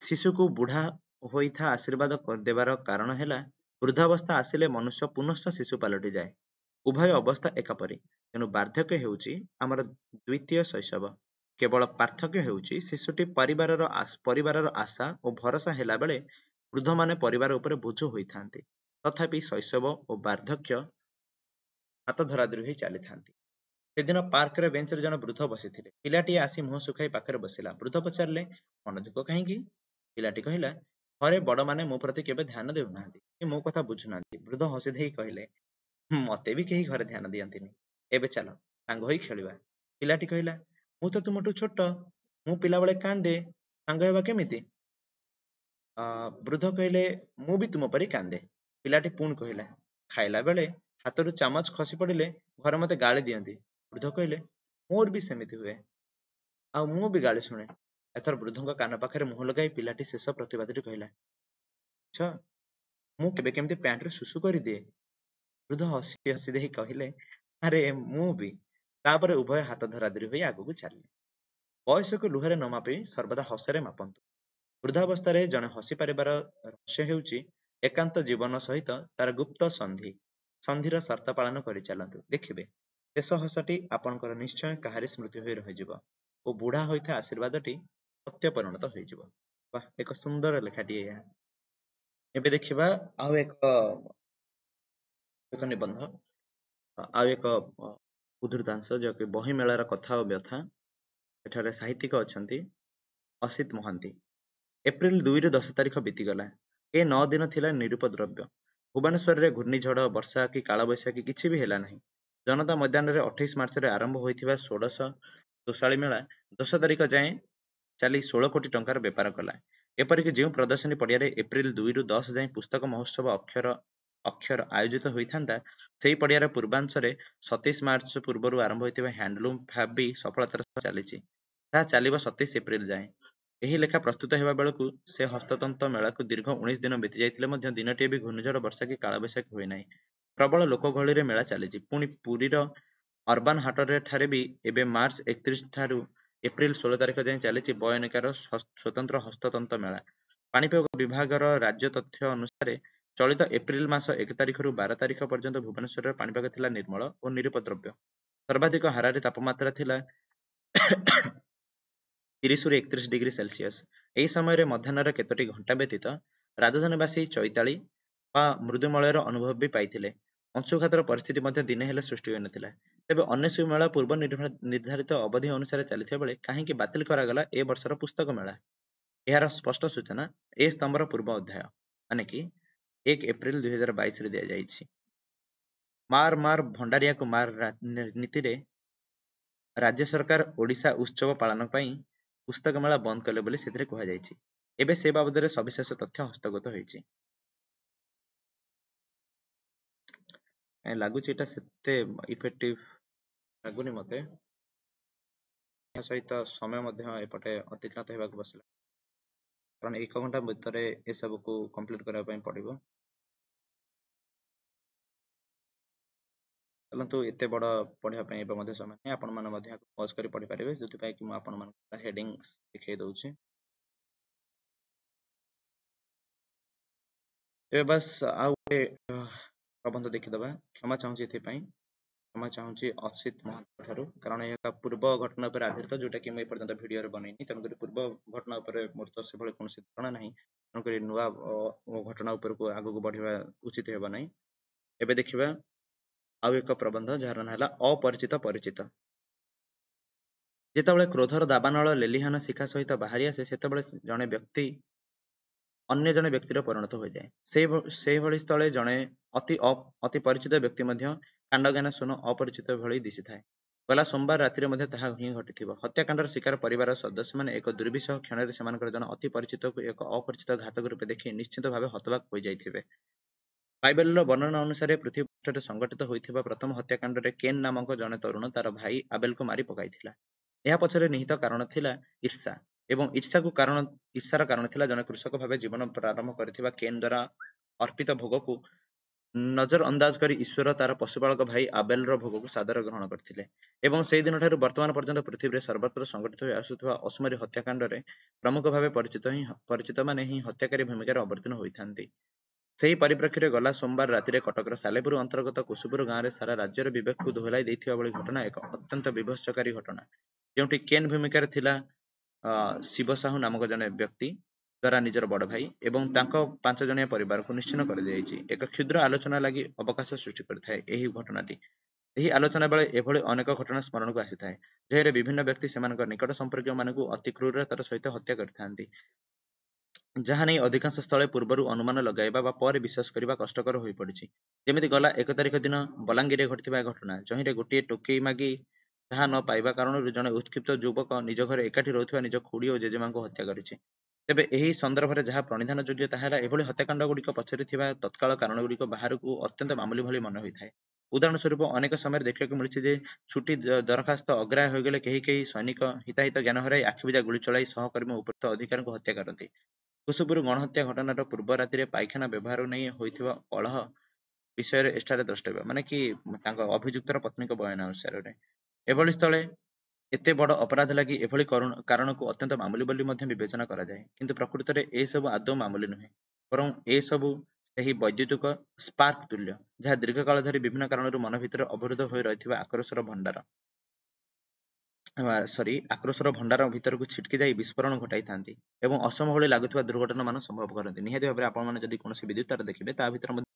[SPEAKER 1] ଶିଶୁକୁ ବୁଢ଼ା ହୋଇଥା ଆଶୀର୍ବାଦ ଦେବାର କାରଣ ହେଲା, ବୃଦ୍ଧାବସ୍ଥା ଆସିଲେ ମନୁଷ୍ୟ ପୁନଶ୍ଚ ଶିଶୁ ପାଲଟିଯାଏ। ଉଭୟ ଅବସ୍ଥା ଏକାପରି। ତେଣୁ ବାର୍ଦ୍ଧକ୍ୟ ହେଉଛି ଆମର ଦ୍ୱିତୀୟ ଶୈଶବ। କେବଳ ପାର୍ଥକ୍ୟ ହେଉଛି ଶିଶୁଟି ପରିବାରର ପରିବାରର ଆଶା ଓ ଭରସା ହେଲାବେଳେ ବୃଦ୍ଧମାନେ ପରିବାର ଉପରେ ବୋଝ ହୋଇଥାନ୍ତି। ତଥାପି ଶୈଶବ ଓ ବାର୍ଦ୍ଧକ୍ୟ ହାତ ଧରାଧରି ହୋଇ ଚାଲିଥାନ୍ତି। ସେଦିନ ପାର୍କରେ ବେଞ୍ଚରେ ଜଣେ ବୃଦ୍ଧ ବସିଥିଲେ। ପିଲାଟିଏ ଆସି ମୁହଁ ଶୁଖାଇ ପାଖରେ ବସିଲା। ବୃଦ୍ଧ ପଚାରିଲେ, ମନ ଦୁଃଖ କାହିଁକି? ପିଲାଟି କହିଲା, ଘରେ ବଡ଼ମାନେ ମୋ ପ୍ରତି କେବେ ଧ୍ୟାନ ଦେଉନାହାନ୍ତି କି ମୋ କଥା ବୁଝୁନାହାନ୍ତି। ବୃଦ୍ଧ ହସି ଦେଇ କହିଲେ, ମତେ ବି କେହି ଘରେ ଧ୍ୟାନ ଦିଅନ୍ତିନି। ଏବେ ଚାଲ ସାଙ୍ଗ ହୋଇ ଖେଳିବା। ପିଲାଟି କହିଲା, ମୁଁ ତ ତୁମଠୁ ଛୋଟ, ମୁଁ ପିଲାବେଳେ କାନ୍ଦେ, ସାଙ୍ଗ ହେବା କେମିତି? ବୃଦ୍ଧ କହିଲେ, ମୁଁ ବି ତୁମ ପରି କାନ୍ଦେ। ପିଲାଟି ପୁଣି କହିଲା, ଖାଇଲା ବେଳେ ହାତରୁ ଚାମଚ ଖସି ପଡ଼ିଲେ ଘରେ ମତେ ଗାଳି ଦିଅନ୍ତି। ବୃଦ୍ଧ କହିଲେ, ମୋର ବି ସେମିତି ହୁଏ, ଆଉ ମୁଁ ବି ଗାଳି ଶୁଣେ। ଏଥର ବୃଦ୍ଧଙ୍କ କାନ ପାଖରେ ମୁହଁ ଲଗାଇ ପିଲାଟି ଶେଷ ପ୍ରତିବାଦଟି କହିଲା, ଆଚ୍ଛା, ମୁଁ କେବେ କେମିତି ପ୍ୟାଣ୍ଟରେ ଶୁଶୁ କରିଦିଏ। ବୃଦ୍ଧ ହସି ହସି ଦେଇ କହିଲେ, ଆରେ ମୁଁ ବି। ତାପରେ ଉଭୟ ହାତ ଧରାଧରି ହୋଇ ଆଗକୁ ଚାଲିଲେ। ବୟସକୁ ଲୁହରେ ନ ମାପି ସର୍ବଦା ହସରେ ମାପନ୍ତୁ। ବୃଦ୍ଧାବସ୍ଥାରେ ଜଣେ ହସି ପାରିବାର ରହସ୍ୟ ହେଉଛି ଏକାନ୍ତ ଜୀବନ ସହିତ ତାର ଗୁପ୍ତ ସନ୍ଧି। ସନ୍ଧିର ସର୍ତ୍ତ ପାଳନ କରି ଚାଲନ୍ତୁ, ଦେଖିବେ ଶେଷ ହସଟି ଆପଣଙ୍କର ନିଶ୍ଚୟ କାହାରି ସ୍ମୃତି ହୋଇ ରହିଯିବ ଓ ବୁଢା ହୋଇଥିବା ଆଶୀର୍ବାଦଟି ସତ୍ୟ ପରିଣତ ହୋଇଯିବ। ବାহ, ଏକ ସୁନ୍ଦର ଲେଖାଟିଏ ଏହା। ଏବେ ଦେଖିବା ଆଉ ଏକ ଏକ ନିବନ୍ଧ, ଆଉ ଏକ ଉଦ୍ଧୃତାଂଶ, ଯାହାକି ବହି ମେଳାର କଥା ଓ ବ୍ୟଥା। ଏଠାରେ ସାହିତ୍ୟିକ ଅଛନ୍ତି ଅସିତ ମହାନ୍ତି। ଏପ୍ରିଲ ଦୁଇରୁ ଦଶ ତାରିଖ ବିତିଗଲା। ଏ ନଅ ଦିନ ଥିଲା ନିରୁପଦ୍ରବ୍ୟ। ଭୁବନେଶ୍ୱରରେ ଘୂର୍ଣ୍ଣିଝଡ଼, ବର୍ଷା କି କାଳବୈଶାଖୀ କିଛି ବି ହେଲା ନାହିଁ। ଜନତା ମଇଦାନରେ ଅଠେଇଶ ମାର୍ଚ୍ଚରେ ଆରମ୍ଭ ହୋଇଥିବା ଷୋଡ଼ଶ ତୋଷାଳୀ ମେଳା ଦଶ ତାରିଖ ଯାଏଁ ଚାଲି ଷୋହଳ କୋଟି ଟଙ୍କାର ବେପାର କଲା। ଏପରିକି ଯେଉଁ ପ୍ରଦର୍ଶନୀ ପଡ଼ିଆରେ ଏପ୍ରିଲ ଦୁଇରୁ ଦଶ ଯାଏଁ ପୁସ୍ତକ ମହୋତ୍ସବ ଅକ୍ଷର ଅକ୍ଷର ଆୟୋଜିତ ହୋଇଥାନ୍ତା, ସେହି ପଡ଼ିଆର ପୂର୍ବାଂଶରେ ସତେଇଶ ମାର୍ଚ୍ଚ ପୂର୍ବରୁ ଆରମ୍ଭ ହୋଇଥିବା ହ୍ୟାଣ୍ଡଲୁମ୍ ଫ୍ୟାବ୍ ବି ସଫଳତାର ସହ ଚାଲିଛି। ତାହା ଚାଲିବ ସତେଇଶ ଏପ୍ରିଲ ଯାଏଁ। ଏହି ଲେଖା ପ୍ରସ୍ତୁତ ହେବା ବେଳକୁ ସେ ହସ୍ତତନ୍ତ ମେଳାକୁ ଦୀର୍ଘ ଉଣେଇଶ ଦିନ ବିତି ଯାଇଥିଲେ ମଧ୍ୟ ଦିନଟିଏ ବି ଘୂର୍ଣ୍ଣିଝଡ଼, ବର୍ଷା କି କାଳବୈଶାଖୀ ହୋଇନାହିଁ। ପ୍ରବଳ ଲୋକଗହଳିରେ ମେଳା ଚାଲିଛି। ପୁଣି ପୁରୀର ଅର୍ବାନ ହାଟରେ ଠାରେ ବି ଏବେ ମାର୍ଚ୍ଚ ଏକତିରିଶ ଠାରୁ ଏପ୍ରିଲ ଷୋହଳ ତାରିଖ ଯାଏଁ ଚାଲିଛି ବୟନିକାର ସ୍ୱତନ୍ତ୍ର ହସ୍ତତନ୍ତ ମେଳା। ପାଣିପାଗ ବିଭାଗର ରାଜ୍ୟ ତଥ୍ୟ ଅନୁସାରେ ଚଳିତ ଏପ୍ରିଲ ମାସ ଏକ ତାରିଖରୁ ବାର ତାରିଖ ପର୍ଯ୍ୟନ୍ତ ଭୁବନେଶ୍ୱରରେ ପାଣିପାଗ ଥିଲା ନିର୍ମଳ ଓ ନିରୁପଦ୍ରବ୍ୟ। ସର୍ବାଧିକ ହାରାହାରି ତାପମାତ୍ରା ଥିଲା ତିରିଶରୁ ଏକତିରିଶ ଡିଗ୍ରୀ ସେଲସିୟସ। ଏହି ସମୟରେ ମଧ୍ୟାହ୍ନର କେତୋଟି ଘଣ୍ଟା ବ୍ୟତୀତ ରାଜଧାନୀବାସୀ ଚୈତାଳି ବା ମୃଦୁମଳୟର ଅନୁଭବ ବି ପାଇଥିଲେ। ଅଂଶୁଘାତର ପରିସ୍ଥିତି ମଧ୍ୟ ଦିନେ ହେଲେ ସୃଷ୍ଟି ହୋଇନଥିଲା। ତେବେ ଅନ୍ୟ ସବୁ ମେଳା ପୂର୍ବ ନିର୍ଦ୍ଧାରିତ ଅବଧି ଅନୁସାରେ ଚାଲିଥିବା ବେଳେ କାହିଁକି ବାତିଲ କରାଗଲା ଏ ବର୍ଷର ପୁସ୍ତକ ମେଳା? ଏହାର ସ୍ପଷ୍ଟ ସୂଚନା ଏ ସ୍ତମ୍ଭର ପୂର୍ବ ଅଧ୍ୟାୟ, ମାନେ କି ଏକ ଏପ୍ରିଲ ଦୁଇ ହଜାର ବାଇଶରେ ଦିଆଯାଇଛି। ମାର ମାର ଭଣ୍ଡାରିଆକୁ ମାର ନୀତିରେ ରାଜ୍ୟ ସରକାର ଓଡ଼ିଶା ଉତ୍ସବ ପାଳନ ପାଇଁ ପୁସ୍ତକ ମେଳା ବନ୍ଦ କଲେ ବୋଲି ସେଥିରେ କୁହାଯାଇଛି। ଏବେ ସେ ବାବଦରେ ସବିଶେଷ ତଥ୍ୟ ହସ୍ତଗତ ହୋଇଛି। ଲାଗୁଛି ଏଇଟା ସେତେ ଇଫେକ୍ଟିଭ ଲାଗୁନି ମତେ। ଏହା ସହିତ ସମୟ ମଧ୍ୟ ଏପଟେ ଅତିକ୍ରାନ୍ତ ହେବାକୁ ବସିଲା, କାରଣ ଏକ ଘଣ୍ଟା ଭିତରେ ଏସବୁକୁ କମ୍ପ୍ଲିଟ୍ କରିବା ପାଇଁ ପଡ଼ିବ। ଚାଲନ୍ତୁ, ଏତେ ବଡ଼ ପଢ଼ିବା ପାଇଁ ଏବେ ମଧ୍ୟ ସମୟ ନାହିଁ। ଆପଣମାନେ ମଧ୍ୟ ଏହାକୁ ପଜ୍ କରି ପଢ଼ିପାରିବେ, ଯେଉଁଥିପାଇଁ କି ମୁଁ ଆପଣମାନଙ୍କୁ ହେଡ଼ିଂ ଦେଖେଇ ଦେଉଛି। ଏବେ ବାସ୍ ଆଉ ଗୋଟେ ପ୍ରବନ୍ଧ ଦେଖିଦେବା। କ୍ଷମା ଚାହୁଁଛି ଏଥିପାଇଁ, କ୍ଷମା ଚାହୁଁଛି ଅସିତ ମହାନ୍ତ ଠାରୁ, କାରଣ ଏହା ପୂର୍ବ ଘଟଣା ଉପରେ ଆଧାରିତ, ଯୋଉଟା କି ମୁଁ ଏପର୍ଯ୍ୟନ୍ତ ଭିଡ଼ିଓରେ ବନେଇନି। ତେଣୁକରି ପୂର୍ବ ଘଟଣା ଉପରେ ମୋର ତ ସେଭଳି କୌଣସି ଧାରଣା ନାହିଁ, ତେଣୁକରି ନୂଆ ଘଟଣା ଉପରକୁ ଆଗକୁ ବଢ଼ିବା ଉଚିତ ହେବ ନାହିଁ। ଏବେ ଦେଖିବା ଆଉ ଏକ ପ୍ରବନ୍ଧ, ଯାହାର ନାଁ ହେଲା ଅପରିଚିତ ପରିଚିତ। ଯେତେବେଳେ କ୍ରୋଧର ଦାବାନଳ ଲେଲିହାନ ଶିଖା ସହିତ ବାହାରି ଆସେ, ସେତେବେଳେ ଜଣେ ବ୍ୟକ୍ତି ଅନ୍ୟ ଜଣେ ବ୍ୟକ୍ତିର ପରିଣତ ହୋଇଯାଏ। ସେଇ ସେଇଭଳି ସ୍ଥଳେ ଜଣେ ଅତି ଅତି ପରିଚିତ ବ୍ୟକ୍ତି ମଧ୍ୟ କାଣ୍ଡଜ୍ଞାନ ଶୂନ ଅପରିଚିତ ଭଳି ଦିଶିଥାଏ। ଗଲା ସୋମବାର ରାତିରେ ମଧ୍ୟ ତାହା ହିଁ ଘଟିଥିବ। ହତ୍ୟାକାଣ୍ଡର ଶିକାର ପରିବାରର ସଦସ୍ୟମାନେ ଏକ ଦୁର୍ବିସହ କ୍ଷଣରେ ସେମାନଙ୍କର ଜଣେ ଅତି ପରିଚିତକୁ ଏକ ଅପରିଚିତ ଘାତକ ରୂପେ ଦେଖି ନିଶ୍ଚିତ ଭାବେ ହତବାକ ହୋଇଯାଇଥିବେ। ବାଇବେଲର ବର୍ଣ୍ଣନା ଅନୁସାରେ ପୃଥିବୀ ପୃଷ୍ଠରେ ସଂଘଟିତ ହୋଇଥିବା ପ୍ରଥମ ହତ୍ୟାକାଣ୍ଡରେ କେନ୍ ନାମକ ଜଣେ ତରୁଣ ତାର ଭାଇ ଆବେଲକୁ ମାରି ପକାଇଥିଲା। ଏହା ପଛରେ ନିହିତ କାରଣ ଥିଲା ଈର୍ଷା, ଏବଂ ଈର୍ଷାକୁ କାରଣ ଈର୍ଷାର କାରଣ ଥିଲା ଜଣେ କୃଷକ ଭାବେ ଜୀବନ ପ୍ରାରମ୍ଭ କରିଥିବା କେନ୍ ଦ୍ୱାରା ଅର୍ପିତ ଭୋଗକୁ ନଜର ଅନ୍ଦାଜ କରି ଈଶ୍ୱର ତାର ପଶୁପାଳକ ଭାଇ ଆବେଲର ଭୋଗକୁ ସାଦର ଗ୍ରହଣ କରିଥିଲେ। ଏବଂ ସେହି ଦିନଠାରୁ ବର୍ତ୍ତମାନ ପର୍ଯ୍ୟନ୍ତ ପୃଥିବୀରେ ସର୍ବତ୍ର ସଂଘଟିତ ହୋଇ ଆସୁଥିବା ଅସୁମାରୀ ହତ୍ୟାକାଣ୍ଡରେ ପ୍ରମୁଖ ଭାବେ ପରିଚିତ ହିଁ ପରିଚିତମାନେ ହିଁ ହତ୍ୟାକାରୀ ଭୂମିକାରେ ଅବତୀର୍ଣ୍ଣ ହୋଇଥାନ୍ତି। ସେହି ପରିପ୍ରେକ୍ଷୀରେ ଗଲା ସୋମବାର ରାତିରେ କଟକର ସାଲେପୁର ଅନ୍ତର୍ଗତ କୁସୁପୁର ଗାଁରେ ସାରା ରାଜ୍ୟର ବିବେକକୁ ଦୋହଲାଇ ଦେଇଥିବା ଭଳି ଘଟଣା ଏକ ଅତ୍ୟନ୍ତ ବିଭତ୍ସକାରୀ ଘଟଣା, ଯେଉଁଠି କେନ୍ ଭୂମିକାରେ ଥିଲା ଶିବ ସାହୁ ନାମକ ଜଣେ ବ୍ୟକ୍ତି ଦ୍ୱାରା ନିଜର ବଡ଼ ଭାଇ ଏବଂ ତାଙ୍କ ପାଞ୍ଚ ଜଣିଆ ପରିବାରକୁ ନିଶ୍ଚିହ୍ନ କରିଦିଆଯାଇଛି। ଏକ କ୍ଷୁଦ୍ର ଆଲୋଚନା ଲାଗି ଅବକାଶ ସୃଷ୍ଟି କରିଥାଏ ଏହି ଘଟଣାଟି। ଏହି ଆଲୋଚନା ବେଳେ ଏଭଳି ଅନେକ ଘଟଣା ସ୍ମରଣକୁ ଆସିଥାଏ, ଯେଉଁରେ ବିଭିନ୍ନ ବ୍ୟକ୍ତି ସେମାନଙ୍କ ନିକଟ ସମ୍ପର୍କୀୟମାନଙ୍କୁ ଅତି କ୍ରୂରତାର ସହିତ ହତ୍ୟା କରିଥାନ୍ତି, ଯାହା ନେଇ ଅଧିକାଂଶ ସ୍ଥଳେ ପୂର୍ବରୁ ଅନୁମାନ ଲଗାଇବା ବା ପରେ ବିଶ୍ୱାସ କରିବା କଷ୍ଟକର ହୋଇପଡ଼ିଛି। ଯେମିତି ଗଲା ଏକ ତାରିଖ ଦିନ ବଲାଙ୍ଗୀରରେ ଘଟିଥିବା ଘଟଣା, ଯହିଁରେ ଗୋଟିଏ ଟୋକେଇ ମାଗି ତାହା ନ ପାଇବା କାରଣରୁ ଜଣେ ଉତ୍କ୍ଷିପ୍ତ ଯୁବକ ନିଜ ଘରେ ଏକାଠି ରହୁଥିବା ନିଜ ଖୁଡ଼ି ଓ ଜେଜେମାଙ୍କୁ ହତ୍ୟା କରିଛି। ତେବେ ଏହି ସନ୍ଦର୍ଭରେ ଯାହା ପ୍ରଣିଧାନ ଯୋଗ୍ୟ ତାହା ହେଲା ଏଭଳି ହତ୍ୟାକାଣ୍ଡ ଗୁଡ଼ିକ ପଛରେ ଥିବା ତତ୍କାଳ କାରଣ ଗୁଡ଼ିକ ବାହାରକୁ ଅତ୍ୟନ୍ତ ମାମୁଲି ଭଳି ମନେ ହୋଇଥାଏ। ଉଦାହରଣ ସ୍ୱରୂପ ଅନେକ ସମୟରେ ଦେଖିବାକୁ ମିଳିଛି ଯେ ଛୁଟି ଦରଖାସ୍ତ ଅଗ୍ରାହ୍ୟ ହୋଇଗଲେ କେହି କେହି ସୈନିକ ହିତାହିତ ଜ୍ଞାନ ହରାଇ ଆଖିବୁଜା ଗୁଳି ଚଳାଇ ସହକର୍ମୀ ଉପସ୍ଥିତ ଅଧିକାରୀଙ୍କୁ ହତ୍ୟା କରନ୍ତି। କୁସୁପୁର ଗଣହତ୍ୟା ଘଟଣାର ପୂର୍ବ ରାତିରେ ପାଇଖାନା ବ୍ୟବହାର ନେଇ ହୋଇଥିବା କଳହ ବିଷୟରେ ଏଠାରେ ଦ୍ରଷ୍ଟବ୍ୟ, ମାନେ କି ତାଙ୍କ ଅଭିଯୁକ୍ତର ପତ୍ନୀଙ୍କ ବୟାନ ଅନୁସାରେ। ଏଭଳି ସ୍ଥଳେ ଏତେ ବଡ଼ ଅପରାଧ ଲାଗି ଏଭଳି କାରଣକୁ ଅତ୍ୟନ୍ତ ମାମୁଲି ବୋଲି ମଧ୍ୟ ବିବେଚନା କରାଯାଏ, କିନ୍ତୁ ପ୍ରକୃତରେ ଏସବୁ ଆଦୌ ମାମୁଲି ନୁହେଁ, ବରଂ ଏସବୁ ସେହି ବୈଦ୍ୟୁତିକ ସ୍ପାର୍କ ତୁଲ୍ୟ, ଯାହା ଦୀର୍ଘକାଳ ଧରି ବିଭିନ୍ନ କାରଣରୁ ମନ ଭିତରେ ଅବରୁଦ୍ଧ ହୋଇ ରହିଥିବା ଆକ୍ରୋଶର ଭଣ୍ଡାର ସରି ଆକ୍ରୋଶର ଭଣ୍ଡାର ଭିତରକୁ ଛିଟକି ଯାଇ ବିସ୍ଫୋରଣ ଘଟାଇଥାନ୍ତି ଏବଂ ଅସମ୍ଭବ ଭଳି ଲାଗୁଥିବା ଦୁର୍ଘଟଣା ମାନ ସମ୍ଭବ କରନ୍ତି। ନିହାତି ଭାବରେ ଆପଣମାନେ ଯଦି କୌଣସି ବିଦ୍ୟୁତ ତାର ଦେଖିବେ ତା ଭିତରେ ମଧ୍ୟ